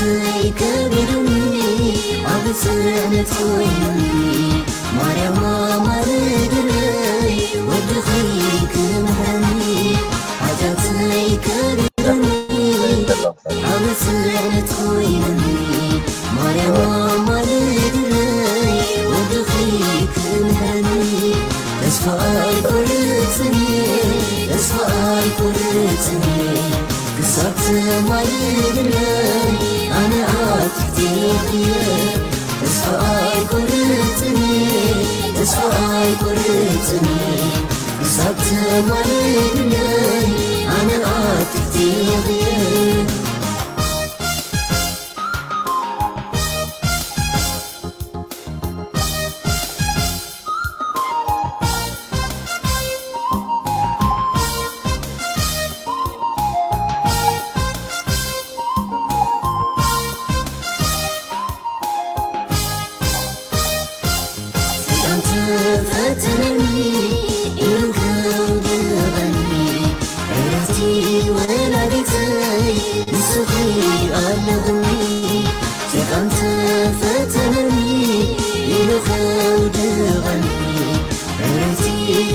ሓጢኣተይ ከቢዱኒ፣ ኣብ ጽዕነት ኮይኑኒ፣ ማርያም ኣማልድለይ፣ ወድኺ ክምሕረኒ። ሓጢኣተይ ከቢዱኒ፣ ኣብ ጽዕነት ኮይኑኒ፣ ማርያም ኣማልድለይ፣ ወድኺ ክምሕረኒ። ተስፋ ኣይቆርጽን እየ፣ ተስፋ ኣይቆርጽን እየ፣ ክሳብ ተማልድለይ ኣነ ኣብ ትሕቴኺ እየ። ተስፋ ኣይቆርጽን እየ፣ ተስፋ ኣይቆርጽን እየ፣ ክሳብ ተማልድለይ ኣነ ኣብ ትሕቴኺ እየ። ሰይጣን ተፈተነኒ ኢሉ ከውድቐኒ፣ ዕረፍቲ ወላዲተይ ንስኺ ኣለኽኒ። ሰይጣን ተፈተነኒ ኢሉ ከውድቐኒ፣ ዕረፍቲ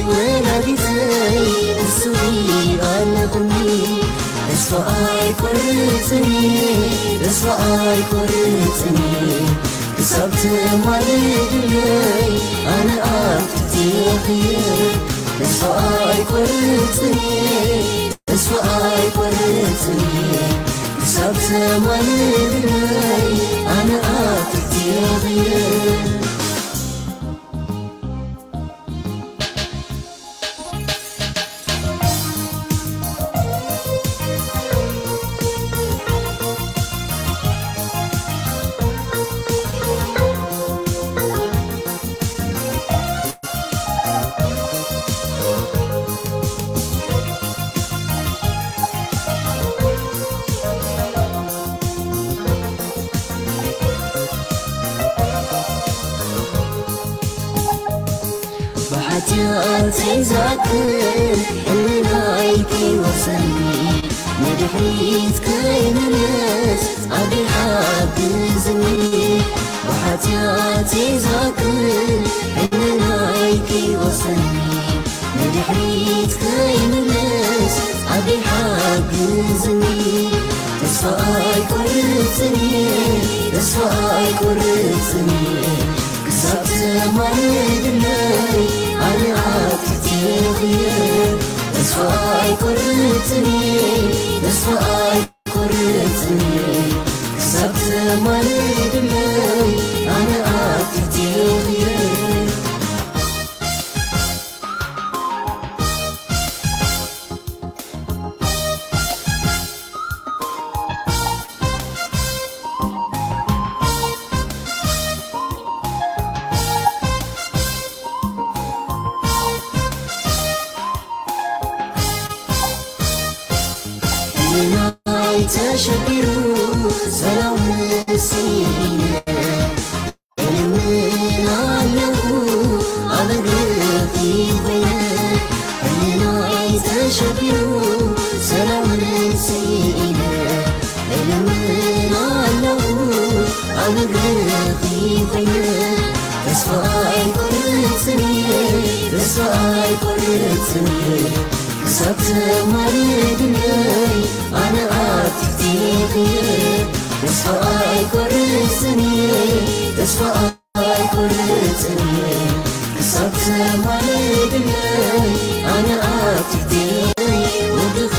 ወላዲተይ ንስኺ ኣለኽኒ። ተስፋ ኣይቆርጽን እየ፣ ተስፋ ኣይቆርጽን እየ፣ ክሳብ ትማልድለይ ኣነ ኣብ ትሕቴኺ እየ። ተስፋ ኣይቆርጽን እየ፣ ተስፋ ኣይቆርጽን እየ፣ ክሳብ ትማልድለይ ኣነ ኣብ ትሕቴኺ እየ። ብሓጢኣተይ ዝኣክል ሕልናይ ከይወቕሰኒ፣ ንድሕሪት ከይምለስ ኣቢ ሓግዝኒ። ብሓጢኣተይ ዝኣክል ሕልናይ ከይወቕሰኒ፣ ንድሕሪት ከይምለስ ኣቢ ሓግዝኒ። ተስፋ ኣይቆርጽን እየ፣ ተስፋ ኣይቆርጽን እየ፣ ክሳብ ተማልድለይ ኣነ ኣብ ትሕቴኺ እየ። ተስፋ ኣይቆርጽን እየ፣ ተስፋ ኣይቆርጽን እየ፣ ክሳብ ተማልድለይ ኣነ ኣብ ትሕቴኺ እየ። ሕልናይ ተሸቢሩ ሰላም ስኢነ፣ እልምን ኣለኹ ኣብ እግርኺ ኮይነ። ሕልናይ ተሸቢሩ ሰላም ስኢነ፣ እልምን ኣለኹ ኣብ እግርኺ ኮይነ። ተስፋ ኣይቆርጽን እየ፣ ተስፋ ኣይቆርጽን እየ፣ ክሳብ ተማልድለይ ኣነ ኣብ ትሕቴኺ እየ። ተስፋ ኣይቆርጽን እየ፣ ተስፋ ኣይቆርጽን እየ፣ ክሳብ ተማልድለይ ኣነ ኣብ ትሕቴኺ ወድኺ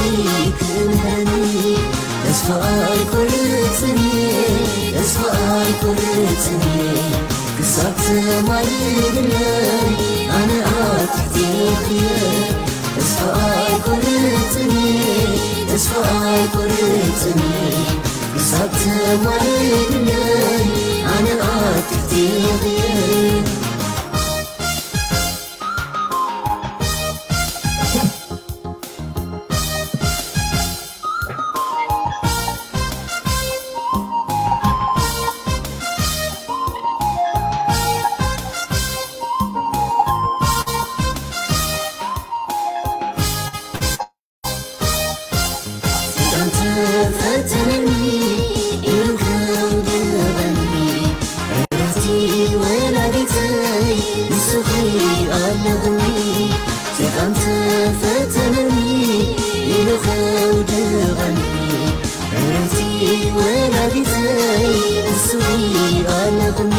ክምህረኒ። ተስፋ ኣይቆርጽን እየ፣ ተስፋ ኣይቆርጽን እየ፣ ክሳብ ተማልድለይ ኣነ ኣብ ትሕቴኺ እየ። ተስፋ ኣይቆርጽን እየ፣ ተስፋ ኣይቆርጽን እየ፣ ክሳብ ተማልድለይ ኣነ ኣብ ትሕቴኺ እየ። ሰይጣን ተፈተነኒ ኢሉ ኣለኹኒ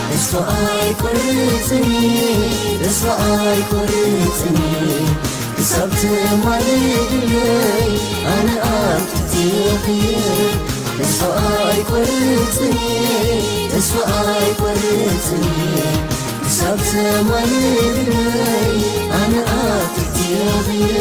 ተስፋ ኣይቆርጽን፣ ተስፋ ኣይቆርጽን፣ ክሳብ ትማልድለይ ኣነ ኣብ ትሕቲ እየ። ተስፋ ኣይቆርጽን፣ ተስፋ ኣይቆርጽን፣ ክሳብ ትማልድለይ ኣነ ኣብ ትሕቲ እየ።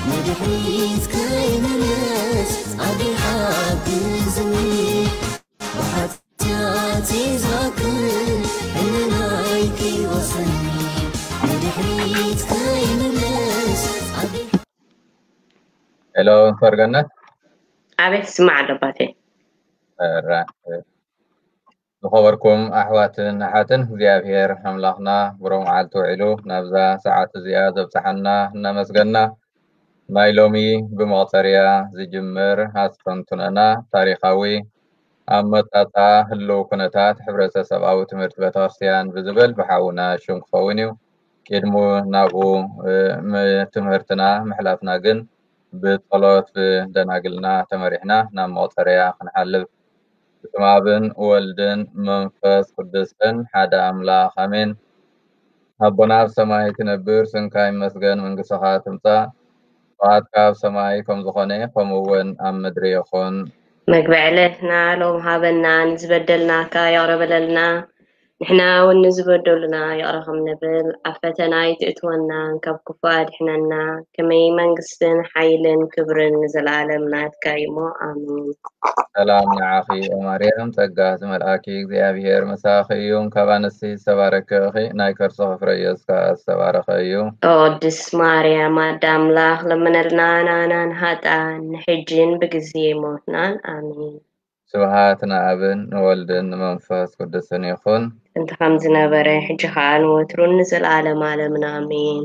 ንድሕሪት ከይምለስ ኣዴ ሓግዝኒ፣ ብሓጢኣተይ ዝኣክል ሕልናይ ከይወቕሰኒ፣ ንድሕሪት ከይምለስ ኣዴ ሄሎ፣ ፈርገነት። ኣቤት፣ ስማዕ ኣሎ ኣባቴ። ራ-፣ ዝኸበርኩም ኣሕዋትን ኣሓትን፣ እግዚኣብሔር ኣምላኽና ብሩህ መዓልቲ ውዒሉ ናብዛ ሰዓት እዚኣ ዘብጽሓና እናመስገና፣ ናይ ሎሚ ብመቑጸርያ ዝጅምር ኣስተንትኖና ታሪኻዊ ኣመጻጽኣ ህልው ኩነታት ሕብረተሰብኣዊ ትምህርቲ ቤተክርስትያን ብዝብል ብሓውና ሽም ክኸውን እዩ። ቅድሙ ናብኡ፣ እ፣ ም-፣ ትምህርትና ምሕላፍና ግን ብጸሎት ብደናግልና ተመሪሕና ናብ መቑጸርያ ክንሓልፍ። ብስመ ኣብን ወልድን መንፈስ ቅዱስን ሓደ ኣምላኽ ኣሜን። ኣቦና ኣብ ሰማይ ትነብር፣ ስምካ ይመስገን፣ መንግስትኻ ትምጻእ፣ ፍቓድካ ኣብ ሰማይ ከም ዝኾነ ከምኡ እውን ኣብ ምድሪ ይኹን። መግቢ ዕለትና ሎም ሃበና፣ ንዝበደልናካ ይቕረ በለልና፣ ንሕና እውን ንዝበደሉና ይቕረ ከም ንብል፣ ኣብ ፈተና ኣይትእትወና፣ ካብ ክፉእ ኣድሕነና፣ ከመይ መንግስትን ሓይልን ክብርን ንዘለኣለም ናትካ እዩ እሞ፣ ኣሜን። ሰላም ንዓኺ ኦ ማርያም፣ ጸጋ ዝመልኣኪ እግዚኣብሔር ምሳኺ እዩ፣ ካብ ኣንስቲ ዝተባረክኺ ናይ ከርስኺ ፍረ ኢየሱስ ከኣ ዝተባረኸ እዩ። ኦ ቅድስት ማርያም ኣደ ኣምላኽ፣ ለምነልና ንኣናን ሃጣን፣ ንሕጅን ብግዜ ሞትናን፣ ኣሜን። ስብሃት ንኣብን ንወልድን ንመንፈስ ቅዱስን ይኹን። እንተ ከም ዝነበረ፣ ሕጂ ኸኣ ንወትሩን ንዘለኣለም ኣለምን፣ ኣሜን።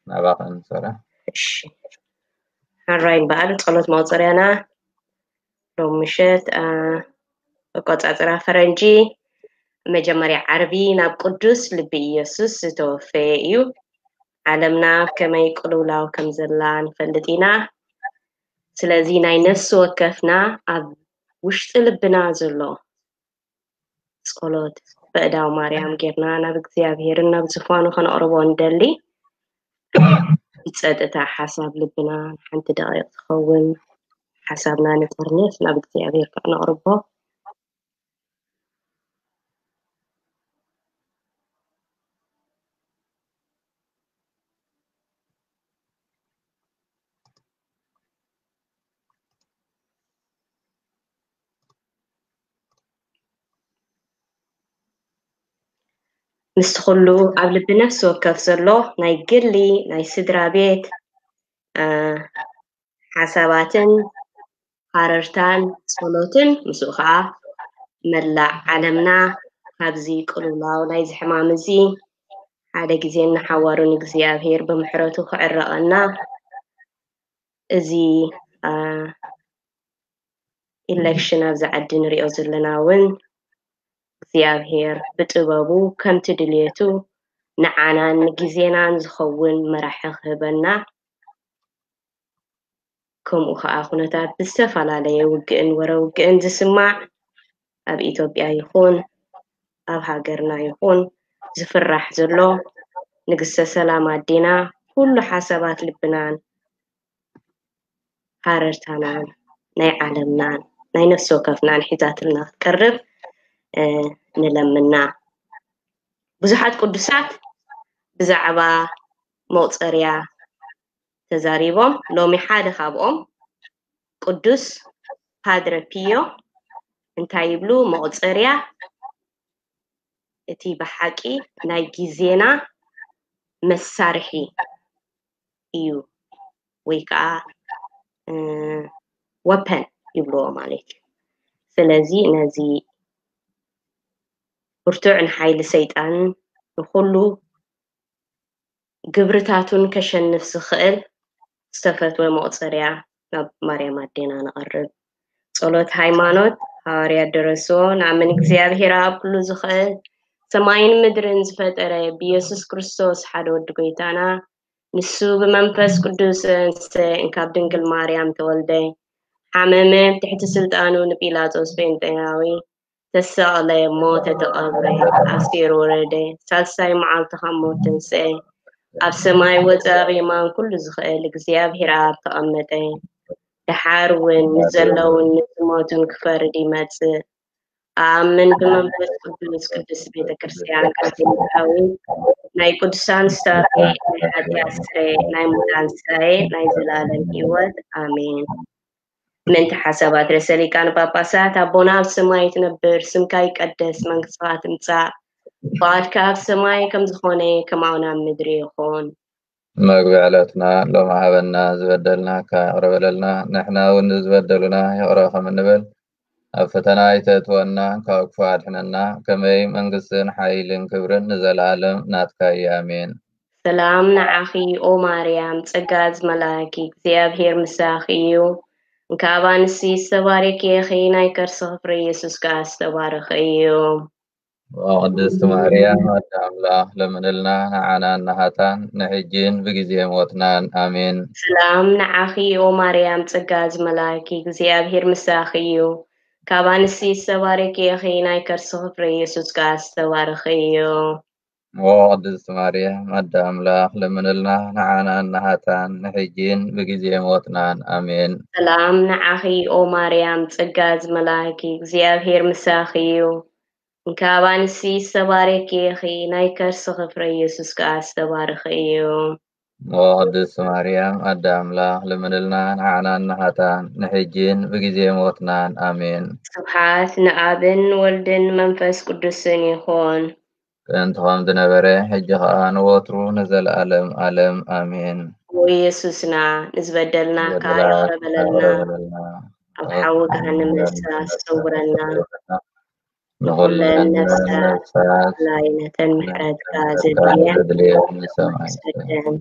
ናባኽን ሰላም። እሺ። ሕራይ እምበኣር፣ ጸሎት መቑጸርያና ሎም ምሸት፣ አ፣ ኣቆጻጽራ ፈረንጂ መጀመርያ ዓርቢ ናብ ቅዱስ ልቢ ኢየሱስ ዝተወፈየ እዩ። ዓለምና ኣብ ከመይ ቅልውላው ከም ዘላ ንፈልጥ ኢና። ስለዚ ናይ ነፍሲ ወከፍና ኣብ ውሽጢ ልብና ዘሎ ጸሎት በእዳው ማርያም ጌርና ናብ እግዚኣብሔርን ናብ ዝፋኑ ከነቕርቦ ንደሊ። ብጸጥታ ሓሳብ ልብና ንሓንቲ ደቂቕ ትኸውን ሓሳብና ንጠርንፍ ናብ እግዚኣብሔር ከነቕርቦ። ምስቲ ኩሉ ኣብ ልቢ ነፍሲ ወከፍ ዘሎ ናይ ግሊ፣ ናይ ስድራ ቤት፣ አ፣ ሓሳባትን ሃረርታን ጸሎትን፣ ምስኡ ኸዓ መላእ ዓለምና ካብዚ ቅልውላው ናይዚ ሕማም እዚ ሓደ ግዜ ንሓዋሩ ንእግዚኣብሔር ብምሕረቱ ክዕረቐና፣ እዚ፣ አ፣ ኢሌክሽን ኣብዚ ዓዲ ንሪኦ ዘለና እውን እግዚኣብሔር ብጥበቡ ከምቲ ድልየቱ ንዓናን ንግዜናን ዝኸውን መራሒ ክህበና፣ ከምኡ ኸዓ ኩነታት ብዝተፈላለየ ውግእን ወረ ውግእን ዝስማዕ ኣብ ኢትዮጵያ ይኹን ኣብ ሃገርና ይኹን ዝፍራሕ ዘሎ ንግስተ ሰላም ኣዴና ኩሉ ሓሳባት ልብናን ሃረርታናን ናይ ዓለምናን ናይ ነፍሲ ወከፍናን ሒዛትልና ክትቀርብ፣ እ፣ ንለምና። ብዙሓት ቅዱሳት ብዛዕባ መቑጸርያ ተዛሪቦም። ሎሚ ሓደ ካብኦም ቅዱስ ፓድረ ፒዮ እንታይ ይብሉ? መቑጸርያ እቲ ብሓቂ ናይ ግዜና መሳርሒ እዩ፣ ወይ ከዓ ወፐን ይብልዎ ማለት እዩ። ስለዚ ነዚ ብርቱዕ ንሓይሊ ሰይጣን ንኩሉ ግብርታቱን ከሸንፍ ዝኽእል ዝተፈትወ መቑፀርያ ናብ ማርያም ኣዴና ነቐርብ። ጸሎት ሃይማኖት። ሃዋርያ ደረስዎ። ንኣምን እግዚኣብሔር ኣብ ኩሉ ዝኽእል ሰማይን ምድርን ዝፈጠረ ብኢየሱስ ክርስቶስ ሓደ ወዲ ጎይታና፣ ንሱ ብመንፈስ ቅዱስ እንስተ እንካብ ድንግል ማርያም ተወልደ፣ ሓመመ፣ ትሕቲ ስልጣኑ ንጲላጦስ ጴንጤናዊ ተሰቕለ፣ ሞተ፣ ተቐብረ፣ ኣስቴር ወረደ፣ ሳልሳይ መዓልቲ ካብ ሞት ተንስአ፣ ኣብ ሰማይ ወፀ፣ ኣብ የማን ኩሉ ዝኽእል እግዚኣብሔር ኣብ ተቐመጠ። ደሓር እውን ንዘለውን ንዝሞቱን ክፈርድ ይመጽእ። ኣኣምን ብመንፈስ ቅዱስ ቅድስት ቤተ ክርስቲያን ካቶሊካዊት ናይ ቅዱሳን ስታፌ ናይ ሓጢኣት ስረ ናይ ሙታን ስራየ ናይ ዘላለም ህይወት ኣሜን። ምእንቲ ሓሳባት ርእሰ ሊቃነ ጳጳሳት ኣቦና ኣብ ሰማይ ትነብር ስምካ ይቀደስ መንግስትኻ ትምጻእ ፍቓድካ ኣብ ሰማይ ከም ዝኾነ ከማኡ ናብ ምድሪ ይኹን። መግቢ ዕለትና ሎም ሃበና ዝበደልና ካቕረ በለልና ንሕና እውን ዝበደሉና ይቕረ ከም እንብል ኣብ ፈተና ኣይተእትወና ካብ ክፉ ኣድሕነና ከመይ መንግስትን ሓይልን ክብርን ንዘለኣለም ናትካ እዩ ኣሜን። ሰላም ንዓኺ ኦ ማርያም ጸጋ ዝመላኪ እግዚኣብሔር ምሳኺ እዩ። እንካብ ኣንስቲ ዝተባረኪ ኢኺ ናይ ከርስኺ ፍረ ኢየሱስ ከኣ ዝተባረኸ እዩ። ኦ ቅድስቲ ማርያም ኣደ ኣምላኽ ለምንልና ንዓናን ንሃጣን ንሕጂን ብግዜ ሞትናን ኣሜን። ሰላም ንዓኺ ኦ ማርያም ጸጋ ዝመላኪ እግዚኣብሔር ምሳኺ እዩ። ካብ ኣንስቲ ዝተባረኪ ኢኺ ናይ ከርስኺ ፍረ ኢየሱስ ከኣ ዝተባረኸ እዩ። ኦ ቅድስቲ ማርያም ኣደ ኣምላኽ ለምንልና ንዓናን ንሃጣን ንሕጂን ብግዜ ሞትናን ኣሜን። ሰላም ንዓኺ ኦ ማርያም ጸጋ ዝመላኪ እግዚኣብሔር ምሳኺ እዩ። እንካብ ኣንስቲ ዝተባረኪ ኢኺ ናይ ከርስኺ ፍረ ኢየሱስ ከኣ ዝተባረኸ እዩ። ኦ ቅድስቲ ማርያም ኣደ ኣምላኽ ለምንልና ንዓናን ንሃጣን ንሕጂን ብግዜ ሞትናን ኣሜን። ስብሓት ንኣብን ወልድን መንፈስ ቅዱስን ይኹን። ጥንቲ ከም ዝነበረ ሕጂ ኸኣ ንወትሩ ንዘለኣለም ኣለም ኣሜን። ኦ ኢየሱስና ንዝበደልናካ ይቕረ በለልና፣ ኣብ ሓዊ ገሃነመ እሳት ሰውረና፣ ንኹለን ነፍሳት ብፍላይ ነተን ምሕረትካ ዘድልየን ሰደን።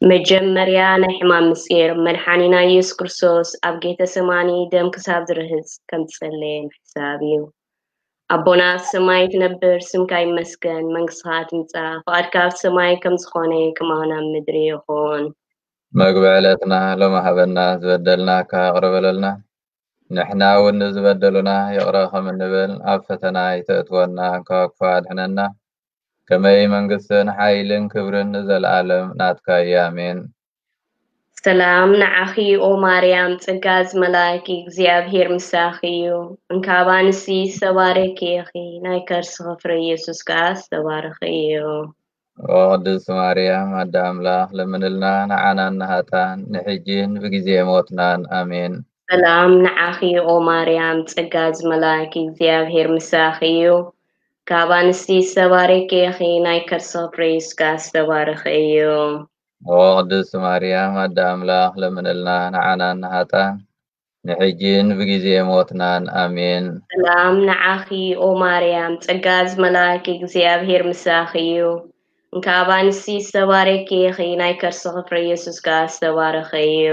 መጀመርያ ናይ ሕማም ምስጢር መድሓኒና ኢየሱስ ክርስቶስ ኣብ ጌተሰማኒ ደም ክሳብ ዝርህጽ ከም ዝጸለየ ምሕሳብ እዩ። ኣቦና ኣብ ሰማይ ትነብር፣ ስምካ ይመስገን፣ መንግስትኻ ትምጻእ፣ ፍቓድካ ኣብ ሰማይ ከም ዝኾነ ከማኡ ኣብ ምድሪ ይኹን። መግቢ ዕለትና ሎሚ ሃበና፣ ዝበደልናካ ይቕረ በለልና፣ ንሕና እውን ንዝበደሉና ይቕረ ከም እንብል፣ ኣብ ፈተና ኣይተእትወና፣ ካብ ክፉእ ኣድሕነና። ከመይ መንግስትን ሓይልን ክብርን ንዘለኣለም ናትካ እዩ፣ ኣሜን። ሰላም ንዓኺ ኦ ማርያም፣ ጸጋ ዝመላእኪ እግዚኣብሔር ምሳኺ እዩ። እንካብ ኣንስቲ ዝተባረኪ ኢኺ፣ ናይ ከርስኺ ፍረ ኢየሱስ ከኣ ዝተባረኸ እዩ። ኦ ቅድስቲ ማርያም ኣደ ኣምላኽ፣ ለምንልና ንዓናን ንሃጣን ንሕጂን ብግዜ ሞትናን። ኣሜን። ሰላም ንዓኺ ኦ ማርያም፣ ጸጋ ዝመላእኪ እግዚኣብሔር ምሳኺ እዩ። ካብ ኣንስቲ ዝተባረኪ ኢኺ፣ ናይ ከርስኺ ፍረ ኢየሱስ ከኣ ዝተባረኸ እዩ። ኦ ቅድስቲ ማርያም ኣደ ኣምላኽ ለምንልና ንዓናን ንሃጣን ንሕጂን ብግዜ ሞትናን ኣሜን። ሰላም ንዓኺ ኦ ማርያም ጸጋ ዝመላኪ እግዚኣብሔር ምሳኺ እዩ። እንካብ ኣንስቲ ዝተባረኪ ኢኺ ናይ ከርስኺ ፍረ ኢየሱስ ከኣ ዝተባረኸ እዩ።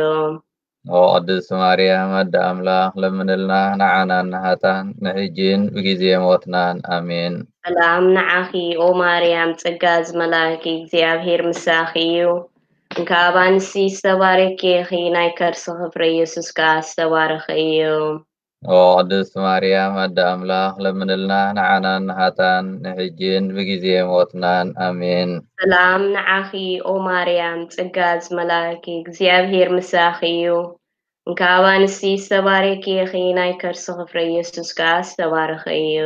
ኦ ቅድስቲ ማርያም ኣደ ኣምላኽ ለምንልና ንዓናን ንሃጣን ንሕጂን ብግዜ ሞትናን ኣሜን። ሰላም ንዓኺ ኦ ማርያም ጸጋ ዝመላኪ እግዚኣብሔር ምሳኺ እዩ። እንካብ ኣንስቲ ዝተባረኪ ኢኺ ናይ ከርስኺ ፍረ ኢየሱስ ከኣ ዝተባረኸ እዩ። ኦ ቅድስቲ ማርያም ኣደ ኣምላኽ ለምንልና ንዓናን ንሃጣን ንሕጂን ብግዜ ሞትናን ኣሜን። ሰላም ንዓኺ ኦ ማርያም ጸጋ ዝመላኪ እግዚኣብሔር ምሳኺ እዩ። እንካብ ኣንስቲ ዝተባረኪ ኢኺ ናይ ከርስኺ ፍረ ኢየሱስ ከኣ ዝተባረኸ እዩ።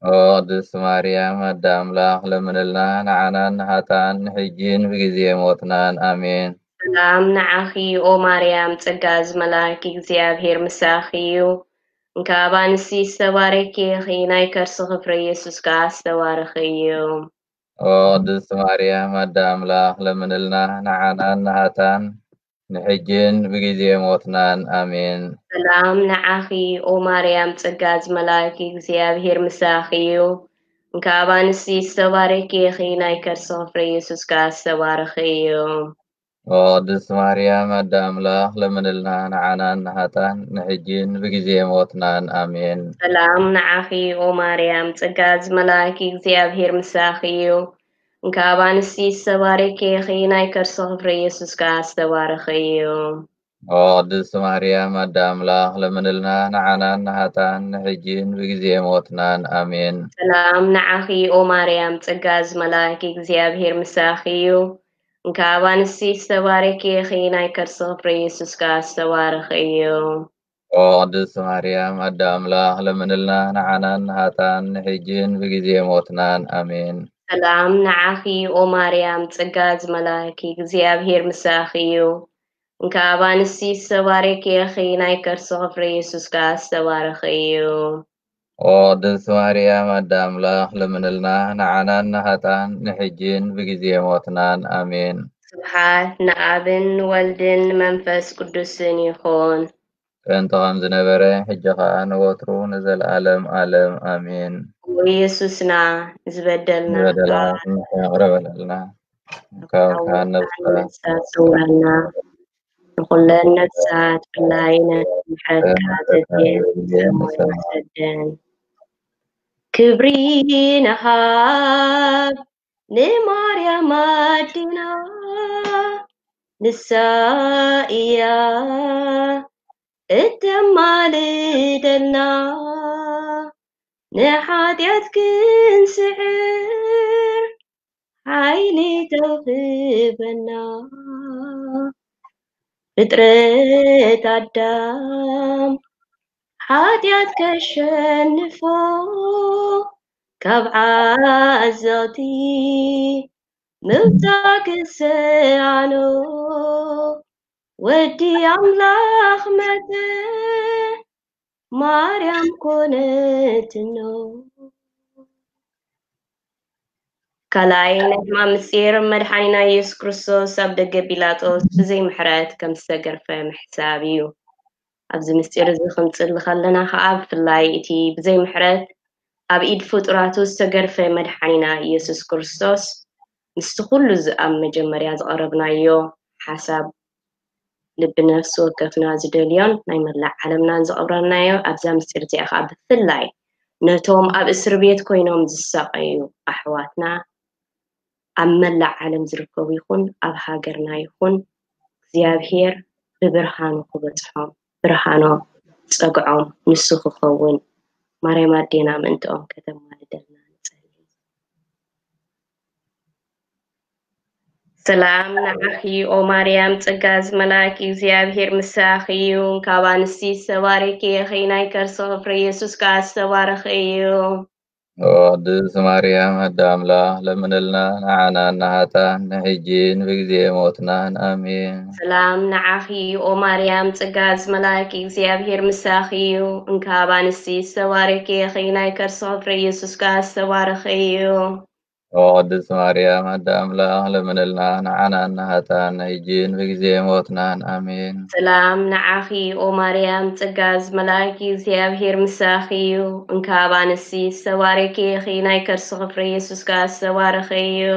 ኦ ቅድስቲ ማርያም ኣደ ኣምላኽ ለምንልና ንዓናን ንሃጣን ንሕጂን ብግዜ ሞትናን ኣሜን። ሰላም ንዓኺ ኦ ማርያም ጸጋ ዝመላኪ እግዚኣብሔር ምሳኺ እዩ። እንካብ ኣንስቲ ዝተባረኪ ኢኺ ናይ ከርስኺ ፍረ ኢየሱስ ከኣ ዝተባረኸ እዩ። ኦ ቅድስት ማርያም ኣደ ኣምላኽ ለምንልና ንዓናን ንሃታን ንሕጅን ብግዜ ሞትናን። ኣሜን። ሰላም ንዓኺ ኦ ማርያም፣ ጸጋ ዝመላእኪ እግዚኣብሔር ምሳኺ እዩ። እንካ ኣባንሲ ዝተባረኪ ኢኺ፣ ናይ ከርስኺ ፍሬ ኢየሱስ ከኣ ዝተባረኸ እዩ። ኦ ቅድስት ማርያም ኣደ ኣምላኽ ለምንልና ንዓናን ንሃታን ንሕጅን ብግዜ ሞትናን። ኣሜን። ሰላም ንዓኺ ኦ ማርያም፣ ጸጋ ዝመላእኪ እግዚኣብሔር ምሳኺ እዩ። እንካ ኣባንሲ ዝተባረኪ ኢኺ፣ ናይ ከርስኺ ፍሬ ኢየሱስ ከኣ ዝተባረኸ እዩ። ኦ ቅድስት ማርያም ኣደ ኣምላኽ ለምንልና ንዓናን ንሃታን ንሕጅን ብግዜ ሞትናን። ኣሜን። ሰላም ንዓኺ ኦ ማርያም፣ ጸጋ ዝመላእኪ እግዚኣብሔር ምሳኺ እዩ። እንካ ኣባንሲ ዝተባረኪ ኢኺ፣ ናይ ከርስኺ ፍሬ ኢየሱስ ከኣ ዝተባረኸ እዩ። ኦ ቅድስት ማርያም ኣደ ኣምላኽ ለምንልና ንዓናን ንሃታን ንሕጅን ብግዜ ሞትናን። ኣሜን። ሰላም ንዓኺ ኦ ማርያም፣ ጸጋ ዝመላእኪ እግዚኣብሔር ምሳኺ እዩ። እንካ ኣባንሲ ዝተባረኪ ኢኺ፣ ናይ ከርስኺ ፍሬ ኢየሱስ ከኣ ዝተባረኸ እዩ። ኦ ቅድስት ማርያም ኣደ ኣምላኽ ለምንልና ንዓናን ንሃታን ንሕጅን ብግዜ ሞትናን። ኣሜን። ስብሓት ንኣብን ንወልድን ንመንፈስ ቅዱስን ይኹን። ጥንቲ ከም ዝነበረ ሕጂ ኸኣ ንወትሩ ንዘለኣለም ኣለም። ኣሜን። ኦ ኢየሱስና፣ ዝበደልና ዝበደላት ምሕረት ይቕረ በለልና። ካብ ሓውካ ነፍሳ ነፍሳ ሰውረና። ንኹለን ነፍሳት ብፍላይ ነቲ ምሕረትካ ዘድልየን ሰደን። ክብሪ ንሃብ ንማርያም ኣዴና፣ ንሳ እያ እተማልደልና። ንሓጢኣት ክንስዕር ሓይሊ ተውህበና። ፍጥረት ኣዳም ሓጢኣት ከሸንፎ፣ ካብ ዓዘቕቲ ምውጻእ ክሰኣኖ፣ ወዲ ኣምላኽ መጸ፣ ማርያም ኮነትኖ። ካልኣይ ናይ ሕማም ምስጢር፣ መድሓኒና ኢየሱስ ክርስቶስ ኣብ ደገ ጲላጦስ ብዘይ ምሕረት ከም ዝተገርፈ ምሕሳብ እዩ። ኣብዚ ምስጢር እዚ ክንጽሊ ከለና ኸኣ ብፍላይ እቲ ብዘይ ምሕረት ኣብ ኢድ ፍጡራቱ ዝተገርፈ መድሓኒና ኢየሱስ ክርስቶስ ምስቲ ኩሉ እዚ ኣብ መጀመርያ ዝቐረብናዮ ሓሳብ ልቢ ነፍሲ ወከፍና ዝደልዮን ናይ መላእ ዓለምናን ዘቕረብናዮ ኣብዛ ምስጢር እዚኣ ኸኣ ብፍላይ ነቶም ኣብ እስር ቤት ኮይኖም ዝሳቐዩ ኣሕዋትና ኣብ መላእ ዓለም ዝርከቡ ይኹን ኣብ ሃገርና ይኹን እግዚኣብሔር ብብርሃኑ ክበጽሖም ብርሃኖም ጸግዖም ንሱ ክኸውን ማርያም ኣዴና ምእንትኦም ከተማልደልና ንጸሊ። ሰላም ንዓኺ ኦ ማርያም፣ ጸጋ ዝመላእኪ እግዚኣብሔር ምሳኺ እዩ። ካብ ኣንስቲ ዝተባረኪ ኢኺ፣ ናይ ከርስኺ ፍሬ ኢየሱስ ከኣ ዝተባረኸ እዩ። ኦ ቅድስት ማርያም ኣደ ኣምላኽ፣ ለምንልና ንዓና ንሃታን ንሕጂን ብግዜ ሞትናን። ኣሜን። ሰላም ንዓኺ ኦ ማርያም፣ ጸጋ ዝመላእኪ እግዚኣብሔር ምሳኺ እዩ። እንካብ ኣንስቲ ዝተባረኪ ኢኺ፣ ናይ ከርስኺ ፍሬ ኢየሱስ ከኣ ዝተባረኸ እዩ። ኦ ቅድስት ማርያም ኣደ ኣምላኽ፣ ለምንልና ንዓና ንሃታን ንሕጂን ብግዜ ሞትናን። ኣሜን። ሰላም ንዓኺ ኦ ማርያም፣ ጸጋ ዝመላእኪ እግዚኣብሔር ምሳኺ እዩ። እንካብ ኣንስቲ ዝተባረኪ ኢኺ፣ ናይ ከርስኺ ፍሬ ኢየሱስ ከኣ ዝተባረኸ እዩ።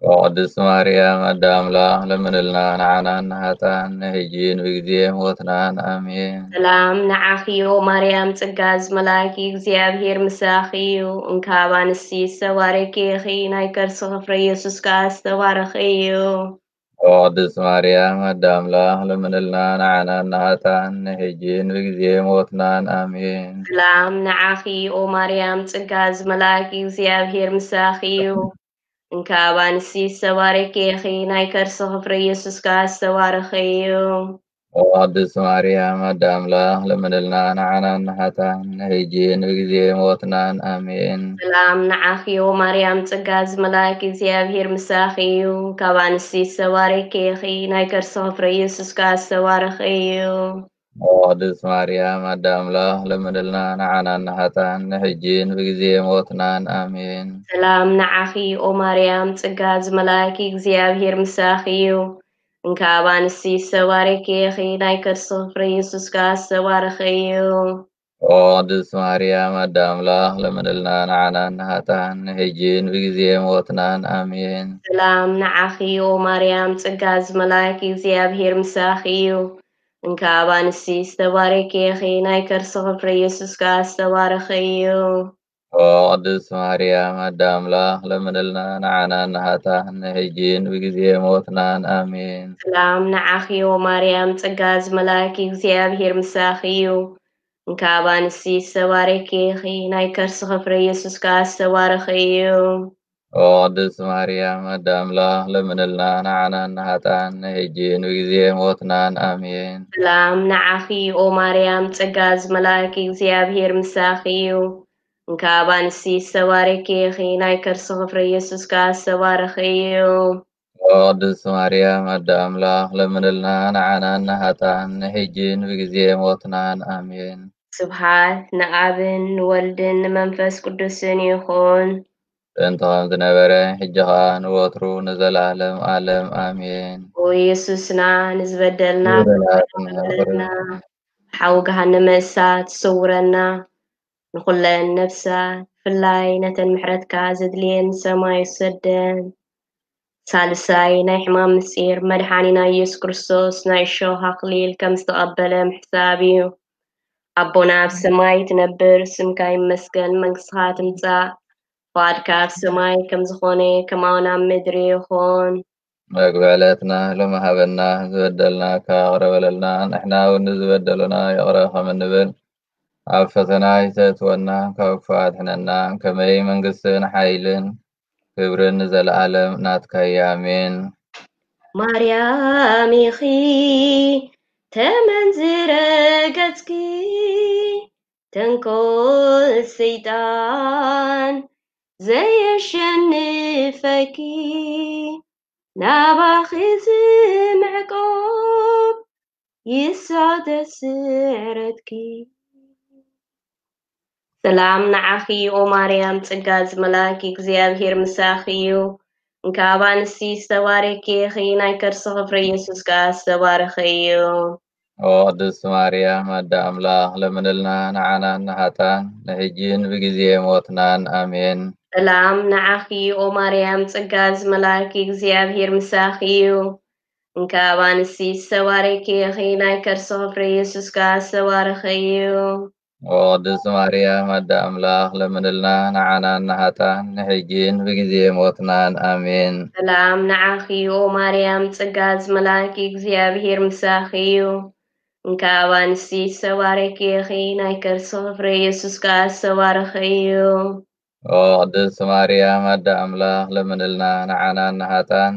ኦ ቅድስት ማርያም ኣደ ኣምላኽ፣ ለምንልና ንዓና ንሃታን ንሕጂን ብግዜ ሞትናን። ኣሜን። ሰላም ንዓኺ ኦ ማርያም፣ ጸጋ ዝመላእኪ እግዚኣብሔር ምሳኺ እዩ። እንካብ ኣንስቲ ዝተባረኪ ኢኺ፣ ናይ ከርስኺ ፍሬ ኢየሱስ ከኣ ዝተባረኸ እዩ። ኦ ቅድስት ማርያም ኣደ ኣምላኽ፣ ለምንልና ንዓና ንሃታን ንሕጂን ብግዜ ሞትናን። ኣሜን። ሰላም ንዓኺ ኦ ማርያም፣ ጸጋ ዝመላእኪ እግዚኣብሔር ምሳኺ እዩ። እንካብ ኣንስቲ ዝተባረኪ ኢኺ፣ ናይ ከርስኺ ፍሬ ኢየሱስ ከኣ ዝተባረኸ እዩ። ኦ ቅድስት ማርያም ኣደ ኣምላኽ፣ ለምንልና ንዓና ንሃታን ንሕጂን ብግዜ ሞትናን። ኣሜን። ሰላም ንዓኺ ኦ ማርያም፣ ጸጋ ዝመላእኪ እግዚኣብሔር ምሳኺ እዩ። ካብ ኣንስቲ ዝተባረኪ ኢኺ፣ ናይ ከርስኺ ፍሬ ኢየሱስ ከኣ ዝተባረኸ እዩ። ኦ ቅድስት ማርያም ኣደ ኣምላኽ ለምንልና ንዓናን ንሓጥኣን ንሕጂን ብግዜ ሞትናን። ኣሜን። ሰላም ንዓኺ ኦ ማርያም፣ ጸጋ ዝመላኪ እግዚኣብሔር ምሳኺ እዩ። እንካ ኣባንሲ ዝተባረኪ ኢኺ፣ ናይ ከርስኺ ፍረ ኢየሱስ ከኣ ዝተባረኸ እዩ። ኦ ቅድስት ማርያም ኣደ ኣምላኽ ለምንልና ንዓናን ንሓጥኣን ንሕጂን ብግዜ ሞትናን። ኣሜን። ሰላም ንዓኺ ኦ ማርያም፣ ጸጋ ዝመላኪ እግዚኣብሔር ምሳኺ እዩ። እንካ ኣባንሲ ዝተባረኪ ኢኺ፣ ናይ ከርስኺ ፍረ ኢየሱስ ከኣ ዝተባረኸ እዩ። ኦ ቅድስት ማርያም ኣደ ኣምላኽ ለምንልና ንዓናን ንሓጥኣን ንሕጂን ብግዜ ሞትናን። ኣሜን። ሰላም ንዓኺ ኦ ማርያም፣ ጸጋ ዝመላኪ እግዚኣብሔር ምሳኺ እዩ። እንካ ኣባንሲ ዝተባረኪ ኢኺ፣ ናይ ከርስኺ ፍረ ኢየሱስ ከኣ ዝተባረኸ እዩ። ኦ ቅድስት ማርያም ኣደ ኣምላኽ ለምንልና ንዓናን ንሓጥኣን ንሕጂን ብግዜ ሞትናን። ኣሜን። ሰላም ንዓኺ ኦ ማርያም፣ ጸጋ ዝመላኪ እግዚኣብሔር ምሳኺ እዩ። እንካ ኣባንሲ ዝተባረኪ ኢኺ፣ ናይ ከርስኺ ፍረ ኢየሱስ ከኣ ዝተባረኸ እዩ። ኦ ቅድስት ማርያም ኣደ ኣምላኽ ለምንልና ንዓናን ንሓጥኣን ንሕጂን ብግዜ ሞትናን። ኣሜን። ስብሓት ንኣብን ንወልድን ንመንፈስ ቅዱስን ይኹን። ጥንቲ ከም ዝነበረ፣ ሕጂ ኸኣ ንወትሩ ንዘለኣለም ኣለም። ኣሜን። ኦ ኢየሱስና፣ ንዝበደልና ይቕረ በለልና። ሓዊ ገሃነመ እሳት ሰውረና። ንኹለን ነፍሳት፣ ብፍላይ ነተን ምሕረትካ ዘድልየን ሰማይ ሰደን። ሳልሳይ ናይ ሕማም ምስጢር፣ መድሓኒና ኢየሱስ ክርስቶስ ናይ እሾህ ኣኽሊል ከም ዝተቐበለ ምሕሳብ እዩ። ኣቦና ኣብ ሰማይ ትነብር፣ ስምካ ይመስገን፣ መንግስትኻ ትምጻእ፣ ፍቓድካ ኣብ ሰማይ ከም ዝኾነ ከማውን ኣብ ምድሪ ይኹን። መግቢ ዕለትና ሎሚ ሃበና፣ ዝበደልናካ ይቕረ በለልና፣ ንሕና እውን ንዝበደሉና ይቕረ ከም እንብል፣ ኣብ ፈተና ኣይተእትወና፣ ካብ ክፉእ ኣድሕነና፣ ከመይ መንግስትን ሓይልን ክብርን ንዘለኣለም ናትካ እዩ። ኣሜን። ማርያም ኢኺ ተመንዝረ ገጽኪ፣ ተንኮል ሰይጣን ዘየሸንፈኪ፣ ናባኺ ዝምዕቆብ ይሳደስ ስዕረትኪ። ሰላም ንዓኺ ኦ ማርያም፣ ጸጋ ዝመላኪ እግዚኣብሔር ምሳኺ እዩ። እንካ ኣባንሲ ዝተባረኪ ኢኺ፣ ናይ ከርስኺ ፍረ ኢየሱስ ከኣ ዝተባረኸ እዩ። ኦ ቅድስት ማርያም ኣደ ኣምላኽ ለምንልና ንዓናን ንሓጥኣን ንሕጂን ብግዜ ሞትናን። ኣሜን። ሰላም ንዓኺ ኦ ማርያም፣ ጸጋ ዝመላኪ እግዚኣብሔር ምሳኺ እዩ። እንካ ኣባንሲ ዝተባረኪ ኢኺ፣ ናይ ከርስኺ ፍረ ኢየሱስ ከኣ ዝተባረኸ እዩ። ኦ ቅድስት ማርያም ኣደ ኣምላኽ ለምንልና ንዓናን ንሓጥኣን ንሕጂን ብግዜ ሞትናን። ኣሜን። ሰላም ንዓኺ ኦ ማርያም፣ ጸጋ ዝመላኪ እግዚኣብሔር ምሳኺ እዩ። እንካ ኣባንሲ ዝተባረኪ ኢኺ፣ ናይ ከርስኺ ፍረ ኢየሱስ ከኣ ዝተባረኸ እዩ። ኦ ቅድስት ማርያም ኣደ ኣምላኽ ለምንልና ንዓናን ንሓጥኣን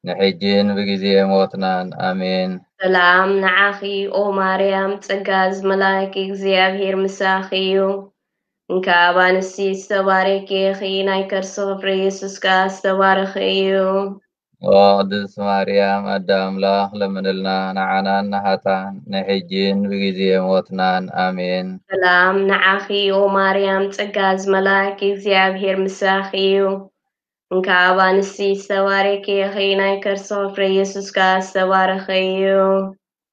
ንሕጂን ብግዜ ሞትናን። ኣሜን። ሰላም ንዓኺ ኦ ማርያም፣ ጸጋ ዝመላኪ እግዚኣብሔር ምሳኺ እዩ። እንካ ኣባንሲ ዝተባረኪ ኢኺ፣ ናይ ከርስኺ ፍረ ኢየሱስ ከኣ ዝተባረኸ እዩ። ኦ ቅድስት ማርያም ኣደ ኣምላኽ ለምንልና ንዓናን ንሓጥኣን ንሕጂን ብግዜ ሞትናን። ኣሜን። ሰላም ንዓኺ ኦ ማርያም፣ ጸጋ ዝመላኪ እግዚኣብሔር ምሳኺ እዩ። እንካ ኣባንሲ ዝተባረኪ ኢኺ፣ ናይ ከርስኺ ፍረ ኢየሱስ ከኣ ዝተባረኸ እዩ።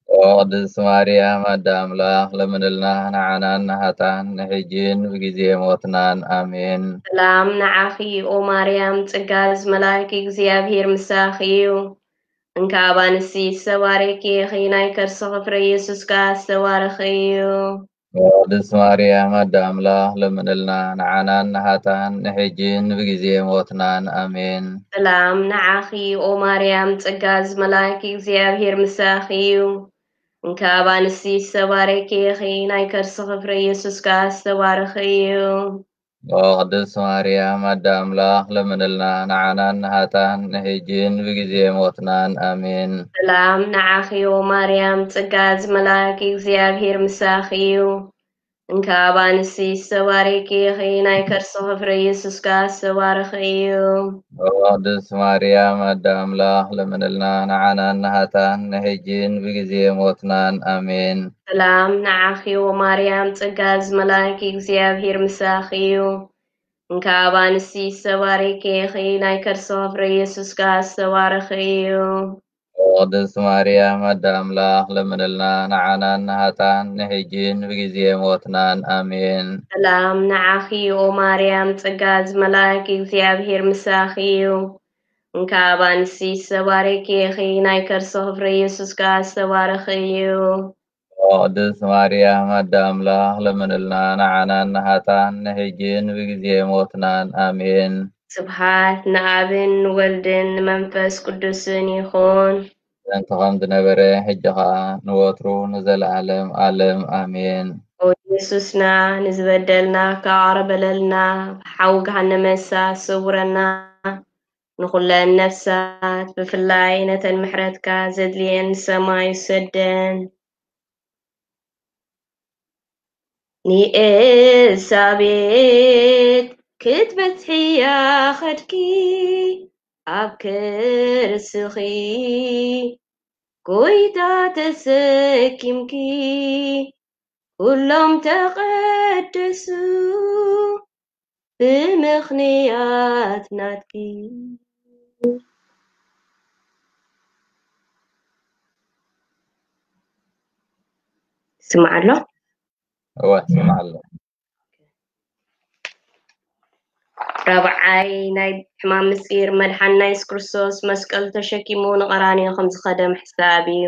ኦ ቅድስት ማርያም ኣደ ኣምላኽ ለምንልና ንዓናን ንሓጥኣን ንሕጂን ብግዜ ሞትናን። ኣሜን። ሰላም ንዓኺ ኦ ማርያም፣ ጸጋ ዝመላኪ እግዚኣብሔር ምሳኺ እዩ። እንካ ኣባንሲ ዝተባረኪ ኢኺ፣ ናይ ከርስኺ ፍረ ኢየሱስ ከኣ ዝተባረኸ እዩ። ኦ ቅድስት ማርያም ኣደ ኣምላኽ ለምንልና ንዓናን ንሓጥኣን ንሕጂን ብግዜ ሞትናን። ኣሜን። ሰላም ንዓኺ ኦ ማርያም፣ ጸጋ ዝመላኪ እግዚኣብሔር ምሳኺ እዩ። እንካ ኣባንሲ ዝተባረኪ ኢኺ፣ ናይ ከርስኺ ፍረ ኢየሱስ ከኣ ዝተባረኸ እዩ። ኦ ቅድስት ማርያም ኣደ ኣምላኽ ለምንልና ንዓናን ንሓጥኣን ንሕጂን ብግዜ ሞትናን። ኣሜን። ሰላም ንዓኺ ኦ ማርያም፣ ጸጋ ዝመላኪ እግዚኣብሔር ምሳኺ እዩ። እንካብ ኣንስቲ ዝተባረኪ ኢኺ፣ ናይ ከርስኺ ፍረ ኢየሱስ ከኣ ዝተባረኸ እዩ። ቅድስት ማርያም ኣደ ኣምላኽ ለምንልና ንዓናን ንሃጣን ንሕጂን ብግዜ ሞትናን። ኣሜን። ሰላም ንዓኺ ኦ ማርያም፣ ጸጋ ዝመላእኪ እግዚኣብሔር ምሳኺ እዩ። እንካብ ኣንስቲ ዝተባረኪ ኢኺ፣ ናይ ከርስኺ ፍረ ኢየሱስ ከኣ ዝተባረኸ እዩ። ቅድስት ማርያም ኣደ ኣምላኽ ለምንልና ንዓናን ንሃጣን ንሕጂን ብግዜ ሞትናን። ኣሜን። ሰላም ንዓኺ ኦ ማርያም፣ ጸጋ ዝመላእኪ እግዚኣብሔር ምሳኺ እዩ። እንካብ ኣንስቲ ዝተባረኪ ኢኺ፣ ናይ ከርስኺ ፍረ ኢየሱስ ከኣ ዝተባረኸ እዩ። ቅድስት ማርያም ኣደ ኣምላኽ ለምንልና ንዓናን ንሃጣን ንሕጂን ብግዜ ሞትናን። ኣሜን። ስብሓት ንኣብን ንወልድን ንመንፈስ ቅዱስን ይኹን። ጥንቲ ከም ዝነበረ ሕጂ ኸኣ ንወትሩ ንዘለኣለም ኣለም። ኣሜን። ኦ ኢየሱስና፣ ንዝበደልና ከኣቕርበለልና፣ ብሓዊ ገሃነመ እሳት ሰውረና፣ ንኹለን ነፍሳት ብፍላይ ነተን ምሕረትካ ዘድልየን ሰማይ ውሰደን። ንኤልሳቤጥ ክትበጽሕያ ኸድኪ፣ ኣብ ከርስኺ ጎይታ ተሰኪምኪ፣ ኩሎም ተቐደሱ ብምኽንያት ናትኪ። ስምዓ ኣሎ? እወ፣ ስምዓ ኣሎ። ራብዓይ ናይ ሕማም ምስጢር፣ መድሓንና የሱስ ክርስቶስ መስቀሉ ተሸኪሙ ንቐራንዮ ከም ዝኸደ ምሕሳብ እዩ።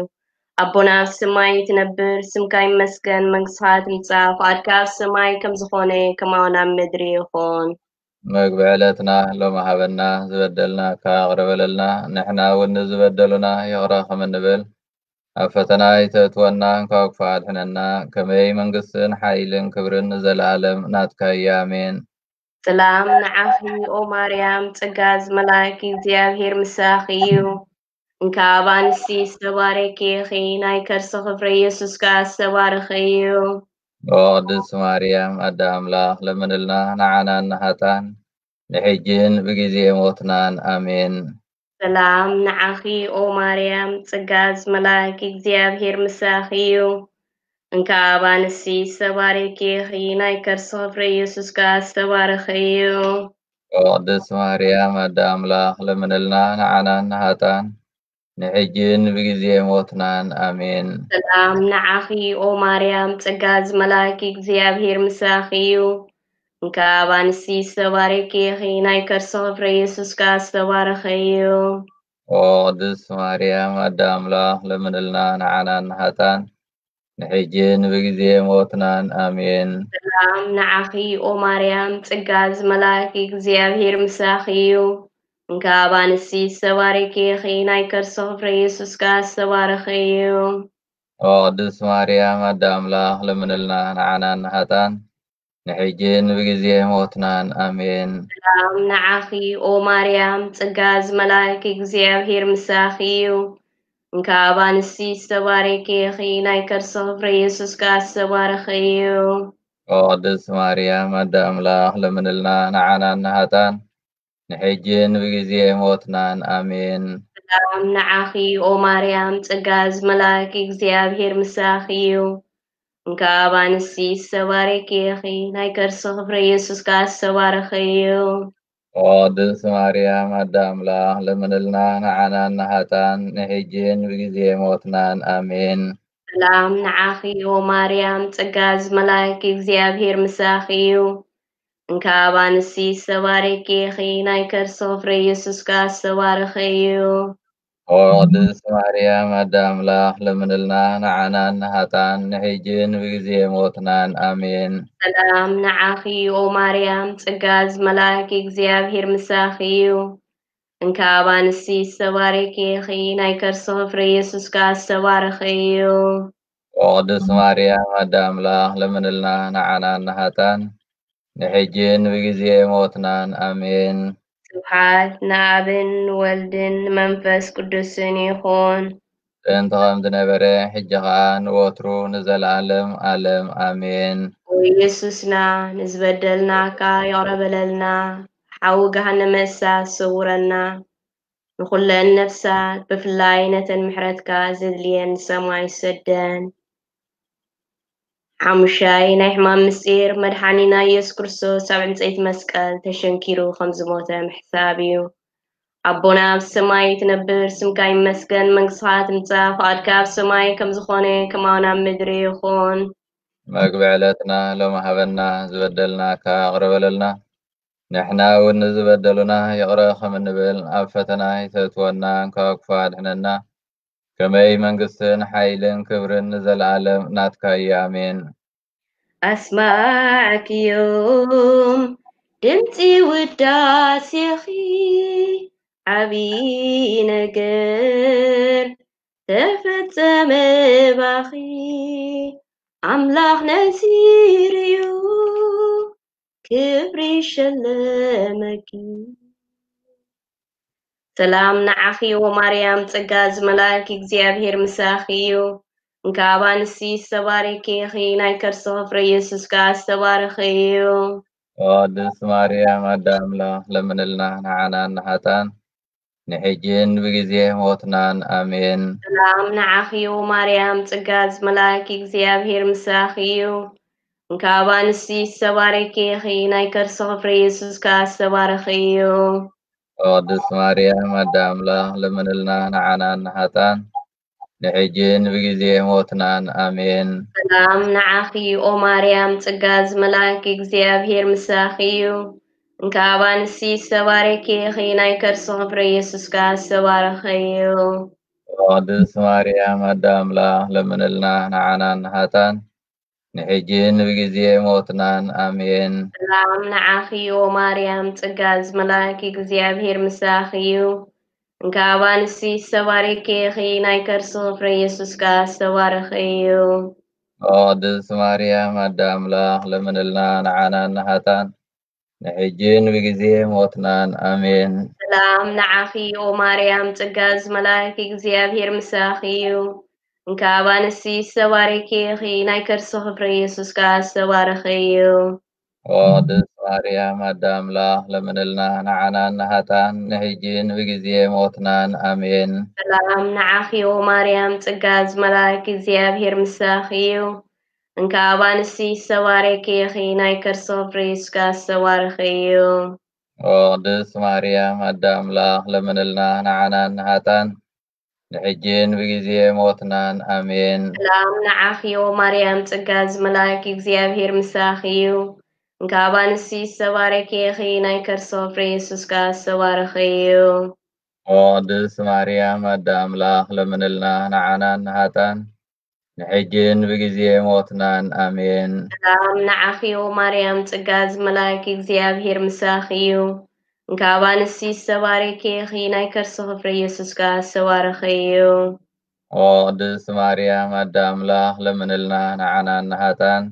ኣቦና ኣብ ሰማይ ትነብር፣ ስምካ ይመስገን፣ መንግስትኻ ትምጻእ፣ ፍቓድካ ኣብ ሰማይ ከም ዝኾነ ከማውን ኣብ ምድሪ ይኹን። መግቢ ዕለትና ሎሚ ሃበና፣ ዝበደልናካ ይቕረ በለልና፣ ንሕና እውን ንዝበደሉና ይቕረ ከም እንብል፣ ኣብ ፈተና ኣይተእትወና፣ እንኳ ክፉእ ኣድሕነና። ከመይ መንግስትን ሓይልን ክብርን ንዘለኣለም ናትካ እዩ። ኣሜን። ሰላም ንዓኺ ኦ ማርያም፣ ጸጋ ዝመላእኪ እግዚኣብሔር ምሳኺ እዩ። እንካብ ኣንስቲ ዝተባረኪ ኢኺ፣ ናይ ከርስኺ ፍረ ኢየሱስ ከኣ ዝተባረኸ እዩ። ኦ ቅድስት ማርያም ኣደ ኣምላኽ ለምንልና ንዓናን ንሃጣን ንሕጂን ብግዜ ሞትናን። ኣሜን። ሰላም ንዓኺ ኦ ማርያም፣ ጸጋ ዝመላእኪ እግዚኣብሔር ምሳኺ እዩ። እንካብ ኣንስቲ ዝተባረኪ ኢኺ፣ ናይ ከርስኺ ፍረ ኢየሱስ ከኣ ዝተባረኸ እዩ። ኦ ቅድስት ማርያም ኣደ ኣምላኽ ለምንልና ንዓናን ንሃጣን ንሕጂን ብግዜ ሞትናን። ኣሜን። ሰላም ንዓኺ ኦ ማርያም፣ ጸጋ ዝመላእኪ እግዚኣብሔር ምሳኺ እዩ። እንካብ ኣንስቲ ዝተባረኪ ኢኺ፣ ናይ ከርስኺ ፍረ ኢየሱስ ከኣ ዝተባረኸ እዩ። ኦ ቅድስት ማርያም ኣደ ኣምላኽ ለምንልና ንዓናን ንሃጣን ንሕጂን ብግዜ ሞትናን። ኣሜን። ሰላም ንዓኺ ኦ ማርያም፣ ጸጋ ዝመላእኪ እግዚኣብሔር ምሳኺ እዩ። እንካብ ኣንስቲ ዝተባረኪ ኢኺ፣ ናይ ከርስኺ ፍረ ኢየሱስ ከኣ ዝተባረኸ እዩ። ኦ ቅድስት ማርያም ኣደ ኣምላኽ ለምንልና ንዓናን ንሃጣን ንሕጂን ብግዜ ሞትናን። ኣሜን። ሰላም ንዓኺ ኦ ማርያም፣ ጸጋ ዝመላእኪ እግዚኣብሔር ምሳኺ እዩ። እንካብ ኣንስቲ ዝተባረኪ ኢኺ፣ ናይ ከርስኺ ፍረ ኢየሱስ ከኣ ዝተባረኸ እዩ። ኦ ቅድስት ማርያም ኣደ ኣምላኽ ለምንልና ንዓናን ንሃጣን ንሕጂን ብግዜ ሞትናን። ኣሜን። ሰላም ንዓኺ ኦ ማርያም፣ ጸጋ ዝመላእኪ እግዚኣብሔር ምሳኺ እዩ። እንካብ ኣንስቲ ዝተባረኪ ኢኺ፣ ናይ ከርስኺ ፍረ ኢየሱስ ከኣ ዝተባረኸ እዩ። ኦ ቅድስት ማርያም ኣደ ኣምላኽ ለምንልና ንዓናን ንሃጣን ንሕጂን ብግዜ ሞትናን። ኣሜን። ሰላም ንዓኺ ኦ ማርያም፣ ጸጋ ዝመላእኪ እግዚኣብሔር ምሳኺ እዩ። እንካብ ኣንስቲ ዝተባረኪ ኢኺ፣ ናይ ከርስኺ ፍረ ኢየሱስ ከኣ ዝተባረኸ እዩ። ኦ ቅድስት ማርያም ኣደ ኣምላኽ ለምንልና ንዓናን ንሃጣን ንሕጂን ብግዜ ሞትናን። ኣሜን። ሰላም ንዓኺ ኦ ማርያም፣ ጸጋ ዝመላእኪ እግዚኣብሔር ምሳኺ እዩ። እንካብ ኣንስቲ ዝተባረኪ ኢኺ፣ ናይ ከርስኺ ፍረ ኢየሱስ ከኣ ዝተባረኸ እዩ። ኦ ቅድስት ማርያም ኣደ ኣምላኽ ለምንልና ንዓናን ንሃጣን ንሕጂን ብግዜ ሞትናን። ኣሜን። ስብሓት ንኣብን ንወልድን ንመንፈስ ቅዱስን ይኹን። ጥንቲ ከም ዝነበረ፣ ሕጂ ኸኣ ንወትሩ ንዘለኣለም ኣለም። ኣሜን። ኦ ኢየሱስና ንዝበደልናካ ይቕረ በለልና፣ ሓዊ ገሃነመ እሳት ሰውረና፣ ንኹለን ነፍሳት ብፍላይ ነተን ምሕረትካ ዘድልየን ሰማይ ሰደን። ሓሙሻይ ናይ ሕማም ምስጢር መድሓኒና ኢየሱስ ክርስቶስ ኣብ ዕንፀይቲ መስቀል ተሸንኪሩ ከም ዝሞተ ምሕሳብ እዩ። ኣቦና ኣብ ሰማይ ትነብር፣ ስምካ ይመስገን፣ መንግስትኻ ትምጻእ፣ ፍቓድካ ኣብ ሰማይ ከም ዝኾነ ከማውን ኣብ ምድሪ ይኹን። መግቢ ዕለትና ሎሚ ሃበና፣ ዝበደልናካ ይቕረ በለልና፣ ንሕና እውን ንዝበደሉና ይቕረ ከም እንብል፣ ኣብ ፈተና ይተእትወና፣ እንካብ ክፉእ ኣድሕነና። ከመይ መንግስትን ሓይልን ክብርን ንዘለኣለም ናትካ እዩ። ኣሜን። ኣስማዕክዮም ድምፂ ውዳሴኺ፣ ዓብዪ ነገር ተፈጸመ ባኺ፣ ኣምላኽ ነዚርዩ ክብሪ ሸለመኪ። ሰላም ንዓኺ ወማርያም፣ ጸጋ ዝመላእኪ እግዚኣብሔር ምሳኺ እዩ። እንካብ ኣንስቲ ዝተባረኪ ኢኺ፣ ናይ ከርስኺ ፍረ ኢየሱስ ከኣ ዝተባረኸ እዩ። ቅድስት ማርያም ኣደ ኣምላኽ ለምንልና ንዓና ንሃጣን ንሕጅን ብግዜ ሞትናን። ኣሜን። ሰላም ንዓኺ ወማርያም፣ ጸጋ ዝመላእኪ እግዚኣብሔር ምሳኺ እዩ። እንካብ ኣንስቲ ዝተባረኪ ኢኺ፣ ናይ ከርስኺ ፍረ ኢየሱስ ከኣ ዝተባረኸ እዩ። ቅድስት ማርያም ኣደ ኣምላኽ ለምንልና ንዓና ንሃጣን ንሕጅን ብግዜ ሞትናን። ኣሜን። ሰላም ንዓኺ ኦ ማርያም፣ ጸጋ ዝመላእኪ እግዚኣብሔር ምሳኺ እዩ። እንካብ ኣንስቲ ዝተባረኪ ኢኺ፣ ናይ ከርስኺ ፍረ ኢየሱስ ከኣ ዝተባረኸ እዩ። ቅድስት ማርያም ኣደ ኣምላኽ ለምንልና ንዓና ንሃጣን ንሕጅን ብግዜ ሞትናን። ኣሜን። ሰላም ንዓኺ ኦ ማርያም፣ ጸጋ ዝመላእኪ እግዚኣብሔር ምሳኺ እዩ። እንካብ ኣንስቲ ዝተባረኪ ኢኺ፣ ናይ ከርስኺ ፍረ ኢየሱስ ከኣ ዝተባረኸ እዩ። ቅድስት ማርያም ኣደ ኣምላኽ ለምንልና ንዓና ንሃጣን ንሕጅን ብግዜ ሞትናን። ኣሜን። ሰላም ንዓኺ ኦ ማርያም፣ ጸጋ ዝመላእኪ እግዚኣብሔር ምሳኺ እዩ። እንካብ ኣንስቲ ዝተባረኪ ኢኺ፣ ናይ ከርስኺ ፍረ ኢየሱስ ከኣ ዝተባረኸ እዩ። ቅድስት ማርያም ኣደ ኣምላኽ ለምንልና ንዓና ንሃጣን ንሕጅን ብግዜ ሞትናን። ኣሜን። ሰላም ንዓኺ ኦ ማርያም፣ ጸጋ ዝመላእኪ እግዚኣብሔር ምሳኺ እዩ። እንካብ ኣንስቲ ዝተባረኪ ኢኺ፣ ናይ ከርስኺ ፍረ ኢየሱስ ከኣ ዝተባረኸ እዩ። ቅድስት ማርያም ኣደ ኣምላኽ ለምንልና ንዓና ንሃጣን ንሕጅን ብግዜ ሞትናን። ኣሜን። ሰላም ንዓኺ ኦ ማርያም፣ ጸጋ ዝመላእኪ እግዚኣብሔር ምሳኺ እዩ። እንካብ ኣንስቲ ዝተባረኪ ኢኺ፣ ናይ ከርስኺ ፍረ ኢየሱስ ከኣ ዝተባረኸ እዩ። ቅድስት ማርያም ኣደ ኣምላኽ ለምንልና ንዓና ንሃጣን ንሕጅን ብግዜ ሞትናን። ኣሜን። ሰላም ንዓኺ ኦ ማርያም፣ ጸጋ ዝመላእኪ እግዚኣብሔር ምሳኺ እዩ። እንካብ ኣንስቲ ዝተባረኪ ኢኺ፣ ናይ ከርስኺ ፍረ ኢየሱስ ከኣ ዝተባረኸ እዩ። ቅድስት ማርያም ኣደ ኣምላኽ ለምንልና ንዓና ንሃጣን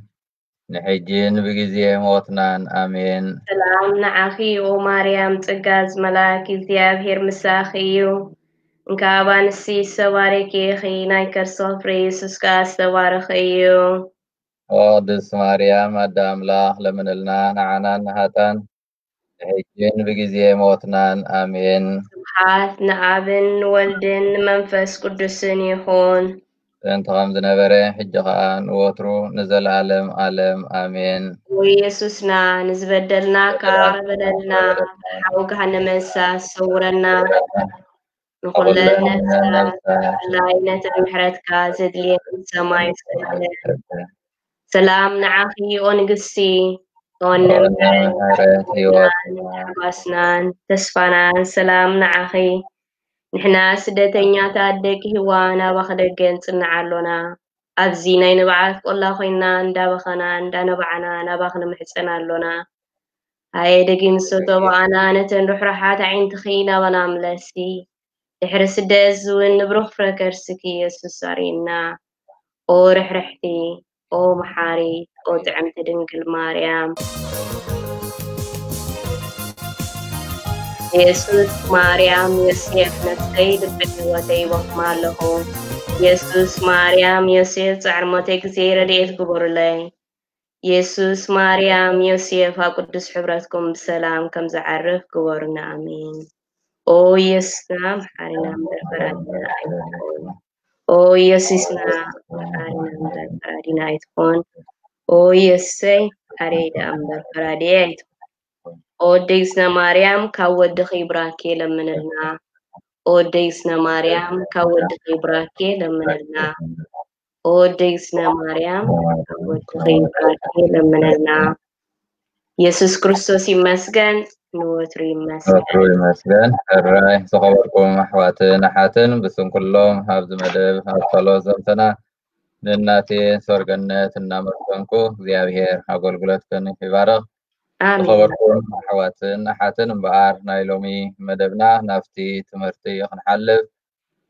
ንሕጅን ብግዜ ሞትናን። ኣሜን። ሰላም ንዓኺ ኦ ማርያም፣ ጸጋ ዝመላእኪ እግዚኣብሔር ምሳኺ እዩ። እንካብ ኣንስቲ ዝተባረኪ ኢኺ፣ ናይ ከርስኺ ፍረ ኢየሱስ ከኣ ዝተባረኸ እዩ። ቅድስት ማርያም ኣደ ኣምላኽ ለምንልና ንዓና ንሃጣን ንሕጅን ብግዜ ሞትናን። ኣሜን። ስብሓት ንኣብን ንወልድን ንመንፈስ ቅዱስን ይኹን። ጥንቲ ከም ዝነበረ፣ ሕጂ ኸኣ ንወትሩ ንዘለኣለም ኣለም። ኣሜን። ኦ ኢየሱስና፣ ንዝበደልና ከኣ ይቕረ በለልና፣ ሓዊ ገሃነመ እሳት ሰውረና፣ ንኹለን ነፍሳት ብፍላይ ነተን ምሕረትካ ዘድልየን ሰማይ ሰማያት። ሰላም ንዓኺ ኦ ንግስቲ፣ ተወነ ምሕረት፣ ምሕረት ሕይወትናን ሕይወትና። ሓጎስናን ተስፋናን ሰላም ንዓኺ። ንሕና ስደተኛታት ደቂ ህዋ ናባኺ ደገ ንጽንዕ ኣሎና። ኣብዚ ናይ ንብዓት ቆላ ኮይንና እንዳበኸና እንዳነባዕና ናባኺ ንምሕጸን ኣሎና። ሃየ ደጊም ሰቶ በቓና ነተን ርሕራሓት ኣዒንትኺ ናባና ምለሲ። ድሕሪ ስደት ዝውን ንብሩኽ ፍረ ከርስኪ የሱስ ኣርእየና። ኦ ርሕርሕቲ፣ ኦ መሓሪት፣ ኦ ጥዕምቲ ድንግል ማርያም። የሱስ ማርያም ዮሴፍ ነፍሰይ ልቢ ህይወተይ ይወክማ ኣለኹ። የሱስ ማርያም ዮሴፍ ጻዕር ሞተይ ግዜ ረድኤት ግበሩለይ። የሱስ፣ ማርያም፣ ዮሴፍ ኣብ ቅዱስ ሕብረትኩም ብሰላም ከም ዝዓርፍ ግበሩና። ኣሜን። ኦ የሱስና፣ መሓሪና እምበር ፈራዲና ኣይትኾን። ኦ የሱስና፣ መሓሪና እምበር ፈራዲና ኣይትኾን። ኦ የሱሰይ፣ መሓሪይ ደኣ እምበር ፈራዲየ ኣይትኾን። ኦ ደይስና ማርያም፣ ካብ ወድኺ ብራኬ ለምንልና። ኦ ደይስና ማርያም፣ ካብ ወድኺ ብራኬ ለምንልና። ኦ ደይስና ማርያም፣ ካብ ወድኺ ብራኬ ለምንልና። የሱስ ክርስቶስ ይመስገን፣ ንወትሩ ይመስገን። ወትሩ ይመስገን። ሕራይ ዝኸበርኩም ኣሕዋትን ኣሓትን፣ ብስም ኩሎም ኣብዚ መደብ ኣብ ጸሎት ዘምተና ንእናቴ ሰርገነት እናመስገንኩ እግዚኣብሔር ኣገልግሎትክን ይባርኽ። ኣሜን። ዝኸበርኩም ኣሕዋትን ኣሓትን፣ እምበኣር ናይ ሎሚ መደብና ናብቲ ትምህርቲ ክንሓልፍ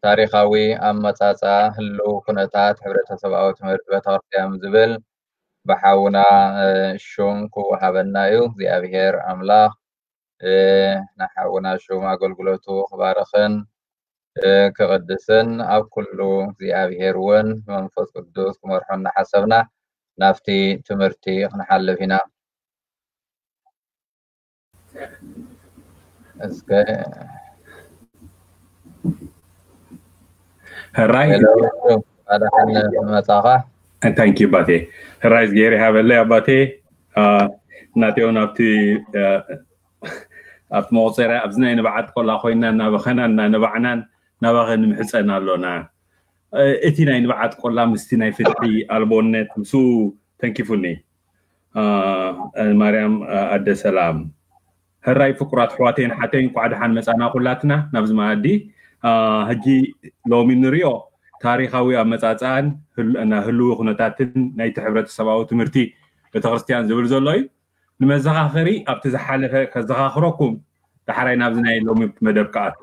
ታሪኻዊ ኣመጻጽኣ ህልው ኩነታት ሕብረተሰብኣዊ ትምህርቲ ቤተክርስትያን ዝብል ብሓውና እ፣ ሹም ክወሃበና እዩ። እግዚኣብሔር ኣምላኽ እ፣ ንሓውና ሹም ኣገልግሎቱ ክባርኽን እ፣ ክቕድስን ኣብ ኩሉ እግዚኣብሔር እውን መንፈስ ቅዱስ ክመርሖ እናሓሰብና ናብቲ ትምህርቲ ክንሓልፍ ኢና። እስከ ሕራይ ሄሎ፣ ኣድሓን መጻኻ። ታንኪ ባቴ። ሕራይ ዝገይር ይሃበለይ ኣባቴ። ናቴውን ኣብቲ ኣብቲ መቁፀርያ ኣብዚ ናይ ንብዓት ቆላ ኮይና እናበኸና እናነባዕናን ናባኸ ንምሕፀን ኣሎና። እቲ ናይ ንብዓት ቆላ ምስቲ ናይ ፍትሒ ኣልቦነት ምስኡ ተንኪፉኒ። ማርያም ኣደ ሰላም። ሕራይ ፍቁራት ኣሕዋተይን ሓተይን፣ እንቋዕ ደሓን መጻና ኩላትና ናብዚ መኣዲ። ሕጂ ሎሚ ንሪኦ ታሪኻዊ ኣመጻጽኣን ህልዊ ኩነታትን ናይቲ ሕብረተሰባዊ ትምህርቲ ቤተክርስትያን ዝብል ዘሎ እዩ። ንመዘኻኸሪ ኣብቲ ዝሓለፈ ከዘኻኽረኩም ዳሕራይ ናብዚ ናይ ሎሚ መደብ ክኣቱ።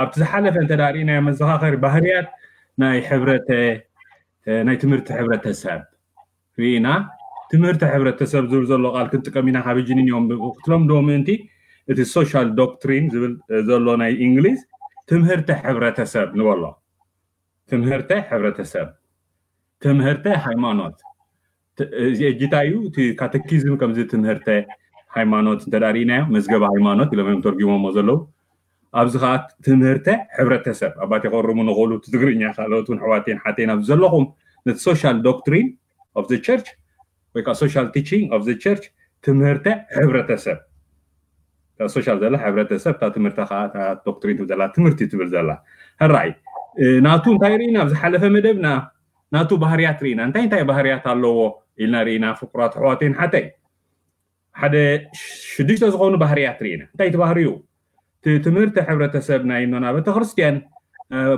ኣብቲ ዝሓለፈ እንተ ርኢናዮ መዘኻኸሪ ባህርያት ናይ ሕብረተ ናይ ትምህርቲ ሕብረተሰብ ርኢና። ትምህርቲ ሕብረተሰብ ዝብል ዘሎ ቃል ክንጥቀም ኢና ካብ ሕጂ ንንዮም ክትለምድዎ ምእንቲ እቲ ሶሻል ዶክትሪን ዝብል ዘሎ ናይ እንግሊዝ ትምህርተ ሕብረተሰብ ንበሎ። ትምህርተ ሕብረተሰብ፣ ትምህርተ ሃይማኖት። እዚ እጅታ እዩ። እቲ ካተኪዝም ከምዚ ትምህርተ ሃይማኖት እንተ ርኢናዮ መዝገበ ሃይማኖት ኢሎም እዮም ተርጉሞሞ ዘለዉ። ኣብዚ ከዓ ትምህርተ ሕብረተሰብ ኣባቴ ከርሙ ንኽእሉ ትግርኛ ካልኦት እውን ኣሕዋቴን ሓቴን ኣብዚ ዘለኹም ነቲ social doctrine of the church ወይ ከዓ social teaching of the church ትምህርተ ሕብረተሰብ social ዘላ ሕብረተሰብ እታ ትምህርተ ከዓ ዶክትሪን ትብል ዘላ ትምህርቲ ትብል ዘላ ሕራይ ናቱ እንታይ ርኢና ኣብ ዝሓለፈ መደብና ናቱ ባህርያት ርኢና እንታይ እንታይ ባህርያት ኣለዎ ኢልና ርኢና ፍቁራት ኣሕዋቴን ሓተይ ሓደ ሽዱሽተ ዝኾኑ ባህርያት ርኢና እንታይ እቲ ባህርዩ ትምህርቲ ሕብረተሰብ ናይ እኖና ቤተክርስትያን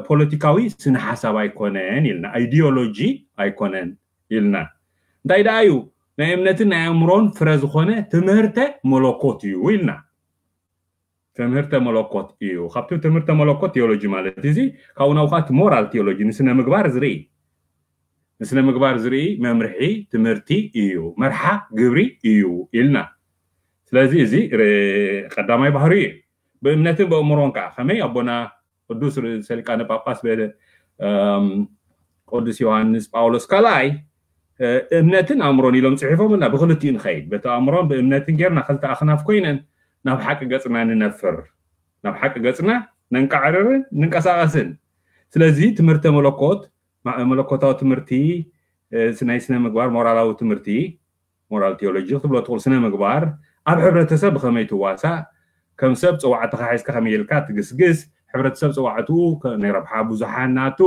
ፖለቲካዊ ስነ ሓሳብ ኣይኮነን ኢልና ideology ኣይኮነን ኢልና እንታይ ደኣ እዩ ናይ እምነትን ናይ ኣእምሮን ፍረ ዝኾነ ትምህርተ መለኮት እዩ ኢልና ትምህርተ መለኮት እዩ ካብቲ ትምህርተ መለኮት theology ማለት እዚ ካብኡ ናብኡ ከዓ moral theology ንስነ ምግባር ዝርኢ ንስነ ምግባር ዝርኢ መምርሒ ትምህርቲ እዩ መርሓ ግብሪ እዩ ኢልና ስለዚ እዚ ቀዳማይ ባህሪ እዩ ብእምነትን ብእምሮን ከዓ ከመይ ኣቦና ቅዱስ ርእሰ ሊቃነ ጳጳስ ቅዱስ ዮሃንስ ጳውሎስ ካልኣይ እምነትን ኣእምሮን ኢሎም ፅሒፎምልና ብክልቲኡ ንኸይድ በቲ ኣእምሮን ብእምነትን ጌርና ክልተ ኣክናፍ ኮይነን ናብ ሓቂ ገፅና ንነፍር ናብ ሓቂ ገፅና ነንቃዕርርን ንንቀሳቀስን ስለዚ ትምህርተ መለኮት መለኮታዊ ትምህርቲ ናይ ስነ ምግባር ሞራላዊ ትምህርቲ moral theology ክትብሎ ትኽእል ስነ ምግባር ኣብ ሕብረተሰብ ብኸመይ ትዋሳእ ከም ሰብ ፀዋዕትኻ ሒዝካ ከመይ ኢልካ ትግስግስ ሕብረተሰብ ፀዋዕትኡ ናይ ረብሓ ብዙሓን ናቱ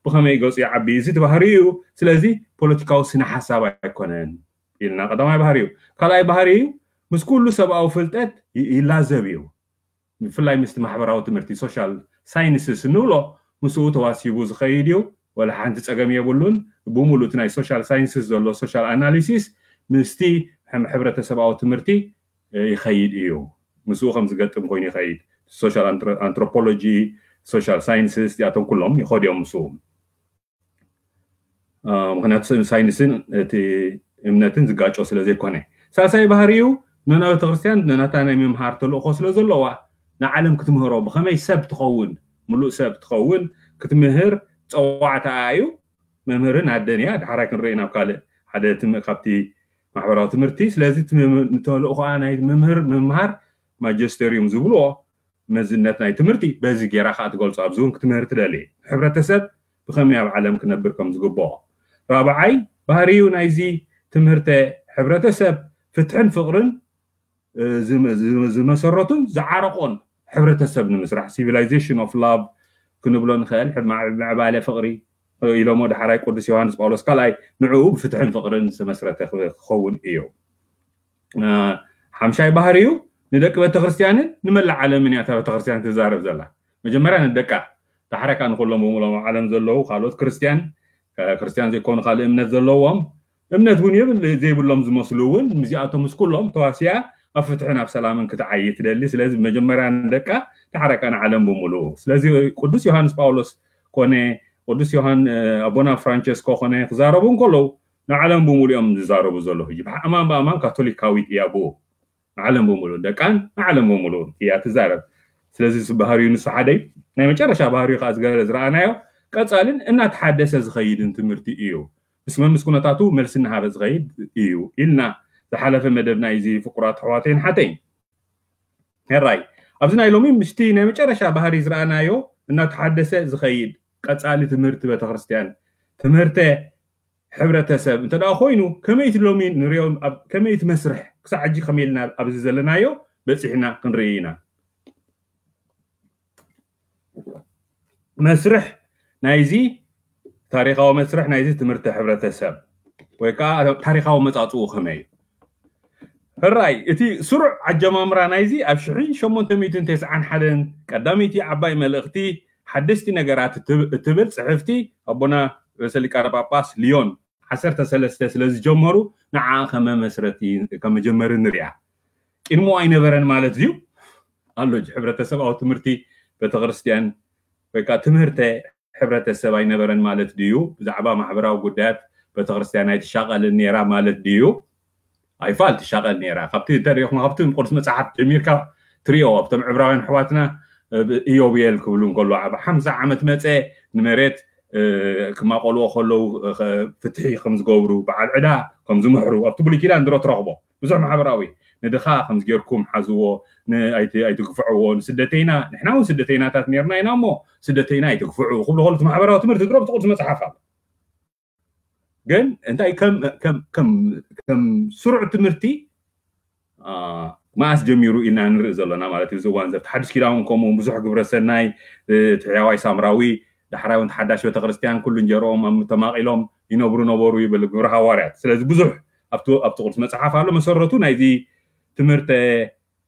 ብኸመይ ገፁ ይዓቢ እዚ እቲ ባህሪ እዩ ስለዚ ፖለቲካዊ ስነ ሓሳብ ኣይኮነን ኢልና ቀዳማይ ባህሪ እዩ ካልኣይ ባህሪ እዩ ምስ ኩሉ ሰብኣዊ ፍልጠት ይላዘብ እዩ ብፍላይ ምስቲ ማሕበራዊ ትምህርቲ social sciences እንብሎ ምስኡ ተዋሲቡ ዝኸይድ እዩ ወላ ሓንቲ ፀገም የብሉን ብሙሉእ እቲ ናይ social sciences ዘሎ social analysis ምስቲ ሕብረተሰባዊ ትምህርቲ ይኸይድ እዩ ምስኡ ከም ዝገጥም ኮይኑ ይኸይድ social anthropology social sciences እዚኣቶም ኩሎም ይኸዱ እዮም ምስኡ ምክንያቱ ሳይንስን እቲ እምነትን ዝጋጮ ስለ ዘይኮነ ሳልሳይ ባህሪ እዩ ንና ቤተክርስትያን ንናታ ናይ ምምሃር ተልእኮ ስለ ዘለዋ ንዓለም ክትምህሮ ብኸመይ ሰብ ትኸውን ሙሉእ ሰብ ትኸውን ክትምህር ፀዋዕታ እዩ መምህርን ኣደን እያ ዳሕራይ ክንርኢ ናብ ካልእ ሓደ ትም- ካብቲ ማሕበራዊ ትምህርቲ። ስለዚ እቲ ምም- ተልእኾኣ ናይ መምህር ምምሃር ማጀስተሪዩም ዝብልዎ መዝነት ናይ ትምህርቲ በዚ ጌራ ከዓ ትገልጾ። ኣብዚ እውን ክትምህር ትደሊ፣ ሕብረተሰብ ብኸመይ ኣብ ዓለም ክነብር ከም ዝግብኦ። ራብዓይ ባህሪዩ ናይዚ ትምህርተ ሕብረተሰብ ፍትሕን ፍቕርን ዝመሰረቱን ዝዓረቆን ሕብረተሰብ ንምስራሕ፣ ሲቪላይዜሽን ኦፍ ላቭ ክንብሎ ንኽእል። ምዕባለ ፍቕሪ ኢሎሞ ዳሕራይ ቅዱስ ዮሃንስ ጳውሎስ ካልኣይ ንዕኡ ብፍትሕን ፍቕርን ዝተመስረተ ክኸውን እዩ። ሓምሻይ ባህሪኡ ንደቂ ቤተክርስትያንን ንመላእ ዓለምን እያ እታ ቤተክርስትያን ትዛረብ ዘላ። መጀመርያ ንደቃ፣ ዳሕራይ ከዓ ንኩሎም ብምሎም ዓለም ዘለዉ ካልኦት ክርስትያን፣ ክርስትያን ዘይኮኑ ካልእ እምነት ዘለዎም፣ እምነት እውን የብል ዘይብሎም ዝመስሉ እውን ምስዚኣቶም ምስ ኩሎም ተዋሲያ ኣብ ፍትሕን ኣብ ሰላምን ክትዓይ ትደሊ። ስለዚ መጀመርያ ንደቃ፣ ዳሕራይ ከዓ ንዓለም ብምሉኡ። ስለዚ ቅዱስ ዮሃንስ ጳውሎስ ኮነ ቅዱስ ዮሃን ኣቦና ፍራንቸስኮ ኮነ ክዛረቡ እንከለዉ ንዓለም ብምሉኦም ዝዛረቡ ዘለዉ። ሕጂ ብኣማን ብኣማን ካቶሊካዊት እያ ብኡ ንዓለም ብምሉኡ ደቃን ንዓለም ብምሉኡ እያ ትዛረብ። ስለዚ ባህሪኡ ንሱ ሓደ ናይ መጨረሻ ባህሪኡ ከዓ ዝገለ ዝረኣናዮ ቀፃልን እናተሓደሰ ዝኸይድን ትምህርቲ እዩ። ምስ መምስ ኩነታቱ መልሲ እናሃበ ዝኸይድ እዩ ኢልና ዝሓለፈ መደብ ናይዚ ፍቁራት ኣሕዋተይን ሓተይን። ሕራይ ኣብዚ ናይ ሎሚ ምስቲ ናይ መጨረሻ ባህሪ ዝረኣናዮ እናተሓደሰ ዝኸይድ ቀፃሊ ትምህርቲ ቤተክርስትያን ትምህርተ ሕብረተሰብ እንተ ደኣ ኮይኑ ከመይ እቲ ሎሚ ንሪኦ ከመይ እቲ መስርሕ ክሳዕ ሕጂ ከመይ ኢልና ኣብዚ ዘለናዮ በፂሕና ክንርኢ ኢና። መስርሕ ናይዚ ታሪኻዊ መስርሕ ናይዚ ትምህርቲ ሕብረተሰብ ወይ ከዓ ታሪኻዊ መፃፅኡ ከመይ እዩ? ሕራይ እቲ ስሩዕ ኣጀማምራ ናይዚ ኣብ ሽሕን ሸሞንተ ሚእትን ተስዓን ሓደን ቀዳመይቲ ዓባይ መልእኽቲ ሓደስቲ ነገራት እትብል ፅሕፍቲ ኣቦና ርእሰ ሊቃነ ጳጳስ ሊዮን ዓሰርተ ሰለስተ ስለ ዝጀመሩ ንዓ ከመ መስረቲ ከመጀመሪ ንሪኣ። ቅድሞ ኣይነበረን ማለት ድዩ? ኣሎ ሕብረተሰባዊ ትምህርቲ ቤተክርስትያን ወይ ከዓ ትምህርተ ሕብረተሰብ ኣይነበረን ማለት ድዩ? ብዛዕባ ማሕበራዊ ጉዳያት ቤተክርስትያን ኣይትሻቐልን ነይራ ማለት ድዩ? ኣይፋል ትሻቐል ነይራ። ካብቲ እንተሪኢኹም ካብቲ ቅዱስ መፅሓፍ ጀሚርካ ትሪኦ ኣብቶም ዕብራውያን ኣሕዋትና ኢዮብየል ክብሉ እንከሎ ኣብ ሓምሳ ዓመት መፀ ንመሬት ክማቆልዎ ከለዉ ፍትሒ ከም ዝገብሩ በዓል ዕዳ ከም ዝምሕሩ ኣብቲ ብሉይ ኪዳን ድሮ ትረኽቦ ብዙሕ ማሕበራዊ ንድኻ ከምዚ ጌርኩም ሓዝዎ ኣይትግፍዕዎ ንስደተይና ንሕና እውን ስደተይናታት ነርና ኢና እሞ ስደተይና ኣይትግፍዑ ክብሉ ከሉ ማሕበራዊ ትምህርቲ ድሮ ብቲ ቅዱስ መፅሓፍ ኣሎ። ግን እንታይ ከም ስሩዕ ትምህርቲ መኣስ ጀሚሩ ኢልና ንርኢ ዘለና ማለት እዩ። እዚ እዋን ዘ ተሓድሽ ኪዳን ከምኡ ብዙሕ ግብረ ሰናይ ትሕያዋይ ሳምራዊ ዳሕራይ እውን ተሓዳሽ ቤተክርስትያን ኩሉ እንጀርኦም ኣብ ተማቒሎም ይነብሩ ነበሩ ይብል ግብረ ሃዋርያት። ስለዚ ብዙሕ ኣብቲ ቅዱስ መፅሓፍ ኣሎ። መሰረቱ ናይዚ ትምህርተ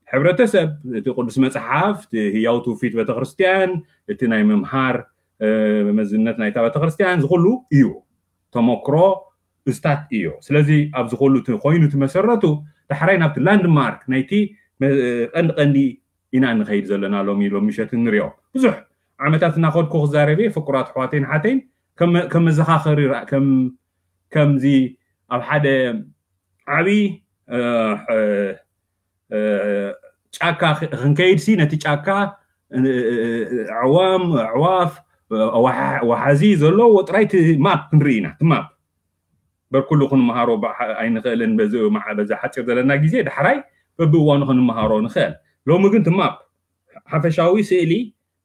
ሕብረተሰብ እቲ ቅዱስ መፅሓፍ እቲ ህያው ትውፊት ቤተክርስትያን እቲ ናይ ምምሃር መዝነት ናይታ ቤተክርስትያን ዝኩሉ እዩ። ተመክሮ እስታት እዮ። ስለዚ ኣብዚ ኩሉ ኮይኑ እቲ መሰረቱ ዳሕራይ ናብቲ ላንድማርክ ናይቲ ቀንዲ ቀንዲ ኢና ንኸይድ ዘለና ሎሚ ሎሚ ምሸት ንሪኦ። ብዙሕ ዓመታት እናኸድኩ ክዛረብ እየ ፍቁራት ኣሕዋተይን ሓተይን ከም መዘኻኸሪ ከምዚ ኣብ ሓደ ዓብዪ ጫካ ክንከይድ ሲ ነቲ ጫካ ኣዕዋም ኣዕዋፍ ወሓዚ ዘለዎ ጥራይ ማፕ ክንርኢ ኢና። እቲ ማፕ በርኩሉ ክንመሃሮ ኣይንኽእልን። በዚ ሓፂር ዘለና ግዜ ዳሕራይ በብእዋኑ ክንመሃሮ ንኽእል። ሎሚ ግን እቲ ማፕ ሓፈሻዊ ስእሊ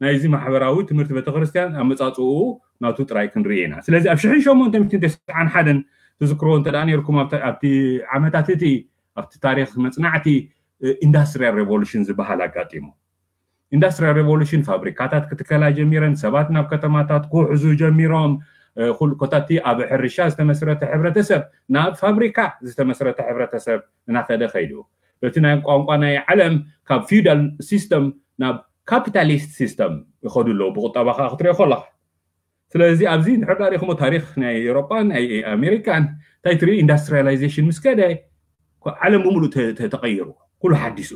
ናይዚ ማሕበራዊ ትምህርቲ ቤተክርስትያን ኣመፃፅኡ ናቱ ጥራይ ክንርኢ ኢና። ስለዚ ኣብ ሽሕን ሸሞንተ ሚእትን ተስዓን ሓደን ትዝክርዎ እንተ ነርኩም ኣብቲ ዓመታት እቲ ኣብቲ ታሪክ መፅናዕቲ ኢንዳስትሪያል ሬቮሉሽን ዝበሃል ኣጋጢሙ። ኢንዳስትሪያል ሬቮሉሽን ፋብሪካታት ክትከላ ጀሚረን፣ ሰባት ናብ ከተማታት ክውሕዙ ጀሚሮም። ኩሉ ኮታቲ ኣብ ሕርሻ ዝተመስረተ ሕብረተሰብ ናብ ፋብሪካ ዝተመስረተ ሕብረተሰብ እናኸደ ከይዱ። በቲ ናይ ቋንቋ ናይ ዓለም ካብ ፊውዳል ሲስተም ናብ ካፒታሊስት ሲስተም ይኸዱ ኣለዉ። ብቁጠባ ከዓ ክትሪኦ ከለካ ስለዚ ኣብዚ እንድሕር ዳሪኹሞ ታሪክ ናይ ኤውሮጳን ናይ ኣሜሪካን እንታይ ትርኢ ኢንዳስትሪያላይዜሽን ምስ ከደ ዓለም ብምሉእ ተቀይሩ። ኩሉ ሓዲሱ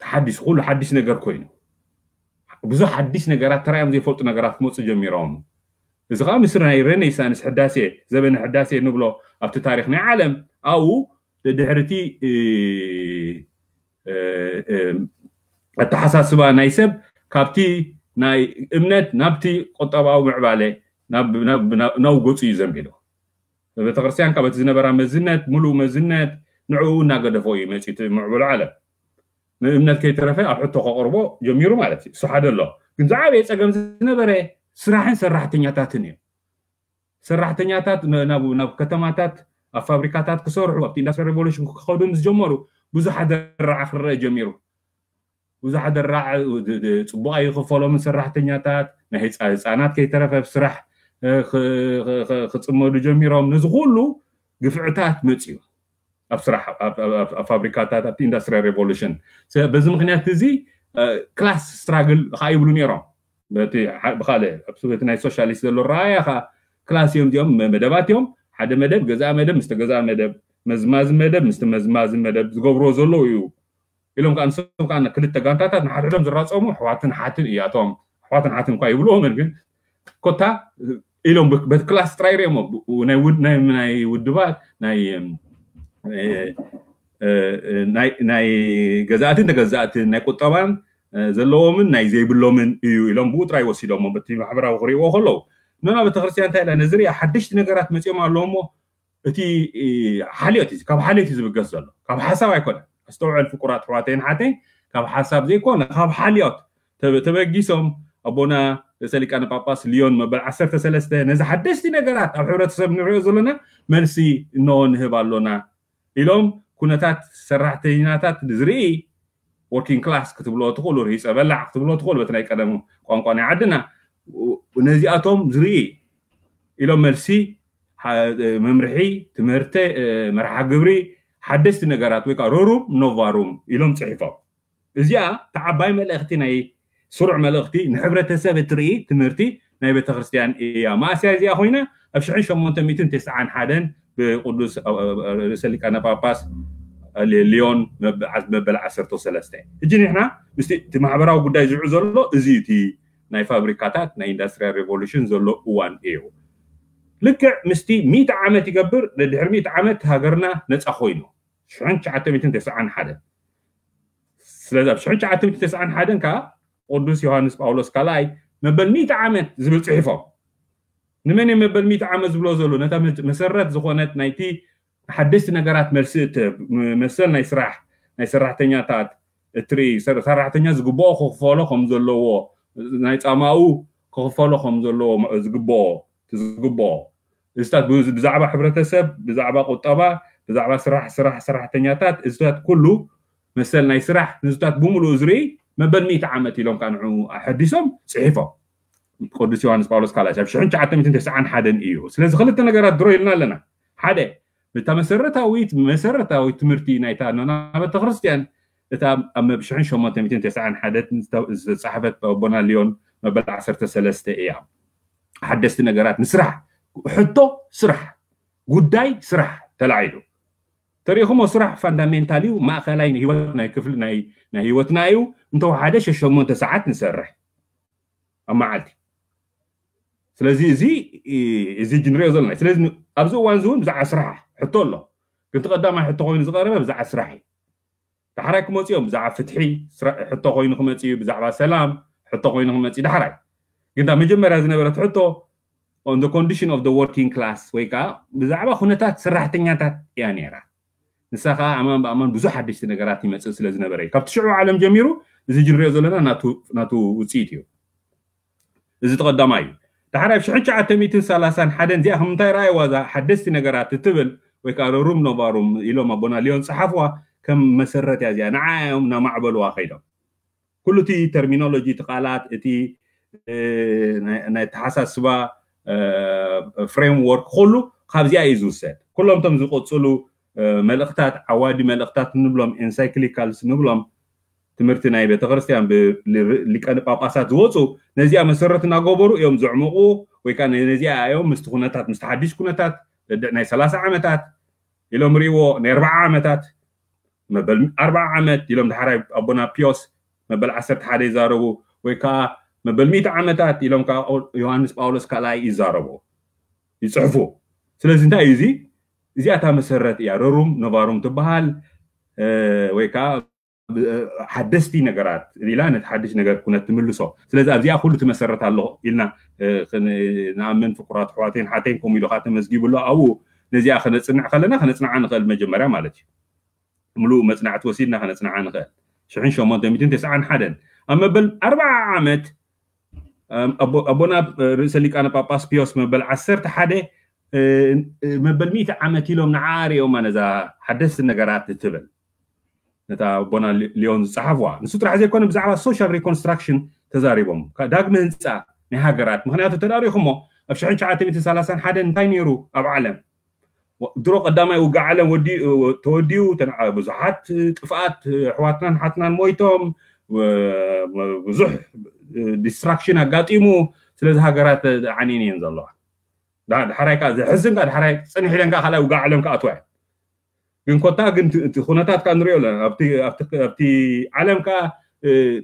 ተሓዲሱ ኩሉ ሓዲስ ነገር ኮይኑ ብዙሕ ሓዲስ ነገራት ተራዮም ዘይፈልጡ ነገራት ክመፁ ጀሚሮም። እዚ ከዓ ምስሪ ናይ ሬኔሳንስ ሕዳሴ ዘበነ ሕዳሴ ንብሎ ኣብቲ ታሪክ ናይ ዓለም ኣብኡ ድሕርቲ ኣተሓሳስባ ናይ ሰብ ካብቲ ናይ እምነት ናብቲ ቁጠባዊ ምዕባለ ናብ ገፁ እዩ ዘንቢሉ። ቤተክርስትያን ካብ እቲ ዝነበራ መዝነት፣ ሙሉእ መዝነት ንዕኡ እናገደፎ እዩ መፂኡ እቲ ምዕቡል ዓለም። ንእምነት ከይተረፈ ኣብ ሕቶ ከቕርቦ ጀሚሩ ማለት እዩ። እሱ ሓደ ኣሎ። ግን ዝዓበየ ፀገም ዝነበረ ስራሕን ሰራሕተኛታትን እዩ። ሰራሕተኛታት ናብ ከተማታት ኣብ ፋብሪካታት ክሰርሑ ኣብቲ ኢንዳስትሪያል ሬቮሉሽን ክኸዱ ምስ ጀመሩ ብዙሕ ኣደራዕ ክረአ ጀሚሩ። ብዙሕ ኣደራዕ ጽቡቕ ኣይኽፈሎምን ሰራሕተኛታት ናይ ህፃናት ከይተረፈ ስራሕ ክፅመዱ ጀሚሮም። ነዚ ኩሉ ግፍዕታት መፅዩ ኣብ ስራሕ ኣብ ፋብሪካታት ኣብቲ ኢንዳስትሪያል ሬቮሉሽን። በዚ ምክንያት እዚ ክላስ ስትራግል ከዓ ይብሉ ነይሮም። በቲ ብካልእ ኣብቲ ናይ ሶሻሊስት ዘሎ ረኣያ ከዓ ክላስ እዮም እዚኦም መደባት እዮም። ሓደ መደብ ገዛእ መደብ ምስቲ ገዛእ መደብ፣ መዝማዚ መደብ ምስቲ መዝማዚ መደብ ዝገብርዎ ዘለዉ እዩ ኢሎም ከዓ ንሶም ከዓ ክልተ ጋንታታት ንሓድሕዶም ዝራፀሙ ኣሕዋትን ሓትን እያቶም ኣሕዋትን ሓትን እኳ ይብልዎምን ግን ኮታ ኢሎም በቲ ክላስ ጥራይ ሪኦሞ ናይ ውድባት ናይ ገዛእትን ተገዛእትን ናይ ቁጠባን ዘለዎምን ናይ ዘይብሎምን እዩ ኢሎም ብኡ ጥራይ ወሲዶሞ በቲ ማሕበራዊ ክሪእዎ ከለዉ። ኖና ቤተክርስትያን እንታይ ኢላ ነዚ ሪኣ ሓደሽቲ ነገራት መፂኦም ኣለዎ እሞ እቲ ሓልዮት እዩ ካብ ሓልዮት እዩ ዝብገስ ዘሎ ካብ ሓሳብ ኣይኮነ። ኣስተውዕል ፍቁራት ኣሕዋተይን ሓተይን ካብ ሓሳብ ዘይኮነ ካብ ሓልዮት ተበጊሶም ኣቦና ርእሰ ሊቃነ ጳጳስ ሊዮን መበል ዓሰርተ ሰለስተ ነዚ ሓደሽቲ ነገራት ኣብ ሕብረተሰብ ንሪኦ ዘለና መልሲ እንሆ ንህብ ኣሎና ኢሎም ኩነታት ሰራሕተኛታት ዝርኢ ወርኪንግ ክላስ ክትብሎ ትኽእሉ ርሂፀ በላዕ ክትብሎ ትኽእሉ በቲ ናይ ቀደም ቋንቋ ናይ ዓድና ነዚኣቶም ዝርኢ ኢሎም መልሲ መምርሒ ትምህርቲ መርሓ ግብሪ ሓደሽቲ ነገራት ወይ ከዓ ሮሩም ኖቫሩም ኢሎም ፅሒፎም። እዚኣ ተዓባይ መልእኽቲ ናይ ስሩዕ መልእኽቲ ንሕብረተሰብ እትርኢ ትምህርቲ ናይ ቤተክርስትያን እያ። ማእስያ እዚኣ ኮይና ኣብ ሽሕን ሸሞንተ ሚእትን ተስዓን ሓደን ብቅዱስ ርእሰ ሊቃነ ጳጳስ ሊዮን መበል ዓሰርተ ሰለስተ። እጂ ንሕና ምስቲ እቲ ማሕበራዊ ጉዳይ ዝውዕ ዘሎ እዚ እቲ ናይ ፋብሪካታት ናይ ኢንዳስትሪያል ሬቮሉሽን ዘሎ እዋን እዩ። ልክዕ ምስቲ ሚእቲ ዓመት ይገብር ድሕሪ ሚእቲ ዓመት ሃገርና ነፃ ኮይኑ ሽሕን ትሽዓተ ሚእትን ተስዓን ሓደን። ስለዚ ኣብ ሽሕን ትሽዓተ ሚእትን ተስዓን ሓደን ከዓ ቅዱስ ዮሃንስ ጳውሎስ ካልኣይ መበል ሚእቲ ዓመት ዝብል ፅሒፎም። ንመን እዮም መበል ሚእቲ ዓመት ዝብሎ ዘሎ? ነታ መሰረት ዝኾነት ናይቲ ሓደሽቲ ነገራት መልሲ እትህብ መሰል ናይ ስራሕ ናይ ሰራሕተኛታት እትርኢ ሰራሕተኛ ዝግብኦ ክኽፈሎ ከም ዘለዎ ናይ ፃማኡ ክኽፈሎ ከም ዘለዎ ዝግብኦ ዝግብኦ እዚታት ብዛዕባ ሕብረተሰብ ብዛዕባ ቁጠባ ብዛዕባ ስራሕ ስራሕ ሰራሕተኛታት እዚታት ኩሉ መሰል ናይ ስራሕ ንዝታት ብምሉኡ ዝርኢ መበል ሚእቲ ዓመት ኢሎም ከዓ ንዑ ኣሐዲሶም ፅሒፎም። ቅዱስ ዮሃንስ ጳውሎስ ካልኣይ ኣብ ሽሕን ትሽዓተ ሚእትን ተስዓን ሓደን እዩ። ስለዚ ክልተ ነገራት ድሮ ኢልና ኣለና። ሓደ እታ መሰረታዊት መሰረታዊት ትምህርቲ ናይታ ኖና ቤተክርስትያን እታ ኣብ ሽሕን ሸሞንተ ሚእትን ተስዓን ሓደን ዝተፃሕፈት ኣቦና ሊዮን መበል ዓሰርተ ሰለስተ እያ። ሓደስቲ ነገራት ንስራሕ ሕቶ ስራሕ ጉዳይ ስራሕ ተላዒሉ ተሪእኹሞ ስራሕ ፋንዳሜንታል እዩ። ማእኸላይ ንህይወት ናይ ክፍሊ ናይ ህይወትና እዩ። እንተወሓደ ሸሸሞንተ ሰዓት ንሰርሕ ኣብ መዓልቲ። ስለዚ እዚ እዚ ንሪኦ ዘለና ስለዚ ኣብዚ እዋን እዚ እውን ብዛዕባ ስራሕ ሕቶ ኣሎ። ግን እቲ ቀዳማይ ሕቶ ኮይኑ ዝቀረበ ብዛዕባ ስራሕ እዩ። ዳሕራይ ክመፅኦም ብዛዕባ ፍትሒ ሕቶ ኮይኑ ክመፅ እዩ። ብዛዕባ ሰላም ሕቶ ኮይኑ ክመፅ እዩ ዳሕራይ። ግን እታ መጀመርያ ዝነበረት ሕቶ on the condition of the working class ወይ ከዓ ብዛዕባ ኩነታት ሰራሕተኛታት እያ ነይራ። ንሳ ከዓ ኣማን ብኣማን ብዙሕ ሓደሽቲ ነገራት ይመፅእ ስለ ዝነበረ እዩ። ካብቲ ሽዑ ዓለም ጀሚሩ እዚ ንሪኦ ዘለና ናቱ ውፅኢት እዩ። እዚ ተቐዳማይ እዩ። ዳሕራይ ኣብ ሽሕን ትሽዓተ ሚእትን ሰላሳን ሓደን እዚኣ ከም እንታይ ረኣይዋ እዛ ሓደስቲ ነገራት እትብል ወይ ከዓ ሮሩም ኖቫሩም ኢሎም ኣቦና ሊዮን ፀሓፍዋ ከም መሰረት እያ እዚኣ ንዓ እዮም እናማዕበልዋ ከይዶም። ኩሉ እቲ ተርሚኖሎጂ እቲ ቃላት እቲ ናይ ኣተሓሳስባ ፍሬምወርክ ኩሉ ካብዚኣ እዩ ዝውሰድ። ኩሎም እቶም ዝቕፅሉ መልእኽታት ዓዋዲ መልእኽታት ንብሎም ኤንሳይክሊካልስ ንብሎም ትምህርቲ ናይ ቤተክርስትያን ብሊቀን ጳጳሳት ዝወፁ ነዚኣ መሰረት እናገበሩ እዮም ዘዕምቑ ወይ ከዓ ነዚኣ እዮም ምስቲ ኩነታት ምስቲ ሓዲሽ ኩነታት ናይ ሰላሳ ዓመታት ኢሎም ሪእዎ ናይ ኣርባዓ ዓመታት መበል ኣርባዓ ዓመት ኢሎም ዳሕራይ ኣቦና ፒዮስ መበል ዓሰርተ ሓደ ይዛረቡ ወይ ከዓ መበል ሚእቲ ዓመታት ኢሎም ከዓ ዮሃንስ ጳውሎስ ካልኣይ ይዛረቡ ይፅሕፉ። ስለዚ እንታይ እዩ እዚ እዚኣታ መሰረት እያ ረሩም ነባሩም ትበሃል ወይ ከዓ ሓደስቲ ነገራት ኢላ ነቲ ሓድሽ ነገር ኩነት ትምልሶ። ስለዚ ኣብዚኣ ኩሉ ትመሰረት ኣሎ ኢልና ንኣምን ፍቁራት ኣሕዋተይን ሓተይን ከምኡ ኢሉ ከዓ ተመዝጊቡ ኣሎ ኣብኡ። ነዚኣ ከነፅንዕ ከለና ከነፅንዓ ንኽእል መጀመርያ ማለት እዩ። ምሉእ መፅናዕቲ ወሲድና ከነፅንዓ ንኽእል። ሽሕን ሸሞንተ ሚእትን ተስዓን ሓደን ኣብ መበል ኣርብዓ ዓመት ኣቦና ርእሰ ሊቃነ ጳጳስ ፒዮስ መበል ዓሰርተ ሓደ መበል ሚእቲ ዓመት ኢሎም ንዓ ርእዮማ ነዛ ሓደስቲ ነገራት እትብል ነታ ኣቦና ሊዮን ዝፀሓፍዋ። ንሱ ጥራሕ ዘይኮነ ብዛዕባ ሶሻል ሪኮንስትራክሽን ተዛሪቦም፣ ዳግመ ህንፃ ናይ ሃገራት። ምክንያቱ ተዳሪኹሞ ኣብ ሽሕን ትሽዓተ ሚእትን ሰላሳን ሓደን እንታይ ነይሩ ኣብ ዓለም? ድሮ ቀዳማይ ውግእ ዓለም ተወዲኡ፣ ብዙሓት ጥፍኣት ኣሕዋትናን ሓትናን ሞይቶም፣ ብዙሕ ዲስትራክሽን ኣጋጢሙ። ስለዚ ሃገራት ዓንየን እየን ዘለዋ። ዳሕራይ ከዓ ዘሕዝን፣ ዳሕራይ ፅንሕ ኢለን ከዓ ካልኣይ ውግእ ዓለም ክኣትዋ እየን። ግን ኮታ ግን እቲ ኩነታት ከዓ ንሪኦ ኣለና። ኣብቲ ዓለም ከዓ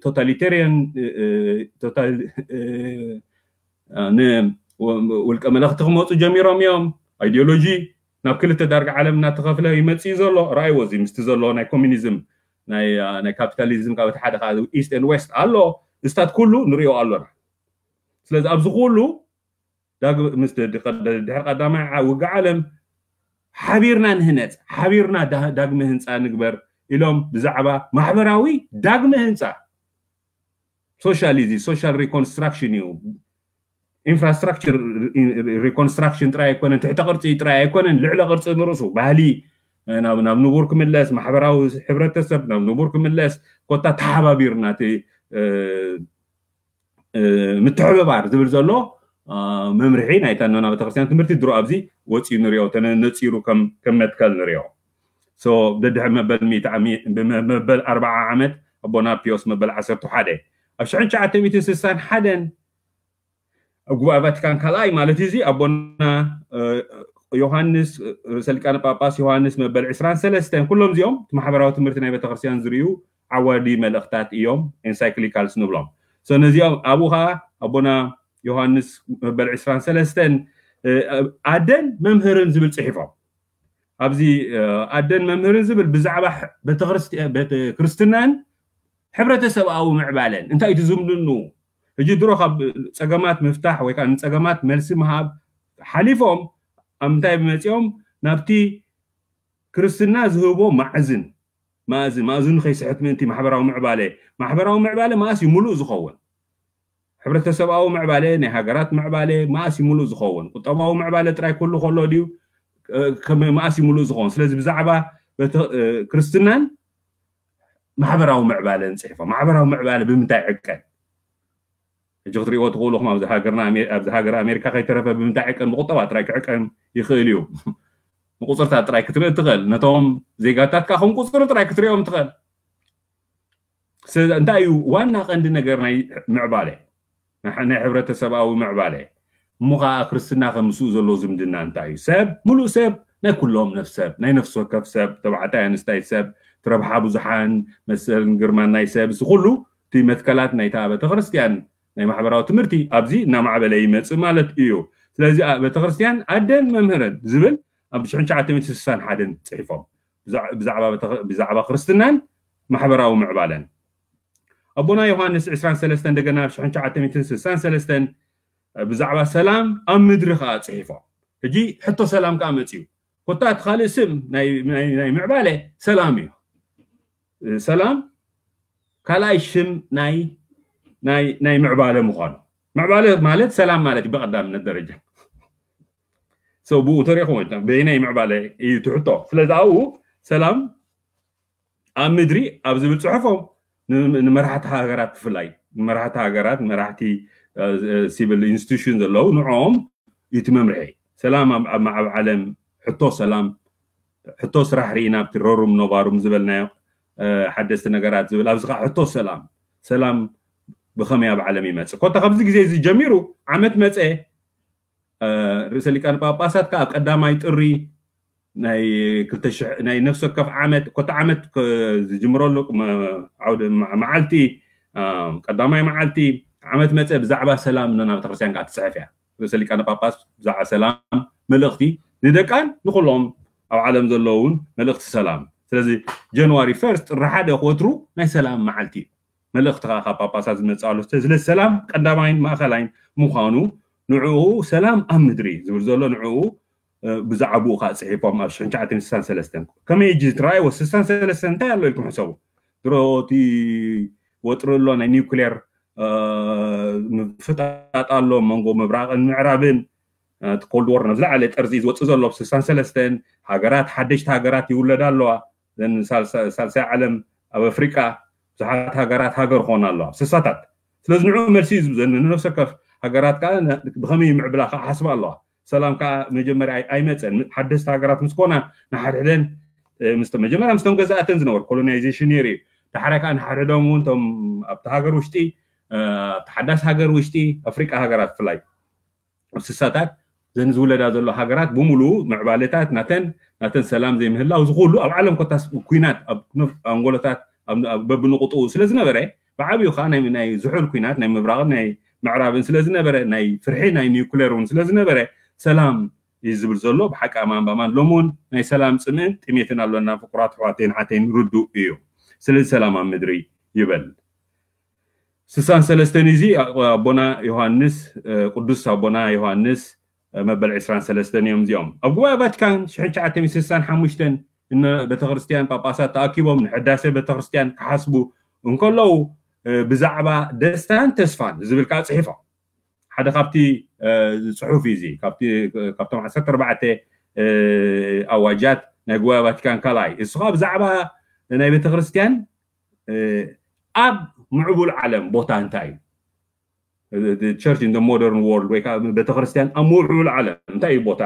ቶታሊቴሪያን ውልቀ መለኽቲ ክመፁ ጀሚሮም እዮም። ኣይዲዮሎጂ ናብ ክልተ ዳርጋ ዓለም እናተኸፍለ ይመፅእ እዩ ዘሎ። ራእይዎ እዚ ምስቲ ዘሎ ናይ ኮሚኒዝም ናይ ካፒታሊዝም ካብ እቲ ሓደ ከዓ ኢስት ኤንድ ዌስት ኣሎ። እስታት ኩሉ ንሪኦ ኣሎና። ስለዚ ኣብዚ ኩሉ ምስ ድሕሪ ቀዳማይ ውግእ ዓለም ሓቢርና ንህነፅ፣ ሓቢርና ዳግመ ህንፃ ንግበር ኢሎም ብዛዕባ ማሕበራዊ ዳግመ ህንፃ ሶሻል እዚ ሶሻል ሪኮንስትራክሽን እዩ። ኢንፍራስትራክቸር ሪኮንስትራክሽን ጥራይ ኣይኮነን፣ ትሕተ ቅርፂ ጥራይ ኣይኮነን፣ ልዕለ ቅርፂ ንርእሱ ባህሊ ናብ ንቡር ክምለስ፣ ማሕበራዊ ሕብረተሰብ ናብ ንቡር ክምለስ፣ ኮታ ተሓባቢርና እቲ ምትሕብባር ዝብል ዘሎ መምርሒ ናይታ ኖና ቤተክርስትያን ትምህርቲ ድሮ ኣብዚ ወፂኡ ንሪኦ፣ ነፂሩ ከም መትከል ንሪኦ። ደድሕሪ መበል ኣርብዓ ዓመት ኣቦና ፒዮስ መበል ዓሰርተ ሓደ ኣብ ሽሕን ትሽዓተ ሚእትን ስሳን ሓደን ኣብ ጉባኤ ቫቲካን ካልኣይ ማለት እዚ ኣቦና ዮሃንስ፣ ርእሰ ሊቃነ ጳጳስ ዮሃንስ መበል ዕስራን ሰለስተን፣ ኩሎም እዚኦም እቲ ማሕበራዊ ትምህርቲ ናይ ቤተክርስትያን ዝርእዩ ዓዋዲ መልእኽታት እዮም፣ ኤንሳይክሊካልስ ንብሎም። ነዚኦም ኣብኡ ከዓ ኣቦና ዮሃንስ መበል ዕስራን ሰለስተን ኣደን መምህርን ዝብል ፅሒፎም። ኣብዚ ኣደን መምህርን ዝብል ብዛዕባ ቤተክርስትናን ሕብረተሰብኣዊ ምዕባለን እንታይ እቲ ዝምድንኡ? ሕጂ ድሮ ካብ ፀገማት ምፍታሕ ወይ ከዓ ንፀገማት መልሲ ምሃብ ሓሊፎም ኣብ ምንታይ መፂኦም? ናብቲ ክርስትና ዝህቦ ማዕዝን፣ ማእዝን ማእዝኑ ከይስሕት ምእንቲ ማሕበራዊ ምዕባለ። ማሕበራዊ ምዕባለ መኣስ እዩ ሙሉእ ዝኸውን? ሕብረተሰብኣዊ ምዕባለ፣ ናይ ሃገራት ምዕባለ መኣስ እዩ ሙሉእ ዝኸውን? ቁጠባዊ ምዕባለ ጥራይ ኩሉ ከሎ ድዩ መኣስ እዩ ሙሉእ ዝኸውን? ስለዚ ብዛዕባ ክርስትናን ማሕበራዊ ምዕባለን ፅሒፎም። ማሕበራዊ ምዕባለ ብምንታይ ዕቀን? ሕጂ ክትሪእዎ ትኽእሉ ኢኹም። ኣብዚ ሃገርና ኣብዚ ሃገር ኣሜሪካ ከይተረፈ ብምንታይ ዕቀን? ብቁጠባ ጥራይ ክዕቀን ይኽእል እዩ። ብቁፅርታት ጥራይ ክትርኢ ትኽእል። ነቶም ዜጋታት ከዓ ከም ቁፅሪ ጥራይ ክትሪኦም ትኽእል። ስለዚ እንታይ እዩ ዋና ቀንዲ ነገር ናይ ምዕባለ ናይ ሕብረተሰብኣዊ ምዕባለ? እሞ ከዓ ክርስትና ከም ምስኡ ዘሎ ዝምድና እንታይ እዩ? ሰብ፣ ሙሉእ ሰብ፣ ናይ ኩሎም ነፍሰብ፣ ናይ ነፍሲ ወከፍ ሰብ፣ ተባዕታይ ኣንስታይ ሰብ፣ እቲ ረብሓ ብዙሓን፣ መሰልን ግርማን ናይ ሰብ፣ እዚ ኩሉ እቲ መትከላት ናይታ ቤተክርስትያን ናይ ማሕበራዊ ትምህርቲ ኣብዚ እናማዕበለ ይመፅእ ማለት እዩ። ስለዚ ቤተክርስትያን ኣደን መምህርን ዝብል ኣብ ሽሕን ትሽዓተ ሚእትን ስሳን ሓደን ፅሒፎም ብዛዕባ ክርስትናን ማሕበራዊ ምዕባለን ኣቦና ዮሃንስ ዕስራን ሰለስተን እንደገና ኣብ ሽሕን ትሽዓተ ሚእትን ስሳን ሰለስተን ብዛዕባ ሰላም ኣብ ምድሪ ከዓ ፅሒፎም። ሕጂ ሕቶ ሰላም ከዓ መፅዩ። ኮታ እቲ ካልእ ስም ናይ ምዕባለ ሰላም እዩ። ሰላም ካልኣይ ሽም ናይ ምዕባለ ምዃኑ። ምዕባለ ማለት ሰላም ማለት እዩ ብቐዳምነት ደረጃ። ብኡ ተሪኹም በይናይ ምዕባለ እዩ ትሕቶ። ስለዚ ኣብኡ ሰላም ኣብ ምድሪ ኣብ ዝብል ፅሑፎም ንመራሕቲ ሃገራት ብፍላይ ንመራሕቲ ሃገራት ንመራሕቲ ሲቪል ኢንስቲቱሽን ዘለዉ ንዕኦም እቲ መምርሒ ሰላም ኣብ ዓለም ሕቶ ሰላም ሕቶ ስራሕ ርኢና ኣብቲ ረሩም ነባሩም ዝበልናዮ ሓደስቲ ነገራት ዝብል ኣብዚ ከዓ ሕቶ ሰላም ሰላም ብኸመይ ኣብ ዓለም ይመፅእ ኮታ ካብዚ ግዜ እዚ ጀሚሩ ዓመት መፀ ርእሰ ሊቃነ ጳጳሳት ከዓ ኣብ ቀዳማይ ጥሪ ናይ ክልተ ሽሕ ናይ ነፍሲ ወከፍ ዓመት ኮታ ዓመት ዝጅምረሉ ዓውደ መዓልቲ ቀዳማይ መዓልቲ ዓመት መፀ ብዛዕባ ሰላም ነና ቤተክርስትያን ከዓ ትፅሕፍ እያ። ርእሰ ሊቃነ ጳጳስ ብዛዕባ ሰላም መልእኽቲ ንደቃን ንኩሎም ኣብ ዓለም ዘለውን መልእኽቲ ሰላም። ስለዚ ጃንዋሪ ፈርስት ጥሪ ሓደ ክወትሩ ናይ ሰላም መዓልቲ እዩ። መልእኽቲ ከዓ ካብ ጳጳሳት ዝመፅእ ኣሎ። ስለ ሰላም ቀዳማይን ማእኸላይን ምዃኑ ንዕኡ ሰላም ኣብ ምድሪ ዝብል ዘሎ ንዕኡ ብዛዕባኡ ከዓ ፅሒፎም ኣብ ሽሕን ትሽዓተ ሚእትን ስሳን ሰለስተን። ከመይ እጂ ትረኣይዎ? ስሳን ሰለስተን እንታይ ኣሎ ኢልኩም ሕሰቡ። ድሮ እቲ ወጥሪ ኣሎ ናይ ኒውክሌር ምፍጣጥ ኣሎ መንጎ ምብራቕን ምዕራብን። እቲ ኮልድ ወር ነብዝለዓለ ጠርዚ እዩ ዝወፅእ ዘሎ። ኣብ ስሳን ሰለስተን ሃገራት ሓደሽቲ ሃገራት ይውለዳ ኣለዋ። ሳልሳይ ዓለም ኣብ ኣፍሪቃ ብዙሓት ሃገራት ሃገር ክኾና ኣለዋ ኣብ ስሳታት። ስለዚ ንዑ መልሲ እዩ ዝብዘኒ። ንነፍሰ ከፍ ሃገራት ከዓ ብኸመይ ምዕብላ ከዓ ሓስባ ኣለዋ። ሰላም ከዓ መጀመርያ ኣይመፀን። ሓደስቲ ሃገራት ምስ ኮና ንሓድሕደን መጀመርያ ምስቶም ገዛእተን ዝነበሩ ኮሎናይዜሽን ነይሩ እዩ። ዳሕራይ ከዓ ንሓድሕዶም እውን ቶም ኣብቲ ሃገር ውሽጢ ኣብቲ ሓዳስ ሃገር ውሽጢ ኣፍሪቃ ሃገራት ብፍላይ ኣብ ስሳታት ዘን ዝውለዳ ዘሎ ሃገራት ብምሉ ምዕባለታት ናተን ናተን ሰላም ዘይምህላው እዚ ኩሉ ኣብ ዓለም ኮታስ ኩናት ኣብ ኣንጎሎታት በብንቁጥኡ ስለ ዝነበረ ብዓብዩ ከዓ ናይ ዝሑል ኩናት ናይ ምብራቕን ናይ ምዕራብን ስለ ዝነበረ ናይ ፍርሒ ናይ ኒውክሌር እውን ስለ ዝነበረ ሰላም እዩ ዝብል ዘሎ። ብሓቂ ኣማን ብኣማን ሎም እውን ናይ ሰላም ፅምእን ጥሜትን ኣሎና። ፍቁራት ኣሕዋተይን ሓተይን ርዱእ እዩ። ስለዚ ሰላም ኣብ ምድሪ ይበል። ስሳን ሰለስተን እዚ ኣቦና ዮሃንስ ቅዱስ ኣቦና ዮሃንስ መበል ዕስራን ሰለስተን እዮም እዚኦም። ኣብ ጉባኤ ቫቲካን ሽሕን ትሽዓተ ሚእትን ስሳን ሓሙሽተን እነ ቤተክርስትያን ጳጳሳት ተኣኪቦም ንሕዳሴ ቤተክርስትያን ክሓስቡ እንከለዉ ብዛዕባ ደስታን ተስፋን ዝብል ከዓ ፅሒፎም። ሓደ ካብቲ ፅሑፍ እዩ እዚ ካብቶም ዓሰርተ ኣርባዕተ ኣዋጃት ናይ ጉባኤ ቫቲካን ካልኣይ እሱ ከዓ ብዛዕባ ናይ ቤተክርስትያን ኣብ ምዕቡል ዓለም ቦታ እንታይ እዩ? ቸርች ኢን ሞደርን ወርልድ ወይ ከዓ ቤተክርስትያን ኣብ ምዕቡል ዓለም እንታይ እዩ ቦታ?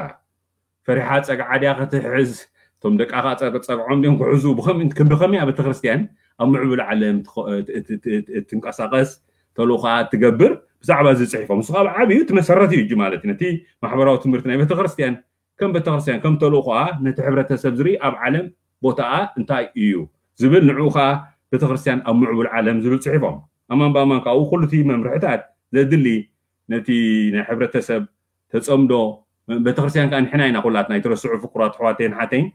ፈሪሓ ፀግዓ ድያ ክትሕዝ? እቶም ደቃ ጸግዖም ድዮም ክሕዙ? ብኸመይ ኣብ ቤተክርስትያን ኣብ ምዕቡል ዓለም ትንቀሳቀስ ተልእኾ ትገብር ብዛዕባ እዚ ፅሒፎም። ንሱ ካብ ዓብዩ እቲ መሰረት እዩ ማለት እዩ። ነቲ ማሕበራዊ ትምህርቲ ናይ ቤተክርስትያን ከም ቤተክርስትያን ከም ተልእኾኣ ነቲ ሕብረተሰብ ዝርኢ ኣብ ዓለም ቦታኣ እንታይ እዩ ዝብል ንዕኡ ከዓ ቤተክርስትያን ኣብ ምዕቡል ዓለም ዝብል ፅሒፎም። ኣማን ብኣማን ካብኡ ኩሉ እቲ መምርሕታት ዘድሊ ነቲ ናይ ሕብረተሰብ ተፀምዶ ቤተክርስትያን ከዓ ንሕና ኢና ኩላትና ኣይትረስዑ ፍቁራት ኣሕዋተይን ሓተይን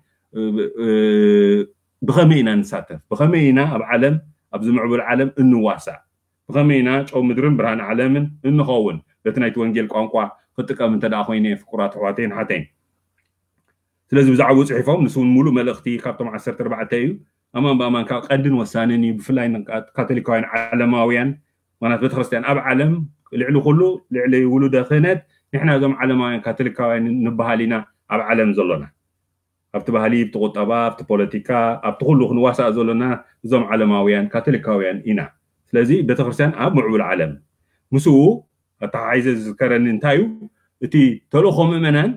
ብኸመይ ኢና ንሳተፍ ብኸመይ ኢና ኣብ ዓለም ኣብዚ ምዕቡል ዓለም እንዋሳእ ብኸመይ ኢና ጨው ምድርን ብርሃን ዓለምን እንኸውን በቲ ናይቲ ወንጌል ቋንቋ ክጥቀም እንተ ደኣ ኮይነ ፍቁራት ኣሕዋተይን ሓተይን። ስለዚ ብዛዕባኡ ፅሒፎም ንሱ እውን ሙሉእ መልእኽቲ ካብቶም ዓሰርተ ኣርባዕተ እዩ። ኣማን ብኣማን ካብ ቀንድን ወሳንን እዩ ብፍላይ ካቶሊካውያን ዓለማውያን ምክንያት ቤተክርስትያን ኣብ ዓለም ልዕሊ ኩሉ ልዕሊ ውሉደ ክህነት ንሕና እዞም ዓለማውያን ካቶሊካውያን ንበሃል ኢና ኣብ ዓለም ዘሎና ኣብቲ ባህሊ ኣብቲ ቁጠባ ኣብቲ ፖለቲካ ኣብቲ ኩሉ ክንዋሳእ ዘሎና እዞም ዓለማውያን ካቶሊካውያን ኢና። ስለዚ ቤተክርስትያን ኣብ ምዕቡል ዓለም ምስኡ ኣተሓሒዘ ዝዝከረኒ እንታይ እዩ እቲ ተልእኮ ምእመናን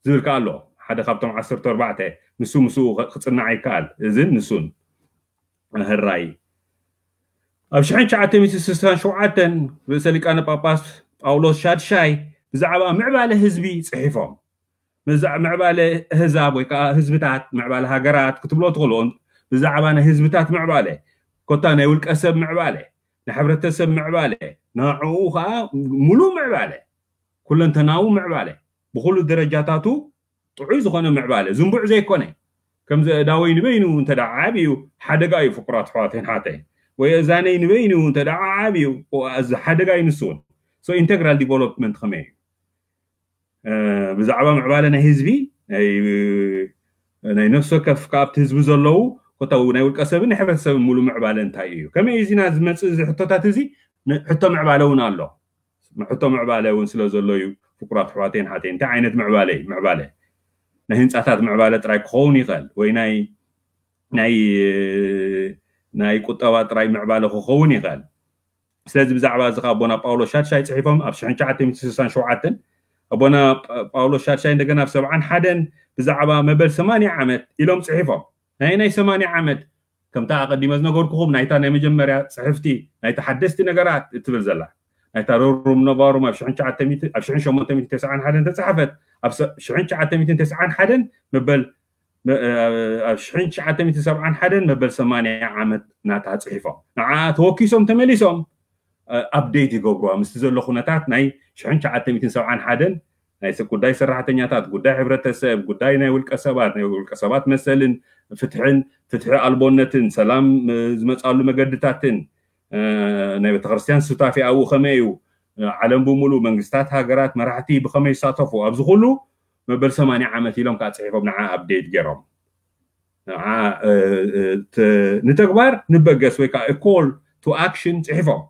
ዝብል ከኣ ኣሎ ሓደ ካብቶም ዓሰርተ ኣርባዕተ ንሱ ምስኡ ክፅናዕ ይከኣል። እዝን ንሱን ህራይ ኣብ ሽሕን ትሽዓተ ሚእትን ስሳን ሸውዓተን ርእሰ ሊቃነ ጳጳስ ጳውሎስ ሻድሻይ ብዛዕባ ምዕባለ ህዝቢ ፅሒፎም ምዕባለ ህዛብ ወይ ከዓ ህዝብታት ምዕባለ ሃገራት ክትብሎ ትኽእልኦ ብዛዕባ ናይ ህዝብታት ምዕባለ ኮታ ናይ ውልቀ ሰብ ምዕባለ ናይ ሕብረተሰብ ምዕባለ ንዕኡ ከዓ ሙሉእ ምዕባለ ኩለንተናዊ ምዕባለ ብኩሉ ደረጃታቱ ጥዑይ ዝኾነ ምዕባለ ዝንቡዕ ዘይኮነ ከምዚ እዳወይ ንበይኑ እንተ ዓብዩ ሓደጋ እዩ ፍቁራት ኣሕዋተይን ሓተይን ወይ እዛነይ ንበይኑ እንተ ዓብዩ እዚ ሓደጋ እዩ ንሱ እውን ኢንቴግራል ዲቨሎፕመንት ከመይ እዩ ብዛዕባ ምዕባለ ናይ ህዝቢ ናይ ነፍሲ ወከፍ ካብቲ ህዝቢ ዘለዉ ኮታ ናይ ውልቀ ሰብን ናይ ሕብረተሰብን ሙሉ ምዕባለ እንታይ እዩ ከመይ እዩ እዚና ዝመፅእ እዚ ሕቶታት እዚ ሕቶ ምዕባለ እውን ኣሎ ሕቶ ምዕባለ እውን ስለ ዘሎ እዩ ፍቁራት ኣሕዋተይን ሓተይን እንታይ ዓይነት ምዕባለ እዩ ምዕባለ ናይ ህንፃታት ምዕባለ ጥራይ ክኸውን ይኽእል ወይ ናይ ናይ ናይ ቁጠባ ጥራይ ምዕባለ ክኸውን ይኽእል ስለዚ ብዛዕባ እዚ ኣቦና ጳውሎስ ሻድሻይ ፅሒፎም ኣብ ሽሕን ትሽዓተ ሚእትን ስሳን ሸውዓተን ኣቦና ጳውሎስ ሻድሻይ እንደገና ኣብ ሰብዓን ሓደን ብዛዕባ መበል ሰማንያ ዓመት ኢሎም ፅሒፎም ናይ ናይ ሰማንያ ዓመት ከምታ ኣቐዲመ ዝነገርኩኹም ናይታ ናይ መጀመርያ ፅሕፍቲ ናይታ ሓደስቲ ነገራት እትብል ዘላ ናይታ ሮሩም ነባሩም ኣብ ሽሕን ሸሞንተ ሚእትን ተስዓን ሓደን ተፃሓፈት ኣብ ሽሕን ትሽዓተ ሚእትን ተስዓን ሓደን መበል ኣብ ሽሕን ትሽዓተ ሚእትን ሰብዓን ሓደን መበል ሰማንያ ዓመት ናታ ፅሒፎም ንዓ ተወኪሶም ተመሊሶም ኣፕዴት ይገብሩዋ ምስቲ ዘሎ ኩነታት ናይ ሽሕን ትሽዓተ ሚእትን ሰብዓን ሓደን ናይ ጉዳይ ሰራሕተኛታት ጉዳይ ሕብረተሰብ ጉዳይ ናይ ውልቀ ሰባት ናይ ውልቀ ሰባት መሰልን ፍትሕን ፍትሒ ኣልቦነትን ሰላም ዝመፃሉ መገድታትን ናይ ቤተክርስትያን ሱታፌ ኣብኡ ከመይ እዩ ዓለም ብምሉእ መንግስታት ሃገራት መራሕቲ ብከመይ ይሳተፉ ኣብዚ ኩሉ መበል ሰማንያ ዓመት ኢሎም ከዓ ፅሒፎም ንዓ ኣፕዴት ገይሮም ንዓ ንተግባር ንበገስ ወይ ከዓ ኮል ቱ ኣክሽን ፅሒፎም።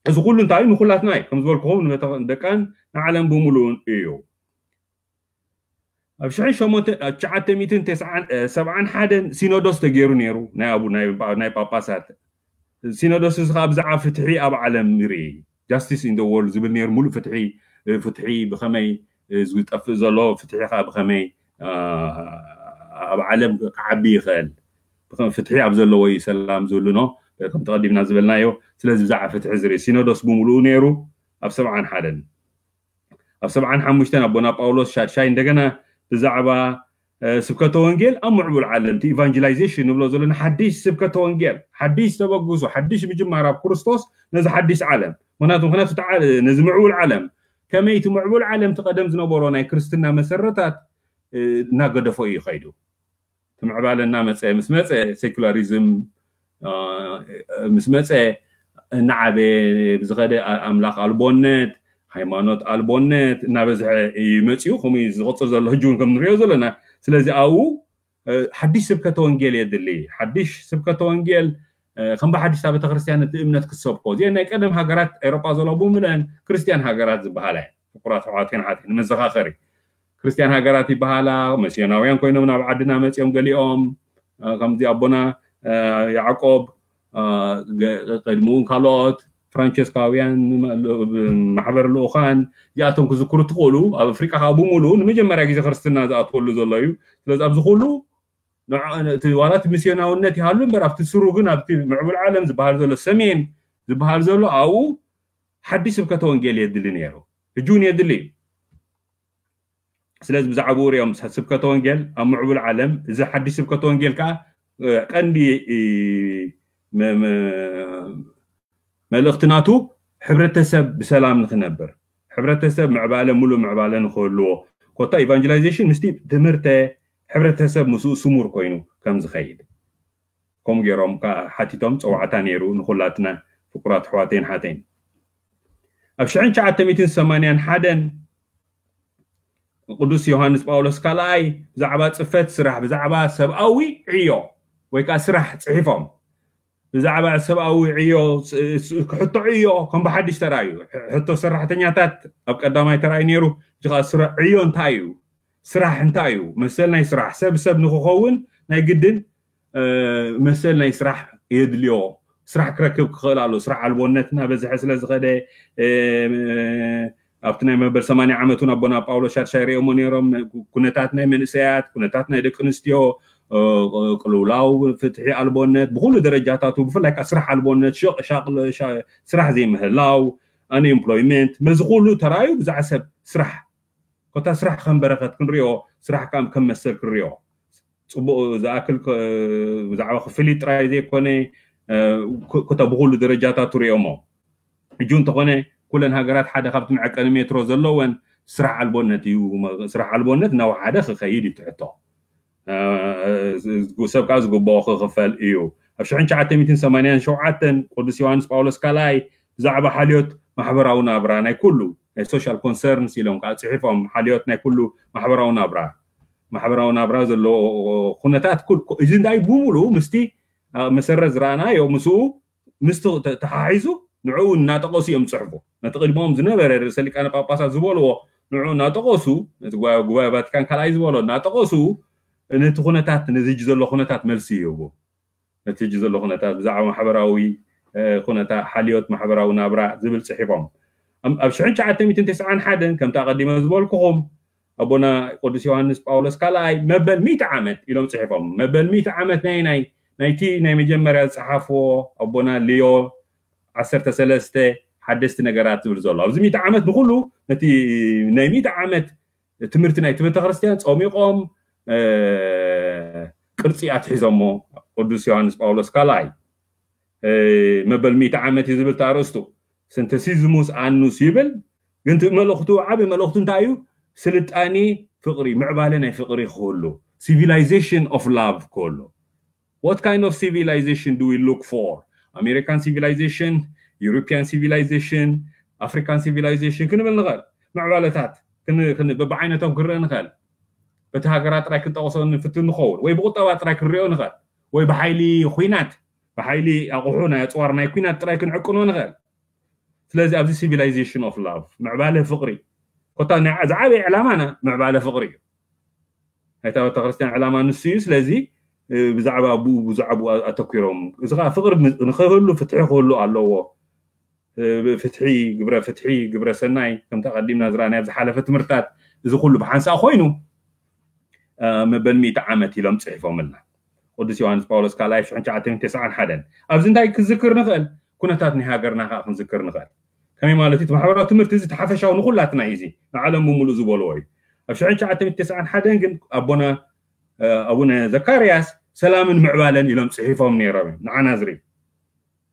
እዚ ኩሉ እንታይ ንኩላትና እዩ ከም ዝበልኩኹም ንደቃን ንዓለም ብምሉኡን እዩ። ኣብ ሽሕን ሸሞንተ ኣብ ትሽዓተ ሚእትን ተስዓን ሰብዓን ሓደን ሲኖዶስ ተገይሩ ነይሩ ናይ ኣቡ ናይ ጳጳሳት። ሲኖዶስ እዚ ከዓ ብዛዕባ ፍትሒ ኣብ ዓለም ይርኢ፣ ጃስቲስ ኢን ወርልድ ዝብል ነይሩ። ሙሉእ ፍትሒ ፍትሒ ብኸመይ ዝጠፍእ ዘሎ፣ ፍትሒ ከዓ ብኸመይ ኣብ ዓለም ክዓቢ ይኽእል፣ ፍትሒ ኣብ ዘለዎ እዩ ሰላም ዝህሉ ኖ ከም ተቐዲምና ዝበልናዮ። ስለዚ ብዛዕባ ፍትሒ ዝርኢ ሲኖዶስ ብምሉኡ ነይሩ። ኣብ ሰብዓን ሓደን ኣብ ሰብዓን ሓሙሽተን ኣቦና ጳውሎስ ሻድሻይ እንደገና ብዛዕባ ስብከተ ወንጌል ኣብ ምዕቡል ዓለም እቲ ኢቫንጀላይዜሽን ንብሎ ዘለና ሓድሽ ስብከተ ወንጌል ሓድሽ ተበግሶ ሓድሽ ምጅማር ኣብ ክርስቶስ ነዚ ሓድሽ ዓለም ምክንያቱ ምክንያቱ ነዚ ምዕቡል ዓለም ከመይ እቲ ምዕቡል ዓለም እቲ ቀደም ዝነበሮ ናይ ክርስትና መሰረታት እናገደፎ እዩ ከይዱ። እቲ ምዕባለ እናመፀ ምስ መፀ ሴኩላሪዝም ምስ መፀ እናዓበየ ብዝኸደ ኣምላኽ ኣልቦነት ሃይማኖት ኣልቦነት እናበዝሐ እዩ መፂኡ። ከምኡ ዝቕፅል ዘሎ ሕጂ እውን ከም ንሪኦ ዘለና። ስለዚ ኣብኡ ሓድሽ ስብከተ ወንጌል የድሊ። ሓድሽ ስብከተ ወንጌል ከም ብሓድሽታ ቤተክርስትያን እቲ እምነት ክሰብኮ እዚአን ናይ ቀደም ሃገራት ኤሮጳ ዘሎ ብምለን ክርስትያን ሃገራት ዝበሃላ እየን። ፍቁራት ኣሕዋትን ሓትን ንመዘኻኸሪ ክርስትያን ሃገራት ይበሃላ። መስዮናውያን ኮይኖም ናብ ዓድና መፅኦም ገሊኦም ከምዚ ኣቦና ያዕቆብ ቅድሚኡ ካልኦት ፍራንቸስካውያን ማሕበር ልኡኻን እዚኣቶም ክዝክሩ ትኽእሉ ኣብ ኣፍሪቃ ከዓ ብምሉ ንመጀመርያ ግዜ ክርስትና ዝኣትወሉ ዘሎ እዩ። ስለዚ ኣብዚ ኩሉ ዋላ እቲ ሚስዮናውነት ይሃሉ እምበር ኣብቲ ስሩ ግን ኣብቲ ምዕቡል ዓለም ዝበሃል ዘሎ ሰሜን ዝበሃል ዘሎ ኣብኡ ሓድሽ ስብከተ ወንጌል የድሊ ነይሩ። ሕጂ እውን የድሊ እዩ። ስለዚ ብዛዕባኡ ሪኦም ስብከተ ወንጌል ኣብ ምዕቡል ዓለም እዚ ሓድሽ ስብከተ ወንጌል ከዓ ቀንዲ መልእኽቲ ናቱ ሕብረተሰብ ብሰላም ንክነብር ሕብረተሰብ ምዕባለ ሙሉእ ምዕባለ ንክህልዎ ኮታ ኢቫንጀላይዜሽን ምስቲ ትምህርተ ሕብረተሰብ ምስኡ ስሙር ኮይኑ ከም ዝኸይድ ከምኡ ገይሮም ሓቲቶም ፀዋዕታ ነይሩ ንኩላትና ፍቁራት ኣሕዋተይን ሓተይን። ኣብ ሽሕን ትሽዓተ ሚእትን ሰማንያን ሓደን ቅዱስ ዮሃንስ ጳውሎስ ካልኣይ ብዛዕባ ፅፈት ስራሕ ብዛዕባ ሰብኣዊ ዕዮ ወይ ከዓ ስራሕ ፅሒፎም ብዛዕባ ሰብኣዊ ዕዮ ክሕቶ ዕዮ ከም ብሓድሽ ተራእዩ ሕቶ ሰራሕተኛታት ኣብ ቀዳማይ ተራእዩ ነይሩ። እዚ ከዓ ዕዮ እንታይ እዩ? ስራሕ እንታይ እዩ? መሰል ናይ ስራሕ ሰብ ሰብ ንክኸውን ናይ ግድን መሰል ናይ ስራሕ የድልዮ። ስራሕ ክረክብ ክኽእል ኣሎ። ስራሕ ኣልቦነት እናበዝሐ ስለ ዝኸደ ኣብቲ ናይ መበል ሰማንያ ዓመት እውን ኣቦና ጳውሎስ ሻድሻይ ርእዮሞ ነይሮም። ኩነታት ናይ መንእሰያት፣ ኩነታት ናይ ደቂ ኣንስትዮ፣ ቅልውላው፣ ፍትሒ ኣልቦነት ብኩሉ ደረጃታቱ ብፍላይ ከዓ ስራሕ ኣልቦነት፣ ስራሕ ዘይምህላው፣ ኣንኤምፕሎይመንት፣ መዚ ኩሉ ተራዩ ብዛዕባ ሰብ ስራሕ ኮታ ስራሕ ከም በረከት ክንሪኦ ስራሕ ከዓ ከም መሰል ክንሪኦ ፅቡቅ ዝኣክል ብዛዕባ ክፍሊት ጥራይ ዘይኮነ ኮታ ብኩሉ ደረጃታት ሪኦሞ ሕጂ እንተኾነ ኩለን ሃገራት ሓደ ካብቲ መዐቀኒ ሜትሮ ዘለወን ስራሕ ኣልቦነት እዩ። ስራሕ ኣልቦነት እናወሓደ ክኸይድ እዩ ትሕቶ ሰብ ከዓ ዝግብኦ ክኽፈል እዩ። ኣብ ሽሕን ትሽዓተ ሚእትን ሰማንያን ሸውዓተን ቅዱስ ዮሃንስ ጳውሎስ ካልኣይ ብዛዕባ ሓልዮት ማሕበራዊ ናብራ ናይ ኩሉ ናይ ሶሻል ኮንሰርንስ ኢሎም ከዓ ፅሒፎም ሓልዮት ናይ ኩሉ ማሕበራዊ ናብራ ማሕበራዊ ናብራ ዘለዎ ኩነታት እዚ እንታይ ብምሉ ምስቲ መሰረት ዝረኣናዮ ምስኡ ምስቲ ተሓሒዙ ንዕኡ እናጠቀሱ እዮም ዝፅሕፉ። ነቲ ቅድሞም ዝነበረ ርእሰ ሊቃነ ጳጳሳት ዝበልዎ ንዕኡ እናጠቀሱ ነቲ ጉባኤ ቫቲካን ካልኣይ ዝበሎ እናጠቀሱ ነቲ ኩነታት ነዚ ሕጂ ዘሎ ኩነታት መልሲ ይህቡ። ነቲ ሕጂ ዘሎ ኩነታት ብዛዕባ ማሕበራዊ ኩነታት ሓልዮት ማሕበራዊ ናብራ ዝብል ፅሒፎም ኣብ ሽሕን ትሽዓተ ሚእትን ተስዓን ሓደን ከምቲ ኣቐዲመ ዝበልኩኹም ኣቦና ቅዱስ ዮሃንስ ጳውሎስ ካልኣይ መበል ሚእቲ ዓመት ኢሎም ፅሒፎም። መበል ሚእቲ ዓመት ናይ ናይ ናይቲ ናይ መጀመርያ ዝፀሓፍዎ ኣቦና ሊዮ ዓሰርተ ሰለስተ ሓደስቲ ነገራት ዝብል ዘሎ ኣብዚ ሚእቲ ዓመት ንኩሉ ነቲ ናይ ሚእቲ ዓመት ትምህርቲ ናይቲ ቤተክርስትያን ፀሚቆም ቅርፂ ኣትሒዞሞ ቅዱስ ዮሃንስ ጳውሎስ ካልኣይ መበል ሚእቲ ዓመት እዩ ዝብል ተኣርእስቱ ስንተሲዝሙስ ኣኑስ ይብል። ግን እቲ መልእኽቱ ዓቢ መልእኽቱ እንታይ እዩ? ስልጣኔ ፍቕሪ ምዕባለ ናይ ፍቕሪ ክህሉ civilization of love ክህሉ What kind of civilization do we look for? American civilization, European civilization, African civilization ክንብል ንኽእል። ምዕባለታት በብዓይነቶም ክንርኢ ንኽእል። በቲ ሃገራት ጥራይ ክንጠቕሶ ንፍትን ንኸውን፣ ወይ ብቁጠባ ጥራይ ክንሪኦ ንኽእል፣ ወይ ብሓይሊ ኹናት፣ ብሓይሊ ኣቑሑ ናይ ኣፅዋር ናይ ኩናት ጥራይ ክንዕቅኖ ንኽእል። ስለዚ ኣብዚ civilization of love፣ ምዕባለ ፍቕሪ፣ ኮታ ዝዓበየ ዕላማና ምዕባለ ፍቕሪ እዩ። ናይታ ቤተክርስትያን ዕላማ ንሱ እዩ። ስለዚ ብዛዕባ ብኡ ብዛዕባኡ ኣተኪሮም፣ እዚ ከዓ ፍቕሪ ንክህሉ ፍትሒ ክህሉ ኣለዎ። ፍትሒ፣ ግብረ ፍትሒ፣ ግብረ ሰናይ፣ ከምቲ ኣቐዲምና ዝረኣናዮ ኣብ ዝሓለፈ ትምህርትታት፣ እዚ ኩሉ ብሓንሳእ ኮይኑ መበል ሚእቲ ዓመት ኢሎም ፅሒፎምልና። ቅዱስ ዮሃንስ ጳውሎስ ካልኣይ ሽሕን ትሽዓተ ሚእትን ተስዓን ሓደን። ኣብዚ እንታይ ክዝክር ንኽእል? ኩነታት ናይ ሃገርና ከዓ ክንዝክር ንኽእል። ከመይ ማለት እዩ? እቲ ማሕበራዊ ትምህርቲ እዚ ተሓፈሻዊ ንኩላትና እዩ። እዚ ንዓለም ብምሉእ ዝበልዎ እዩ። ኣብ ሽሕን ትሽዓተ ሚእትን ተስዓን ሓደን ግን ኣቦና ኣቡነ ዘካርያስ ሰላምን ምዕባለን ኢሎም ፅሒፎም ነይሮም እዮም። ንዓና ዝርኢ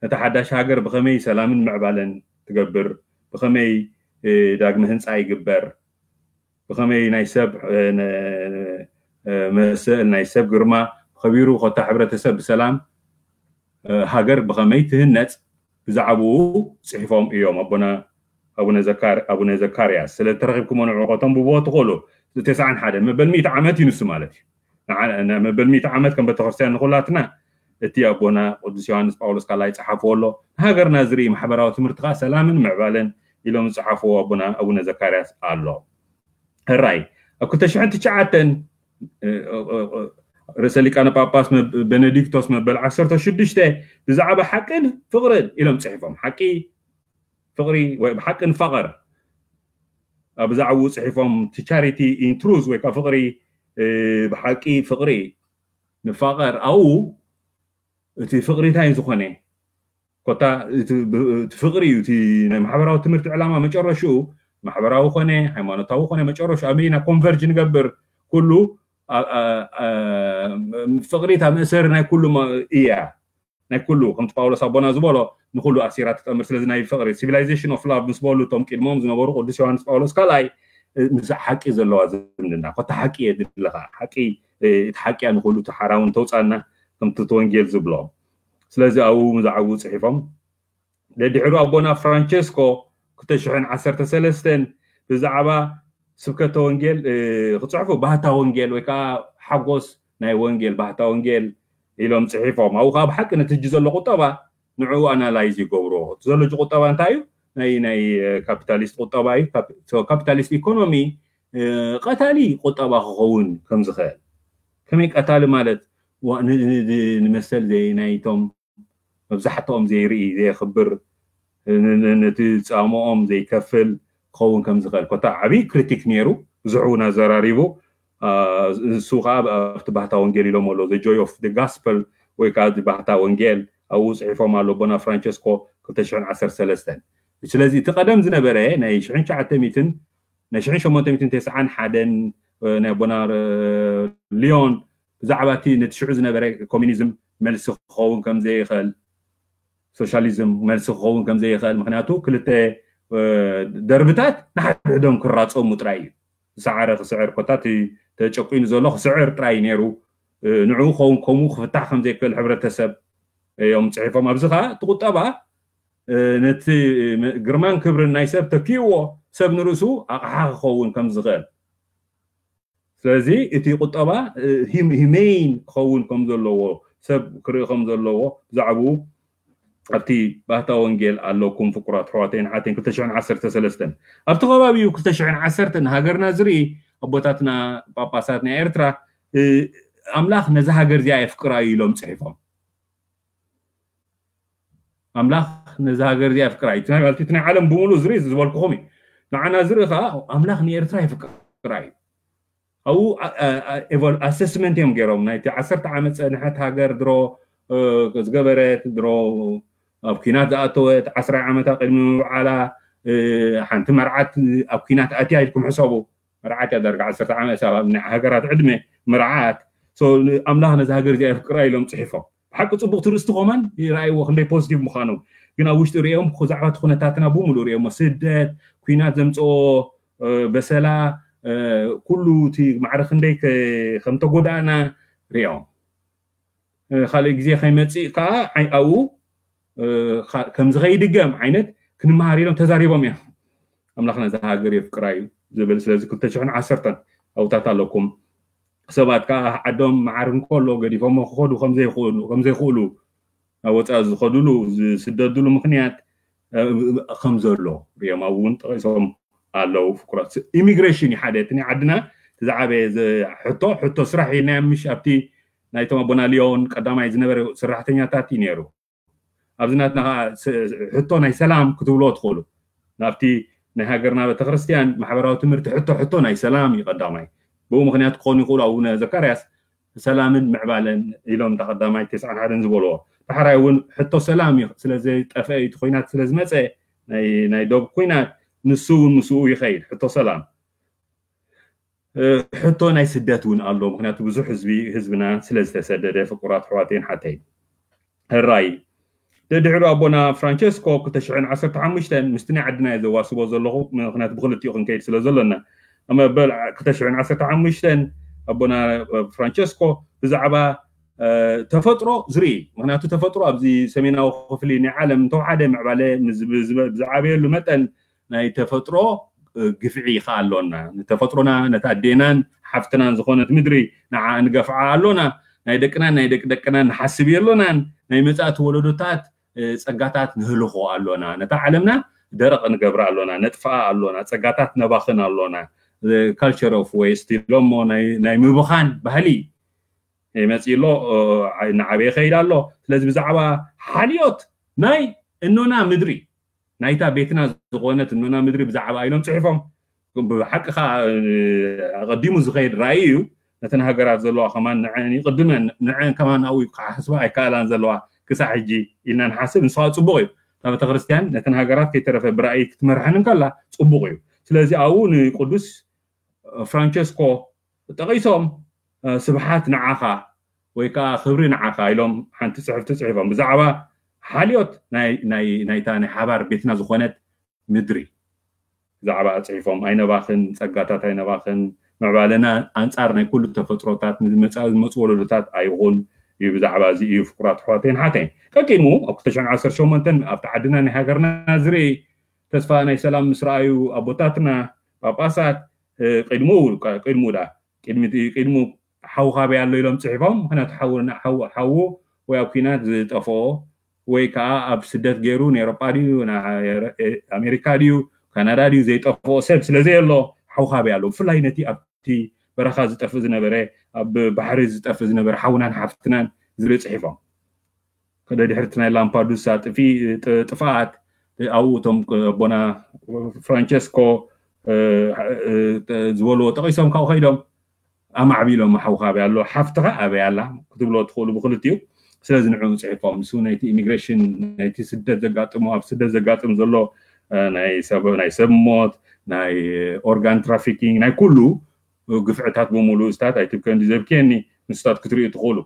ነታ ሓዳሽ ሃገር ብኸመይ ሰላምን ምዕባለን ትገብር፣ ብኸመይ ዳግመ ህንፃ ይግበር፣ ብኸመይ ናይ ሰብ መሰል ናይ ሰብ ግርማ ከቢሩ ኮታ ሕብረተሰብ ብሰላም ሃገር ብኸመይ ትህነፅ ብዛዕባኡ ፅሒፎም እዮም ኣቦና ኣቡነ ዘካርያስ። ስለ ተረኺብኩሞ ንዕቆቶም ብብዎ ትኽእሉ። ተስዓን ሓደን መበል ሚእቲ ዓመት እዩ ንሱ ማለት እዩ። መበል ሚእቲ ዓመት ከም ቤተክርስትያን ንኩላትና እቲ ኣቦና ቅዱስ ዮሃንስ ጳውሎስ ካልኣይ ፀሓፍዎ ኣሎ። ንሃገርና ዝርኢ ማሕበራዊ ትምህርቲ ከዓ ሰላምን ምዕባለን ኢሎም ዝፀሓፍዎ ኣቦና ኣቡነ ዘካርያስ ኣሎ። ሕራይ ኣብ ክልተ ሽሕን ትሽዓተን ርእሰ ሊቃነ ጳጳስ ቤኔዲክቶስ መበል ዓሰርተ ሽዱሽተ ብዛዕባ ሓቅን ፍቕርን ኢሎም ፅሒፎም። ሓቂ ፍቕሪ ወይ ሓቂ ንፋቐር ኣብ ብዛዕባኡ ፅሒፎም። ቻሪቲ ኢን ትሩዝ ወይ ከዓ ፍቕሪ ብሓቂ ፍቕሪ ንፋቐር። ኣብኡ እቲ ፍቕሪ እንታይ ዝኾነ ኮታ እቲ ፍቕሪ እዩ። እቲ ናይ ማሕበራዊ ትምህርቲ ዕላማ መጨረሽኡ ማሕበራዊ ኮነ ሃይማኖታዊ ኮነ መጨረሹ ኣበይና ኮንቨርጅ ንገብር? ኩሉ ፍቕሪ እታ መእሰሪ ናይ ኩሉ እያ። ናይ ኩሉ ከምቲ ጳውሎስ ኣቦና ዝበሎ ንኩሉ ኣሲራ ትጠምር። ስለዚ ናይ ፍቕሪ civilization of love ምስ በሉ እቶም ቅድሞም ዝነበሩ ቅዱስ ዮሃንስ ጳውሎስ ካልኣይ ምስ ሓቂ ዘለዋ ዝምድና ኮታ ሓቂ እየ ድለኻ ሓቂ እቲ ሓቂ እያ ንኩሉ ተሓራውን ተውፃና ከምቲ እቲ ወንጌል ዝብሎ። ስለዚ ኣብኡ ብዛዕባኡ ፅሒፎም ደድሕሩ ኣቦና ፍራንቸስኮ ክልተ ሽሕን ዓሰርተ ሰለስተን ብዛዕባ ስብከተ ወንጌል ክፅሕፉ ባህታ ወንጌል ወይ ከዓ ሓጎስ ናይ ወንጌል ባህታ ወንጌል ኢሎም ፅሒፎም። ኣብኡ ከዓ ብሓቂ ነቲ ሕጂ ዘሎ ቁጠባ ንዕኡ ኣናላይዝ ይገብሮ። እቲ ዘሎ ሕጂ ቁጠባ እንታይ እዩ? ናይ ናይ ካፒታሊስት ቁጠባ እዩ። ካፒታሊስት ኢኮኖሚ ቀታሊ ቁጠባ ክኸውን ከም ዝኽእል። ከመይ ቀታሊ ማለት? ንመሰል ናይቶም መብዛሕትኦም ዘይርኢ ዘየኽብር ነቲ ፃምኦም ዘይከፍል ክኸውን ከም ዝኽእል ኮታ ዓብዪ ክሪቲክ ነይሩ። ብዙሕ እውን ኣዘራሪቡ። ንሱ ከዓ ኣብቲ ባህታ ወንጌል ኢሎም ኣሎ the joy of the gospel ወይ ከዓ ባህታ ወንጌል ኣብኡ ፅሒፎም ኣሎ ኣቦና ፍራንቸስኮ ክልተ ሽሕን ዓሰርተ ሰለስተን። ስለዚ እቲ ቀደም ዝነበረ ናይ ሽሕን ትሽዓተ ሚእትን ናይ ሽሕን ሸሞንተ ሚእትን ተስዓን ሓደን ናይ ኣቦና ሊዮን ብዛዕባ እቲ ነቲ ሽዑ ዝነበረ ኮሚኒዝም መልሲ ክኸውን ከም ዘይኽእል ሶሻሊዝም መልሲ ክኸውን ከም ዘይኽእል ምክንያቱ ክልተ ደርብታት ንሓድሕዶም ክራፀሙ ጥራይ እዩ። ዝሰዓረ ክስዕር ኮታ እቲ ተጨቂኑ ዘሎ ክስዕር ጥራይ እዩ ነይሩ። ንዕኡ ክኸውን ከምኡ ክፍታሕ ከም ዘይክእል ሕብረተሰብ እዮም ፅሒፎም። ኣብዚ ከዓ እቲ ቁጠባ ነቲ ግርማን ክብርን ናይ ሰብ ተኪእዎ ሰብ ንርእሱ ኣቕሓ ክኸውን ከም ዝኽእል ስለዚ እቲ ቁጠባ ሂሜይን ክኸውን ከም ዘለዎ ሰብ ክርኢ ከም ዘለዎ ብዛዕባኡ ኣብቲ ባህታ ወንጌል ኣለኩም ፍቁራት ኣሕዋተይን ኣሓተይን ክልተ ሽሕን ዓሰርተ ሰለስተን ኣብቲ ከባቢኡ ክልተ ሽሕን ዓሰርተ ንሃገርና ዝርኢ ኣቦታትና ጳጳሳት ናይ ኤርትራ ኣምላኽ ነዛ ሃገር እዚኣ የፍቅራ እዩ ኢሎም ፅሒፎም ኣምላኽ ነዛ ሃገር እዚኣ የፍቅራ እዩ እቲ ናይ ዓለም ብምሉእ ዝርኢ ዝበልኩኹም እዩ ንዓና ዝርኢ ከዓ ኣምላኽ ንኤርትራ የፍቅራ እዩ ኣብኡ ኣሰስመንት እዮም ገይሮም ናይቲ ዓሰርተ ዓመት ፀንሐት ሃገር ድሮ ዝገበረት ድሮ ኣብ ኲናት ዝኣተወት ዓስራይ ዓመታ ቅድሚ ምብዓላ ሓንቲ መርዓት ኣብ ኲናት ኣትያ ኢልኩም ሕሰቡ መርዓት እያ ዳርጋ ዓሰርተ ዓመት ሃገራት ዕድመ መርዓት ኣምላኽ ነዚ ሃገር እዚኣ የፍቅራ ኢሎም ፅሒፎም ብሓቂ ፅቡቅ ትርእስቲ ኮማን ይረኣይዎ ክንደይ ፖዚቲቭ ምዃኖም ግን ኣብ ውሽጢ ርእዮም ብዛዕባ እቲ ኩነታትና ብምሉእ ርእዮሞ ስደት ኩናት ዘምፅኦ በሰላ ኩሉ እቲ ማዕረ ክንደይ ከምተጎዳእና ርእዮም ካልእ ግዜ ከይመፅእ ከዓ ኣብኡ ከምዚ ከይድገም ዓይነት ክንመሃር ኢሎም ተዛሪቦም እዮም ኣምላኽ ነዚ ሃገር የፍቅራ እዩ ዝብል። ስለዚ ክልተ ሽሕን ዓሰርተን ኣብታት ኣለኩም። ሰባት ከዓ ዓዶም መዓር እንከሎ ገዲፎሞ ክኸዱ ከምዘይኽእሉ ከምዘይኽእሉ ናብ ወፃኢ ዝኸዱሉ ዝስደዱሉ ምክንያት ከም ዘሎ ሪኦም ኣብኡ እውን ጠቂሶም ኣለዉ። ፍቁራት ኢሚግሬሽን እዩ ሓደ እቲ ናይ ዓድና እቲ ዝዓበየ ሕቶ ሕቶ ስራሕ ኢልና ምሽ ኣብቲ ናይቶም ኣቦና ሊዮን ቀዳማይ ዝነበረ ሰራሕተኛታት እዩ ነይሩ። ኣብዚ ናትና ሕቶ ናይ ሰላም ክትብልዎ ትኽእሉ። ናብቲ ናይ ሃገርና ቤተክርስትያን ማሕበራዊ ትምህርቲ ሕቶ ሕቶ ናይ ሰላም እዩ ቀዳማይ። ብኡ ምክንያት ክኾኑ ይኽእሉ ኣቡነ ዘካርያስ ሰላምን ምዕባለን ኢሎም እታ ቀዳማይ ተስዓን ሓደን ዝበልዎ። ዳሕራይ እውን ሕቶ ሰላም እዩ ስለ ዘይጠፍአ እዩ እቲ ኩናት ስለ ዝመፀ ናይ ዶብ ኩናት ንሱ እውን ምስኡ ይኸይድ ሕቶ ሰላም። ሕቶ ናይ ስደት እውን ኣሎ። ምክንያቱ ብዙሕ ህዝቢ ህዝብና ስለ ዝተሰደደ ፍቁራት ኣሕዋተይን ሓተይን ሕራይ ደድሕሪ ኣቦና ፍራንቸስኮ ክልተ ሽሕን ዓሰርተ ሓሙሽተን ምስቲ ናይ ዓድና እየ ዘዋስቦ ዘለኹ። ምክንያቱ ብክልቲኡ ክንከይድ ስለ ዘሎና መበል ክልተ ሽሕን ዓሰርተ ሓሙሽተን ኣቦና ፍራንቸስኮ ብዛዕባ ተፈጥሮ ዝርኢ። ምክንያቱ ተፈጥሮ ኣብዚ ሰሜናዊ ክፍሊ ናይ ዓለም እንተወሓደ ምዕባለ ዝዓበየሉ መጠን ናይ ተፈጥሮ ግፍዒ ከዓ ኣሎና። ንተፈጥሮና ነታ ኣዴናን ሓፍትናን ዝኾነት ምድሪ ንዓ ንገፍዓ ኣሎና። ናይ ደቅናን ናይ ደቂ ደቅናን ንሓስብ የሎናን። ናይ መጻእቲ ወለዶታት ጸጋታት ንህልኾ ኣሎና። ነታ ዓለምና ደረቕ ንገብራ ኣሎና፣ ነጥፍኣ ኣሎና፣ ጸጋታት ነባኽን ኣሎና። ካልቸር ኦፍ ዌስት ኢሎሞ ናይ ምብኻን ባህሊ ይመጽእ ኣሎ፣ ንዓበየ ይኸይድ ኣሎ። ስለዚ ብዛዕባ ሓልዮት ናይ እኖና ምድሪ ናይታ ቤትና ዝኾነት እኖና ምድሪ ብዛዕባ ኢሎም ጽሒፎም። ብሓቂ ከዓ ኣቐዲሙ ዝኸይድ ራእይ እዩ። ነተን ሃገራት ዘለዋ ከማን ንዐን ይቕድመን ንዐን ከማን ኣብኡ ክሓስባ ኣይከኣላን ዘለዋ ክሳዕ ሕጂ ኢልና ንሓስብ። ንስኻ ጽቡቕ እዩ እታ ቤተክርስትያን ነተን ሃገራት ከይተረፈ ብራእይ ክትመርሐን እንከላ ጽቡቕ እዩ። ስለዚ ኣብኡ ንቅዱስ ፍራንቸስኮ ጠቒሶም ስብሓት ንዓኻ ወይ ከዓ ክብሪ ንዓኻ ኢሎም ሓንቲ ጽሕፍቲ ጽሒፎም ብዛዕባ ሓልዮት ናይታ ናይ ሓባር ቤትና ዝኾነት ምድሪ ብዛዕባ ጽሒፎም ኣይነባኽን ጸጋታት ኣይነባኽን ምዕባለና ኣንጻር ናይ ኩሉ ተፈጥሮታት ንመጻኢ ዝመፁ ወለዶታት ኣይኹን እዩ። ብዛዕባ እዚ እዩ ፍቁራት ኣሕዋተይን ሓተይን ቀቂድሙ ኣብ ክልተ ሽሕን ዓሰርተ ሸሞንተን ኣብቲ ዓድና ናይ ሃገርና ዝርኢ ተስፋ ናይ ሰላም ምስ ረኣዩ ኣቦታትና ጳጳሳት ቅድሙ ቅድሙ ዳ ቅድሙ ሓው ካበይ ኣሎ ኢሎም ጽሒፎም። ምክንያቱ ሓው ወይ ኣብ ኲናት ዝጠፍኦ ወይ ከዓ ኣብ ስደት ገይሩ ንኤሮጳ ድዩ ኣሜሪካ ድዩ ካናዳ ድዩ ዘይጠፍኦ ሰብ ስለ ዘየሎ ሓው ካበይ ኣሎ። ብፍላይ ነቲ ኣብቲ በረኻ ዝጠፍእ ዝነበረ ኣብ ባሕሪ ዝጠፍእ ዝነበረ ሓውናን ሓፍትናን ዝብል ጽሒፎም። ከደ ድሕርቲ ናይ ላምፓዱሳ ጥፍኣት ኣብኡ እቶም ኣቦና ፍራንቸስኮ ዝበልዎ ጠቂሶም ካብኡ ከይዶም ኣማዕቢሎም ሓውካ ኣበይ ኣሎ ሓፍትኻ ኣበይ ኣላ ክትብሎ ትኽእሉ ብክልቲኡ። ስለዚ ንዕኡ ፅሒፎም ንሱ ናይቲ ኢሚግሬሽን ናይቲ ስደት ዘጋጥሙ ኣብ ስደት ዘጋጥም ዘሎ ናይ ሰብ ሞት ናይ ኦርጋን ትራፊኪንግ ናይ ኩሉ ግፍዕታት ብምሉኡ ስታት ኣይትብከ እንዲ ዘብክየኒ ንስታት ክትሪኡ ትኽእሉ።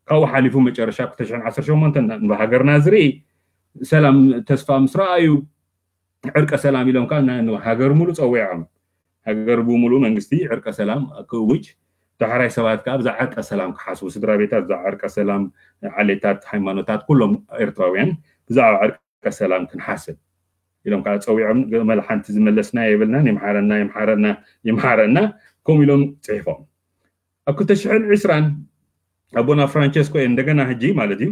ካብኡ ሓሊፉ መጨረሻ ክልተ ሽሕን ዓሰርተ ሸሞንተን ንሃገርና ዝርኢ ሰላም ተስፋ ምስ ረኣዩ ዕርቀ ሰላም ኢሎም ከዓ ሃገር ሙሉ ፀዊዖም ሃገር ብምሉእ መንግስቲ ዕርቀ ሰላም ክእውጅ ዳሕራይ ሰባት ከዓ ብዛ ዕርቀ ሰላም ክሓስቡ ስድራ ቤታት ብዛ ዕርቀ ሰላም ዓሌታት ሃይማኖታት ኩሎም ኤርትራውያን ብዛዕባ ዕርቀ ሰላም ክንሓስብ ኢሎም ከዓ ፀዊዖም። ገመል ሓንቲ ዝመለስና የብልናን ይምሓረና ይምሓረና ይምሓረና ከምኡ ኢሎም ፅሒፎም። ኣብ ክልተ ሽሕን ዕስራን ኣቦና ፍራንቸስኮ እየ እንደገና ሕጂ ማለት እዩ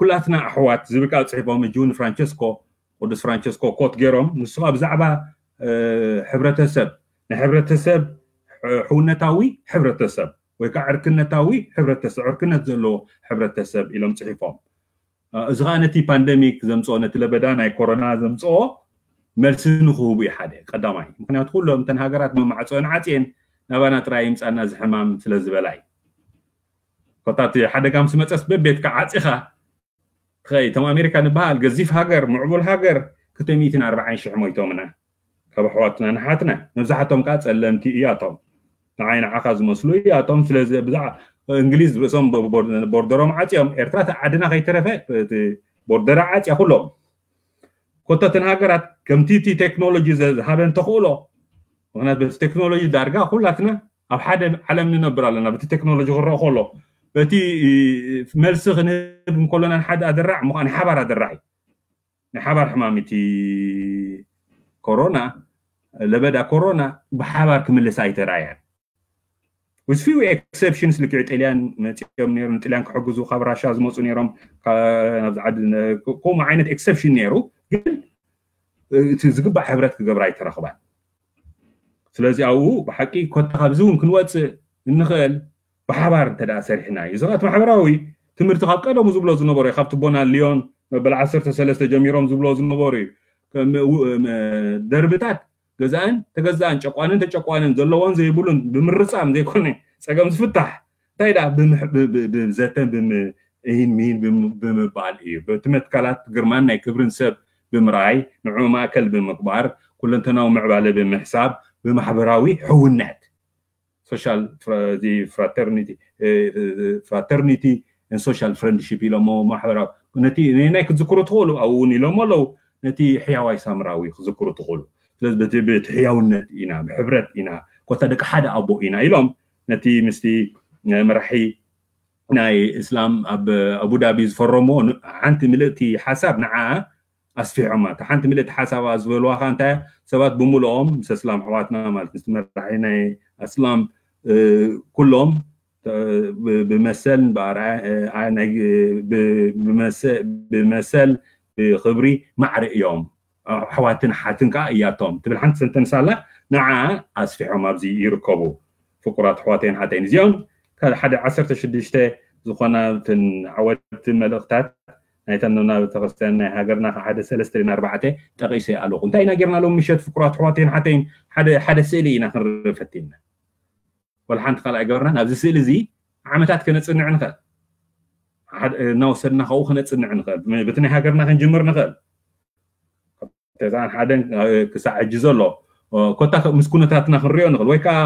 ኩላትና ኣሕዋት ዝብል ከዓ ፅሒፎም ሕጂ እውን ፍራንቸስኮ ቅዱስ ፍራንቸስኮ ኮት ገይሮም ንሱ ከዓ ብዛዕባ ሕብረተሰብ ናይ ሕብረተሰብ ሕውነታዊ ሕብረተሰብ ወይ ከዓ ዕርክነታዊ ሕብረተሰብ ዕርክነት ዘለዎ ሕብረተሰብ ኢሎም ፅሒፎም። እዚ ከዓ ነቲ ፓንደሚክ ዘምፅኦ ነቲ ለበዳ ናይ ኮሮና ዘምፅኦ መልሲ ንክህቡ እዩ ሓደ ቀዳማይ። ምክንያቱ ኩሎም እተን ሃገራት መማዕፅኦን ዓፅየን ናባና ጥራይ ይምፃና እዚ ሕማም ስለ ዝበላ እዩ። ኮታ እቲ ሓደጋ ምስ መፀስ በቤትካ ዓፂኻ ትኸይ እቶም ኣሜሪካ ንበሃል ገዚፍ ሃገር ምዕቡል ሃገር ክልተ ሚእትን ኣርባዓን ሽሕ ሞይቶምና ካብ ኣሕዋትና ንሓትና መብዛሕቶም ከዓ ፀለምቲ እያቶም ንዓይ ንዓኻ ዝመስሉ እያቶም። ስለዚ ብዛዕ እንግሊዝ ርእሶም ቦርደሮም ዓፅዮም ኤርትራ ዓድና ከይተረፈ ቦርደራ ዓፅያ ኩሎም ኮተትን ሃገራት ከምቲ እቲ ቴክኖሎጂ ዝሃበን ተኽእሎ ምክንያት በቲ ቴክኖሎጂ ዳርጋ ኩላትና ኣብ ሓደ ዓለም ንነብር ኣለና። በቲ ቴክኖሎጂ ክረአ ከሎ በቲ መልሲ ክንህብ እንከሎና ንሓደ ኣደራዕ ምዃን ሓባር ኣደራዕ እዩ። ናይ ሓባር ሕማም እቲ ኮሮና ለበዳ ኮሮና ብሓባር ክምልስ ኣይተራእያን። With few exceptions፣ ልክዕ ጥልያን መፂኦም ነይሮም፣ ንጥልያን ክሕግዙ ካብ ራሻ ዝመፁ ነይሮም፣ ናብዚ ዓዲ። ከምኡ ዓይነት exception ነይሩ፣ ግን እቲ ዝግባእ ሕብረት ክገብራ ኣይተረኽባን። ስለዚ ኣብኡ ብሓቂ ኮታ ካብዚ እውን ክንወፅእ እንኽእል ብሓባር እንተ ደኣ ሰሪሕና እዩ። እዚ ኸኣ እቲ ማሕበራዊ ትምህርቲ ካብ ቀደሙ ዝብሎ ዝነበሩ እዩ። ካብ ትቦና ሊዮን መበል ዓሰርተ ሰለስተ ጀሚሮም ዝብሎ ዝነበሩ እዩ። ደርብታት ገዛእን ተገዛእን፣ ጨቋንን ተጨቋንን፣ ዘለዎን ዘይብሉን ብምርጻም ዘይኮነ ጸገም ዝፍታሕ፣ እንታይ ደኣ ብዘተን ብምእሂን ምሂን ብምባል እዩ። በቲ መትከላት ግርማን ናይ ክብርን ሰብ ብምርኣይ፣ ንዕኡ ማእከል ብምግባር፣ ኩለንተናዊ ምዕባለ ብምሕሳብ፣ ብማሕበራዊ ሕውነት፣ social fraternity ኢሎሞ፣ ማሕበራዊ ነቲ ናይ ክትዝክሩ ትኽእሉ ኣብኡ እውን ኢሎሞ ኣለዉ። ነቲ ሕያዋይ ሳምራዊ ክዝክሩ ትኽእሉ። ስለዚ በቲ ሕያውነት ኢና፣ ብሕብረት ኢና፣ ኮታ ደቂ ሓደ ኣቦ ኢና ኢሎም ነቲ ምስቲ መራሒ ናይ እስላም ኣብ ኣቡዳቢ ዝፈረሞ ሓንቲ ምልእቲ ሓሳብ ንዓ ኣስፊሖማ። እታ ሓንቲ ምልእቲ ሓሳብ ዝበልዋ ከዓ እንታይ ሰባት ብምልኦም ምስ እስላም ኣሕዋትና ማለት ምስ መራሒ ናይ ኣስላም ኩሎም ብመሰል ብመሰል ብክብሪ ማዕረ እዮም፣ ኣሕዋትን ሓትን ከዓ እያቶም ትብል ሓንቲ ሰንተንስ ኣላ። ንዓ ኣስፊሖም ኣብዚ ይርከቡ። ፍቁራት ኣሕዋተይን ሓተይን እዚኦም ሓደ ዓሰርተ ሽዱሽተ ዝኾና እተን ዓወድቲ መልእኽታት ናይታ ነና ቤተክርስትያን ናይ ሃገርና ሓደ ሰለስተ ኣርባዕተ ጠቒሰ ኣለኹ። እንታይ ኢና ጌርና ሎም ምሸት ፍቁራት ኣሕዋተይን ሓተይን ሓደ ስእሊ ኢና ክንርኢ ፈቲና። ወላ ሓንቲ ካልኣይ ገበርና ናብዚ ስእሊ እዚ ዓመታት ከነፅንዕ ንኽእል። እናወሰድና ካብኡ ከነፅንዕ ንኽእል። በቲ ናይ ሃገርና ክንጅምር ንኽእል። ተዛን ሓደን ክሳዕ ሕጂ ዘሎ ኮታ ምስ ኩነታትና ክንሪኦ ንኽእል። ወይ ከዓ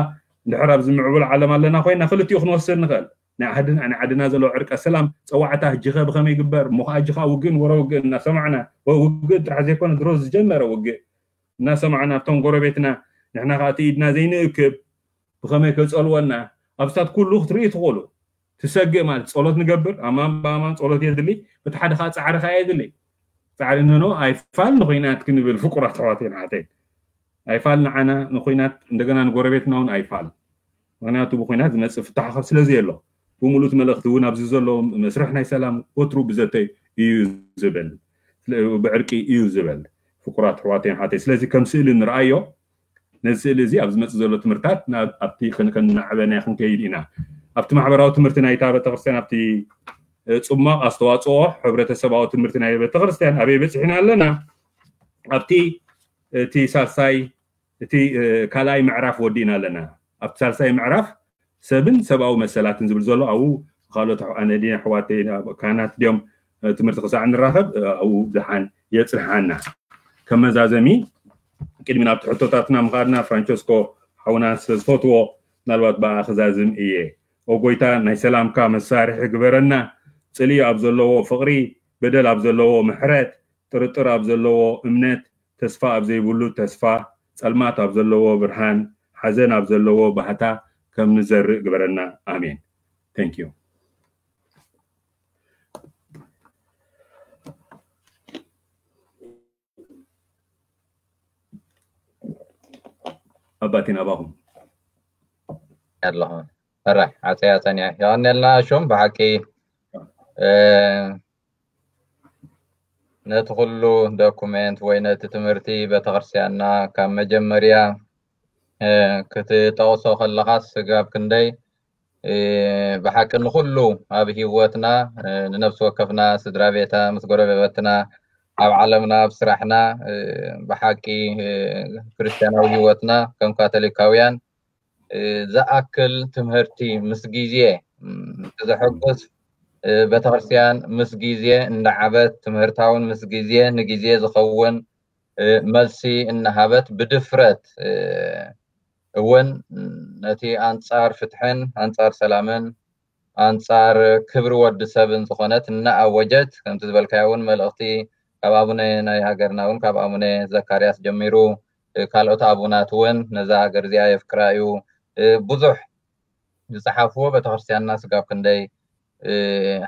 እንድሕር ኣብዚ ምዕቡል ዓለም ኣለና ኮይና ክልቲኡ ክንወስድ ንኽእል። ናይ ዓድና ናይ ዓድና ዘሎ ዕርቀ ሰላም ፀዋዕታ ሕጂ ከ ብኸመይ ይግበር እሞ ከዓ ሕጂ ከዓ ውግእን ወረ ውግእን እናሰማዕና ውግእ ጥራሕ ዘይኮነ ድሮ ዝጀመረ ውግእ እናሰማዕና ኣብቶም ጎረቤትና ንሕና ከዓ እቲ ኢድና ዘይንእክብ ብኸመይ ከፀልወና ኣብስታት ኩሉ ክትርኢ ትኽእሉ። ትሰግእ ማለት ጸሎት ንገብር ኣማን ብኣማን ጸሎት የድሊ። በቲ ሓደ ከዓ ፃዕሪ ከዓ የድሊ። ፃዕሪ ንኖ ኣይፋል ንኹናት ክንብል ፍቁራት ኣሕዋተይን ሓተይን ኣይፋል ንዓና ንኹናት እንደገና ንጎረቤትና እውን ኣይፋል። ምክንያቱ ብኹናት ዝመፅእ ፍታሕ ካብ ስለዚ የሎ። ብምሉእ እቲ መልእኽቲ እውን ኣብዚ ዘሎ መስርሕ ናይ ሰላም ወትሩ ብዘተይ እዩ ዝብል፣ ብዕርቂ እዩ ዝብል። ፍቁራት ኣሕዋተይን ሓተይ ስለዚ ከም ስእሊ ንርኣዮ። ነዚ ስእሊ እዚ ኣብ ዝመፅእ ዘሎ ትምህርታት ኣብቲ ከናዕበናዮ ክንከይድ ኢና። ኣብቲ ማሕበራዊ ትምህርቲ ናይታ ቤተክርስትያን ኣብቲ ፅሟቕ ኣስተዋፅኦ ሕብረተሰባዊ ትምህርቲ ናይ ቤተክርስትያን ኣበይ በፂሕና ኣለና? ኣብቲ እቲ ሳልሳይ እቲ ካልኣይ ምዕራፍ ወዲእና ኣለና። ኣብቲ ሳልሳይ ምዕራፍ ሰብን ሰብኣዊ መሰላትን ዝብል ዘሎ ኣብኡ ካልኦት ኣነዲ ኣሕዋተይ ካህናት ድዮም ትምህርቲ ክሳዕ ንራኸብ ኣብኡ ብድሓን የፅንሓና። ከም መዛዘሚ ቅድሚ ናብቲ ሕቶታትና ምኻድና ፍራንቸስኮ ሓውና ስለ ዝፈትዎ ምናልባት ብኣ ክዛዝም እየ። ኦ ጎይታ ናይ ሰላምካ መሳርሒ ግበረና። ፅልኢ ኣብ ዘለዎ ፍቕሪ፣ በደል ኣብ ዘለዎ ምሕረት፣ ጥርጥር ኣብ ዘለዎ እምነት፣ ተስፋ ኣብ ዘይብሉ ተስፋ፣ ጸልማት ኣብ ዘለዎ ብርሃን፣ ሓዘን ኣብ ዘለዎ ባህታ ከም ንዘርእ ግበረና። ኣሜን። Thank you። ኣባቴን ኣባኹም ኣለኹ። ሕራይ ዓፀያ ፀኒሐ የቐንየልና። ሹም ብሓቂ ነቲ ኩሉ ዶኩሜንት ወይ ነቲ ትምህርቲ ቤተክርስትያንና ካብ መጀመርያ ክትጠቕሶ ከለኻስ ስጋብ ክንደይ ብሓቂ ንኹሉ ኣብ ህይወትና ንነፍሲ ወከፍና ስድራ ቤታ ምስ ጎረቤትና ኣብ ዓለምና ኣብ ስራሕና ብሓቂ ክርስትያናዊ ህይወትና ከም ካቶሊካውያን ዝኣክል ትምህርቲ ምስ ግዜ ዘሐጉስ ቤተክርስትያን ምስ ግዜ እንዳዓበት ትምህርታውን ምስ ግዜ ንግዜ ዝኸውን መልሲ እናሃበት ብድፍረት እውን ነቲ ኣንጻር ፍትሕን ኣንጻር ሰላምን ኣንጻር ክብሪ ወዲ ሰብን ዝኾነት እናኣወጀት ከምቲ ዝበልካዮ እውን መልእኽቲ ካብ ኣቡነ ናይ ሃገርና እውን ካብ ኣቡነ ዘካርያስ ጀሚሩ ካልኦት ኣቡናት እውን ነዛ ሃገር እዚኣ የፍቅራ እዩ ብዙሕ ዝፀሓፍዎ ቤተክርስትያንና ስጋብ ክንደይ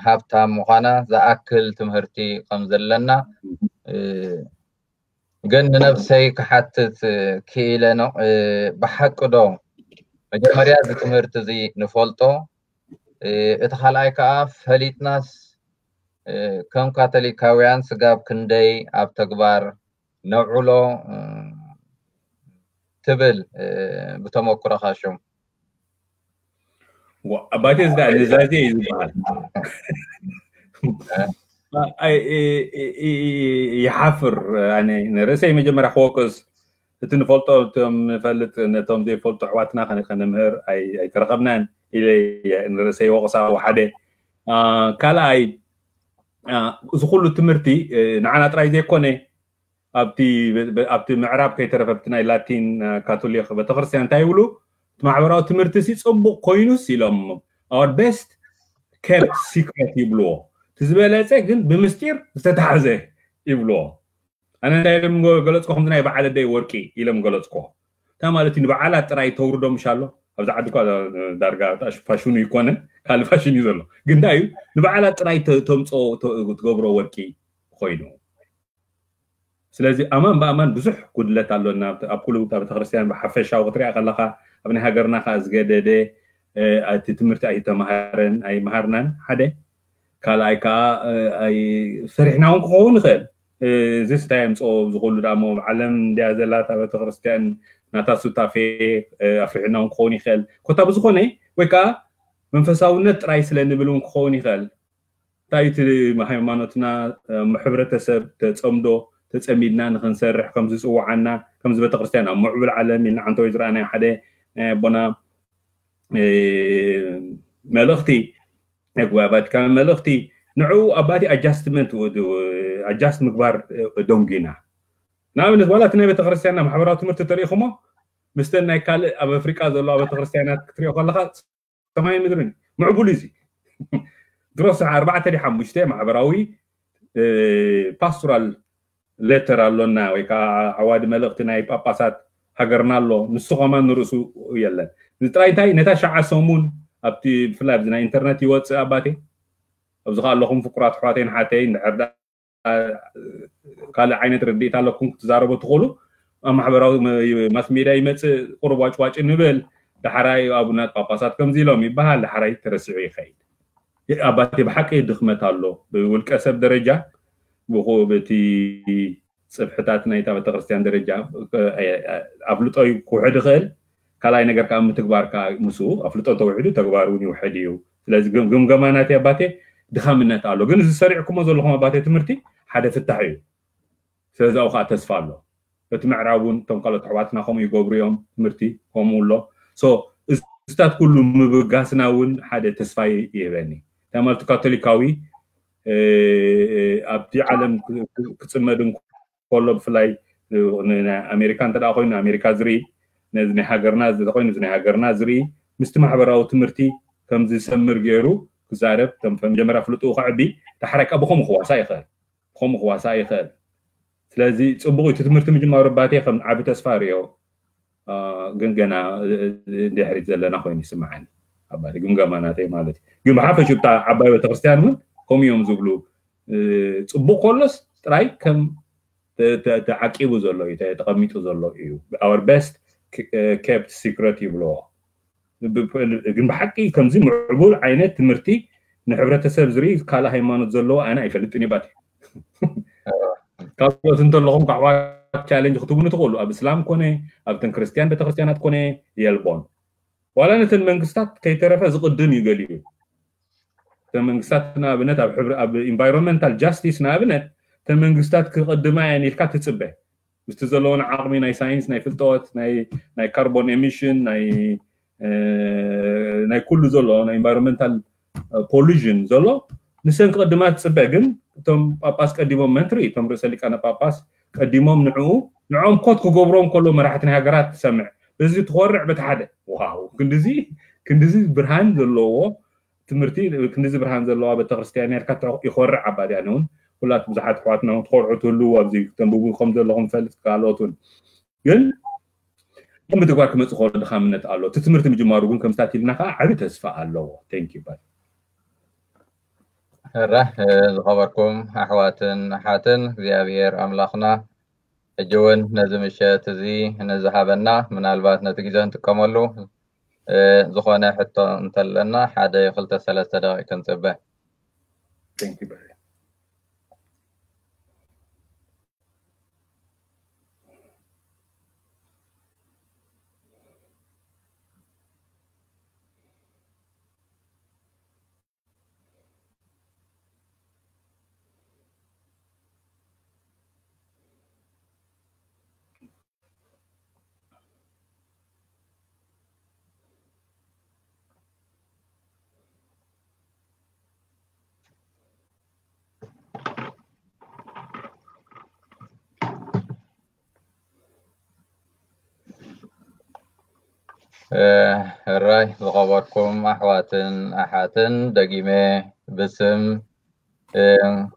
ሃብታም ምዃና ዝኣክል ትምህርቲ ከም ዘለና ግን ንነብሰይ ክሓትት ክኢለ ነው። ብሓቂ ዶ መጀመርያ እዚ ትምህርቲ እዚ ንፈልጦ? እቲ ካልኣይ ከዓ ፈሊጥናስ ከም ካቶሊካውያን ስጋብ ክንደይ ኣብ ተግባር ነውዕሎ ትብል ብተመክሮኻ ሽም? ኣባቴ ዝዳ ንዛዜ እዩ ዝበሃል። ይሓፍር። ንርእሰይ መጀመርያ ክወቅስ፣ እቲ ንፈልጦ እቶም ንፈልጥ ነቶም ዘይፈልጡ ኣሕዋትና ከነምህር ኣይተረኸብናን ኢለ ንርእሰይ ወቕሳ ሓደ። ካልኣይ፣ እዚ ኩሉ ትምህርቲ ንዓና ጥራይ ዘይኮነ ኣብቲ ኣብቲ ምዕራብ ከይተረፈ ኣብቲ ናይ ላቲን ካቶሊክ ቤተክርስትያን እንታይ ይብሉ? እቲ ማሕበራዊ ትምህርቲ ሲ ጽቡቕ ኮይኑስ ኢሎም our best kept secret ይብልዎ። እቲ ዝበለጸ ግን ብምስጢር ዝተታሕዘ ይብልዎ። ኣነ እንታይ ኢሎም ገለጽኮ? ከምዚ ናይ በዓል ኣደይ ወርቂ ኢሎም ገለጽኮ። እንታይ ማለት እዩ? ንበዓላት ጥራይ ተውርዶ ምሻሎ ኣብዛ ዓዲ እኳ ዳርጋ ፋሽኑ ይኮነ ካልእ ፋሽን እዩ ዘሎ። ግን እንታይ እዩ ንበዓላት ጥራይ ተምፅኦ ትገብሮ ወርቂ ኮይኑ። ስለዚ ኣማን ብኣማን ብዙሕ ጉድለት ኣሎና ኣብ ኩሉ ቤተክርስትያን ብሓፈሻዊ ክትሪኣ ከለካ ኣብ ናይ ሃገርና ከዓ ዝገደደ እቲ ትምህርቲ ኣይተማሃረን ኣይመሃርናን ሓደ ካልኣይ ከዓ ሰሪሕና እውን ክኸውን ይኽእል። እዚ ስታይ ኣምፅኦ ዝኽእሉ ደሞ ዓለም እንዲያ ዘላ እታ ቤተክርስትያን ናታ ሱታፌ ኣፍሪሕና እውን ክኸውን ይኽእል። ኮታ ብዝኾነ ወይ ከዓ መንፈሳውነት ጥራይ ስለ ንብል እውን ክኸውን ይኽእል። እንታይ እቲ ሃይማኖትና ሕብረተሰብ ተፀምዶ ተፀሚድና ንክንሰርሕ ከምዝፅውዓና ከምዚ ቤተክርስትያን ኣብ ምዕቡል ዓለም ኢልና ዓንተወይ ዝረኣናዮ ሓደ ናይ ኣቦና መልእኽቲ ናይ ጉባኤ ቫቲካን መልእኽቲ ንዕኡ ኣባቲ ኣጃስትመንት ኣጃስት ምግባር ደንጉና። ንኣብነት ዋላ እቲ ናይ ቤተክርስትያንና ማሕበራዊ ትምህርቲ ተሪኢኹሞ ምስተን ናይ ካልእ ኣብ ኣፍሪቃ ዘለዋ ቤተክርስትያናት ክትሪኦ ከለካ ሰማይ ምድርን ምዕቡል እዩ። ድሮስ ኣርባዕተ ዲ ሓሙሽተ ማሕበራዊ ፓስቶራል ሌተር ኣሎና ወይ ከዓ ዓዋዲ መልእኽቲ ናይ ጳጳሳት ሃገርና ኣሎ። ንሱ ከማን ንርእሱ የለን። ጥራይ እንታይ ነታ ሸዓ ሰሙን ኣብቲ ብፍላይ ኣብዚ ናይ ኢንተርነት ይወፅእ ኣባቴ ኣብዚ ከዓ ኣለኹም ፍቁራት ኣሕዋተይን ሓተይን ድሕር ካልእ ዓይነት ርድኢት ኣለኩም ክትዛረቡ ትኽእሉ። ኣብ ማሕበራዊ ማስ ሜድያ ይመፅእ ቁሩብ ዋጭዋጭ ንብል። ዳሕራይ ኣቡናት ጳጳሳት ከምዚ ኢሎም ይበሃል። ዳሕራይ ተረሲዑ ይኸይድ። ኣባቴ ብሓቂ ድኽመት ኣሎ ብውልቀ ሰብ ደረጃ ብቲ ፅፍሕታት ናይታ ቤተክርስትያን ደረጃ ኣፍልጦ ክውሕድ ይኽእል። ካልኣይ ነገር ከዓ ምትግባር ከዓ ምስኡ ኣፍልጦ ተውሕዱ ተግባር እውን ይውሕድ እዩ። ስለዚ ግምገማ ናተይ ኣባቴ ድኻምነት ኣሎ። ግን እዚ ሰሪዕኩሞ ዘለኹም ኣባቴ ትምህርቲ ሓደ ፍታሕ እዩ። ስለዚ ኣብኡ ከዓ ተስፋ ኣሎ። በቲ ምዕራብ እውን እቶም ካልኦት ኣሕዋትና ከምኡ ይገብሩ እዮም። ትምህርቲ ከምኡ ኣሎ። እስታት ኩሉ ምብጋስና እውን ሓደ ተስፋ ይህበኒ። እንታይ ማለት ካቶሊካዊ ኣብቲ ዓለም ክፅመድ እንከሎ ብፍላይ ኣሜሪካ እንተ ኮይኑ ኣሜሪካ ዝርኢ ነዚ ናይ ሃገርና ኮይኑ ናይ ሃገርና ዝርኢ ምስቲ ማሕበራዊ ትምህርቲ ከም ዝሰምር ገይሩ ክዛረብ መጀመርያ ፍልጡ ከዕቢ ዳሕራይ ከዓ ብኸምኡ ክዋሳ ይኽእል። ብኸምኡ ክዋሳ ይኽእል። ስለዚ ፅቡቅ እቲ ትምህርቲ ምጅማሩ ኣባቴ ከም ዓቢ ተስፋ ርዮ። ግን ገና ድሕሪት ዘለና ኮይኑ ይስምዓኒ ኣባቴ ግምገማ ናተይ ማለት እዩ። ግን ብሓፈሽ ብታ ዓባይ ቤተክርስትያን እውን ከምኡ እዮም ዝብሉ። ፅቡቅ ከሎስ ጥራይ ከም ተዓቂቡ ዘሎ እዩ ተቐሚጡ ዘሎ እዩ። Our best kept secret ይብልዎ። ግን ብሓቂ ከምዚ ምዕቡል ዓይነት ትምህርቲ ንሕብረተሰብ ዝርኢ ካልእ ሃይማኖት ዘለዎ ኣነ ኣይፈልጥን ይባት ካልኦት እንተለኹም ካሕዋት ቻለንጅ ክትብሉ ትኽእሉ ኣብ እስላም ኮነ ኣብተን ክርስትያን ቤተክርስትያናት ኮነ የልቦን ዋላ ነተን መንግስታት ከይተረፈ ዝቕድም እዩ ገሊኡ እተን መንግስታት ንኣብነት ኣብ ኢንቫይሮንመንታል ጃስቲስ ንኣብነት እተን መንግስታት ክቕድማ እየን ኢልካ ትፅበ ምስቲ ዘለዎን ዓቕሚ ናይ ሳይንስ ናይ ፍልጠት ናይ ካርቦን ኤሚሽን ናይ ኩሉ ዘሎ ናይ ኢንቫይሮንመንታል ፖሉዥን ዘሎ ንሰን ክቐድማ ትፅበ ግን እቶም ጳጳስ ቀዲሞም መን ትርኢ እቶም ርእሰ ሊቃነ ጳጳስ ቀዲሞም ንዕኡ ንዖም ኮት ክገብሮም ከሎ መራሕቲ ናይ ሃገራት ትሰምዕ በዚ ትኾርዕ በቲ ሓደ ዋው ክንድዚ ክንድዚ ብርሃን ዘለዎ ትምህርቲ ክንድዚ ብርሃን ዘለዋ ቤተክርስትያን ነርካ ይኾርዕ ኣባዲ ኣነ እውን ኩላት ብዙሓት ኣሕዋትና እውን ትኾርዑ ትህልዉ ኣብዚ ተንብቡ ከም ዘለኹም ፈልጥ ካልኦት እውን ግን ግን ብትግባር ክመፅእ ከሎ ድኻምነት ኣሎ እቲ ትምህርቲ ምጅማሩ ግን ከምስታት ኢልና ከዓ ዓብዪ ተስፋ ኣለዎ thank you ሕራ ዝኸበርኩም ኣሕዋትን ኣሓትን እግዚኣብሔር ኣምላኽና ሕጂ እውን ነዚ ምሸት እዚ ንዝሃበና፣ ምናልባት ነቲ ግዜ ንጥቀመሉ፣ እ፣ ዝኾነ ሕቶ እንተለና ሓደ ክልተ ሰለስተ ደቂቅ ክንጽበ። Thank you very ሕራይ ዝኸበርኩም ኣሕዋትን ኣሓትን፣ ደጊመ ብስም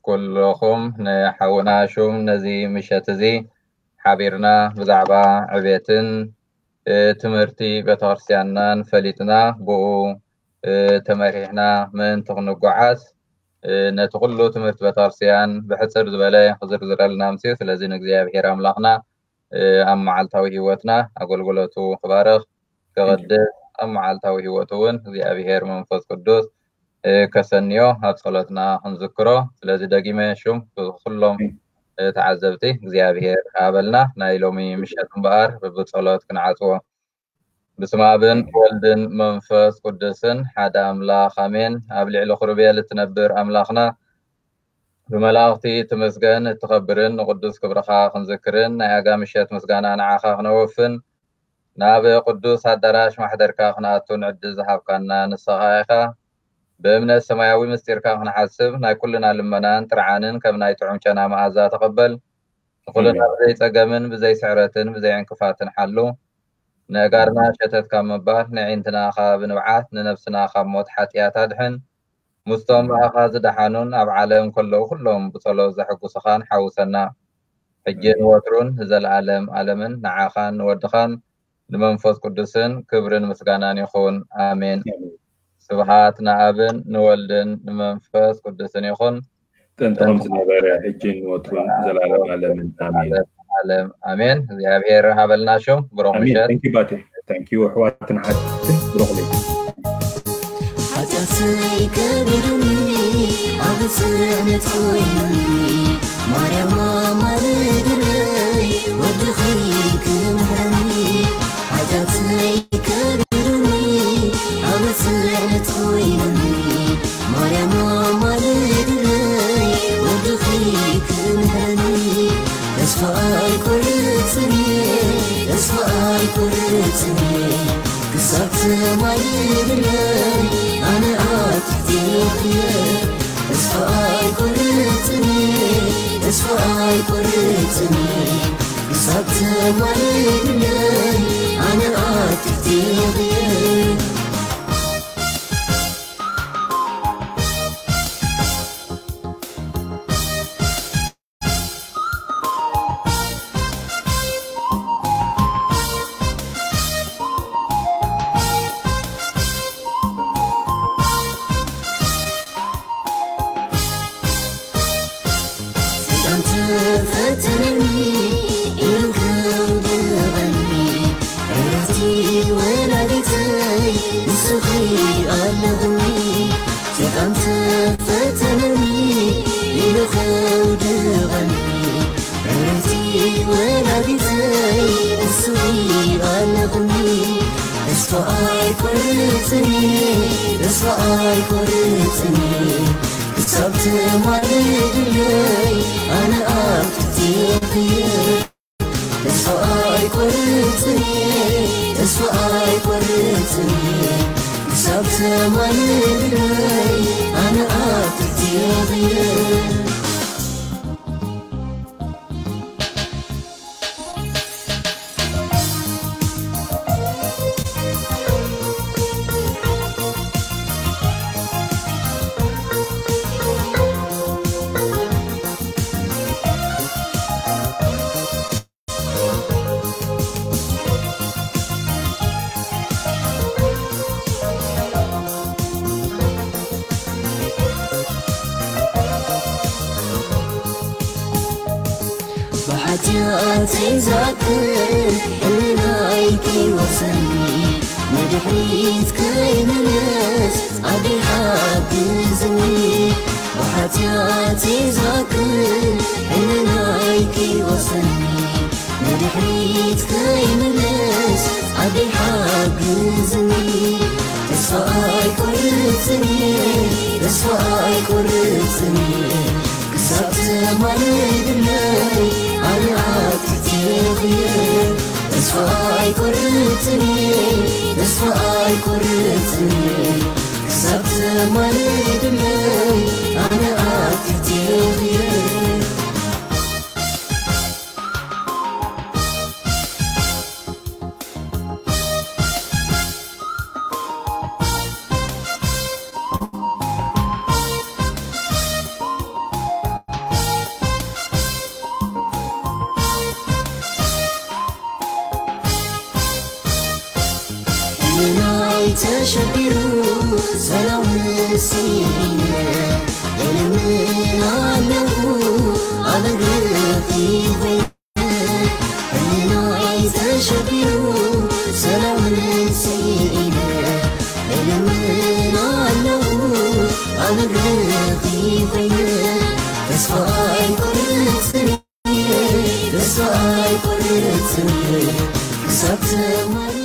ኩልኹም ንሓውና ሹም ነዚ ምሸት እዚ ሓቢርና ብዛዕባ ዕቤትን ትምህርቲ ቤተክርስትያንናን ፈሊጥና ብኡ ተመሪሕና ምእንቲ ክንጓዓዝ ነቲ ኩሉ ትምህርቲ ቤተክርስትያን ብሕፅር ዝበለ ክዝርዝረልና ኣምፅኡ። ስለዚ ንእግዚኣብሔር ኣምላኽና ኣብ መዓልታዊ ህይወትና ኣገልግሎቱ ክባርኽ ክቕድስ ኣብ መዓልታዊ ህይወቱ እውን እግዚኣብሔር መንፈስ ቅዱስ ከሰንዮ ኣብ ጸሎትና ክንዝክሮ። ስለዚ ደጊመ ሹም ብኩሎም ተዓዘብቲ እግዚኣብሔር ሃበልና። ናይ ሎሚ ምሸት እምበኣር ብብጸሎት ክንዓጽዎ። ብስመ ኣብን ወልድን መንፈስ ቅዱስን ሓደ ኣምላኽ ኣሜን። ኣብ ልዕሊ ክሩቤል እትነብር ኣምላኽና ብመላእኽቲ ትመስገን። እትኸብርን ንቅዱስ ክብርኻ ክንዝክርን ናይ ኣጋ ምሸት ምስጋና ንዓኻ ክነወፍን ናብ ቅዱስ ኣዳራሽ ማሕደርካ ክንኣቱ ንዕድል ዝሃብካና ንስኻ ኢኻ። ብእምነት ሰማያዊ ምስጢርካ ክንሓስብ ናይ ኩልና ልመናን ጥርዓንን ከም ናይ ጥዑም ጨና መኣዛ ተቐበል። ንኹልና ብዘይ ጸገምን ብዘይ ስዕረትን ብዘይ ዕንቅፋትን ሓሉ። ነእጋርና ሸተት ካብ ምባል፣ ነዒንትና ካብ ንብዓት፣ ንነብስና ካብ ሞት ሓጢኣት ኣድሕን። ምስቶም ብኣኻ ዝደሓኑን ኣብ ዓለም ከለዉ ኩሎም ብጸሎት ዘሐጉስኻን ሓውሰና። ሕጂ ንወትሩን ንዘለኣለም ኣለምን ንዓኻን ንወድኻን ንመንፈስ ቅዱስን ክብርን ምስጋናን ይኹን። ኣሜን። ስብሃት ንኣብን ንወልድን ንመንፈስ ቅዱስን ይኹን። ጥንቲ ከም ዝነበረ፣ ሕጂ ንወትሩን ዘላለም ኣለምን። ኣሜን። ዓለም ኣሜን። እግዚኣብሔር ሃበልና ሹም ብሩኽ ኣሜን። ምሸት። Thank you ባቴ። Thank you ኣሕዋትን ሓትን ብሩኽ ለይቲ። ሓጢኣተይ ከቢዱኒ ኣብ ጽዕነት ኮይኑኒ ማርያም ኣማልድለይ ወድኺ ክምሕረኒ ሓጢኣተይ ከቢዱኒ ኣብ ጽዕነት ኮይኑኒ ማርያም ኣማልድለይ ወድኺ ክምሕረኒ ተስፋ ኣይቆርጽን እየ ተስፋ ኣይቆርጽን እየ ክሳብ ትማልድለይ ኣነ ኣብ ትሕቲ እየ ተስፋ ኣይቆርጽን እየ ተስፋ ኣይቆርጽን እየ ክሳብ ትማልድለይ ኣነ ኣብ ትሕቲ እየ ሰይጣን ተፈተነኒ ኢሉ ከውድቐኒ ዕረፍቲ ወላዲተይ ንስኺ ኣለኹኒ ሰይጣን ተፈተነኒ ኢሉ ከውድቐኒ ዕረፍቲ ወላዲተይ ንስኺ ኣለኹኒ ተስፋ ኣይቆርጽን ተስፋ ኣይቆርጽን ክሳብ ትማልድለይ ኣነ ኣብ ትሕቲ እየ ተስፋ ኣይቆርጽን ተስፋ ኣይቆርጽን ክሳብ ትማልድለይ ኣነ ኣብ ትሕቲ እየ ሓጢኣተይ ዛክር፣ ሕልናይ ከይወቕሰኒ፣ ንድሕሪት ከይምለስ ኣደይ ሓግዝኒ። ብሓጢኣተይ ዛክር፣ ሕልናይ ከይወቕሰኒ፣ ንድሕሪት ከይምለስ ኣደይ ሓግዝኒ። ተስፋ ኣይቆርጽን እየ፣ ተስፋ ኣይቆርጽን እየ፣ ክሳብ ተማልድለይ ኣነ ኣብ ትሕቲ እየ። ተስፋ ኣይቆርጽን እየ፣ ተስፋ ኣይቆርጽን እየ፣ ክሳብ ተማልድለይ ኣነ ኣብ ትሕቲ እየ። ሕልናይ ተሸቢሩ ሰላም ስኢነ፣ እልምን ኣለኹ ኣብ እግርኺ ኮይነ። ሕልናይ ተሸቢሩ ሰላም ስኢነ፣ እልምን ኣለኹ ኣብ እግርኺ ኮይነ። ተስፋ ኣይቆርጽን እየ፣ ተስፋ ኣይቆርጽን እየ፣ ክሳብ ትማሊ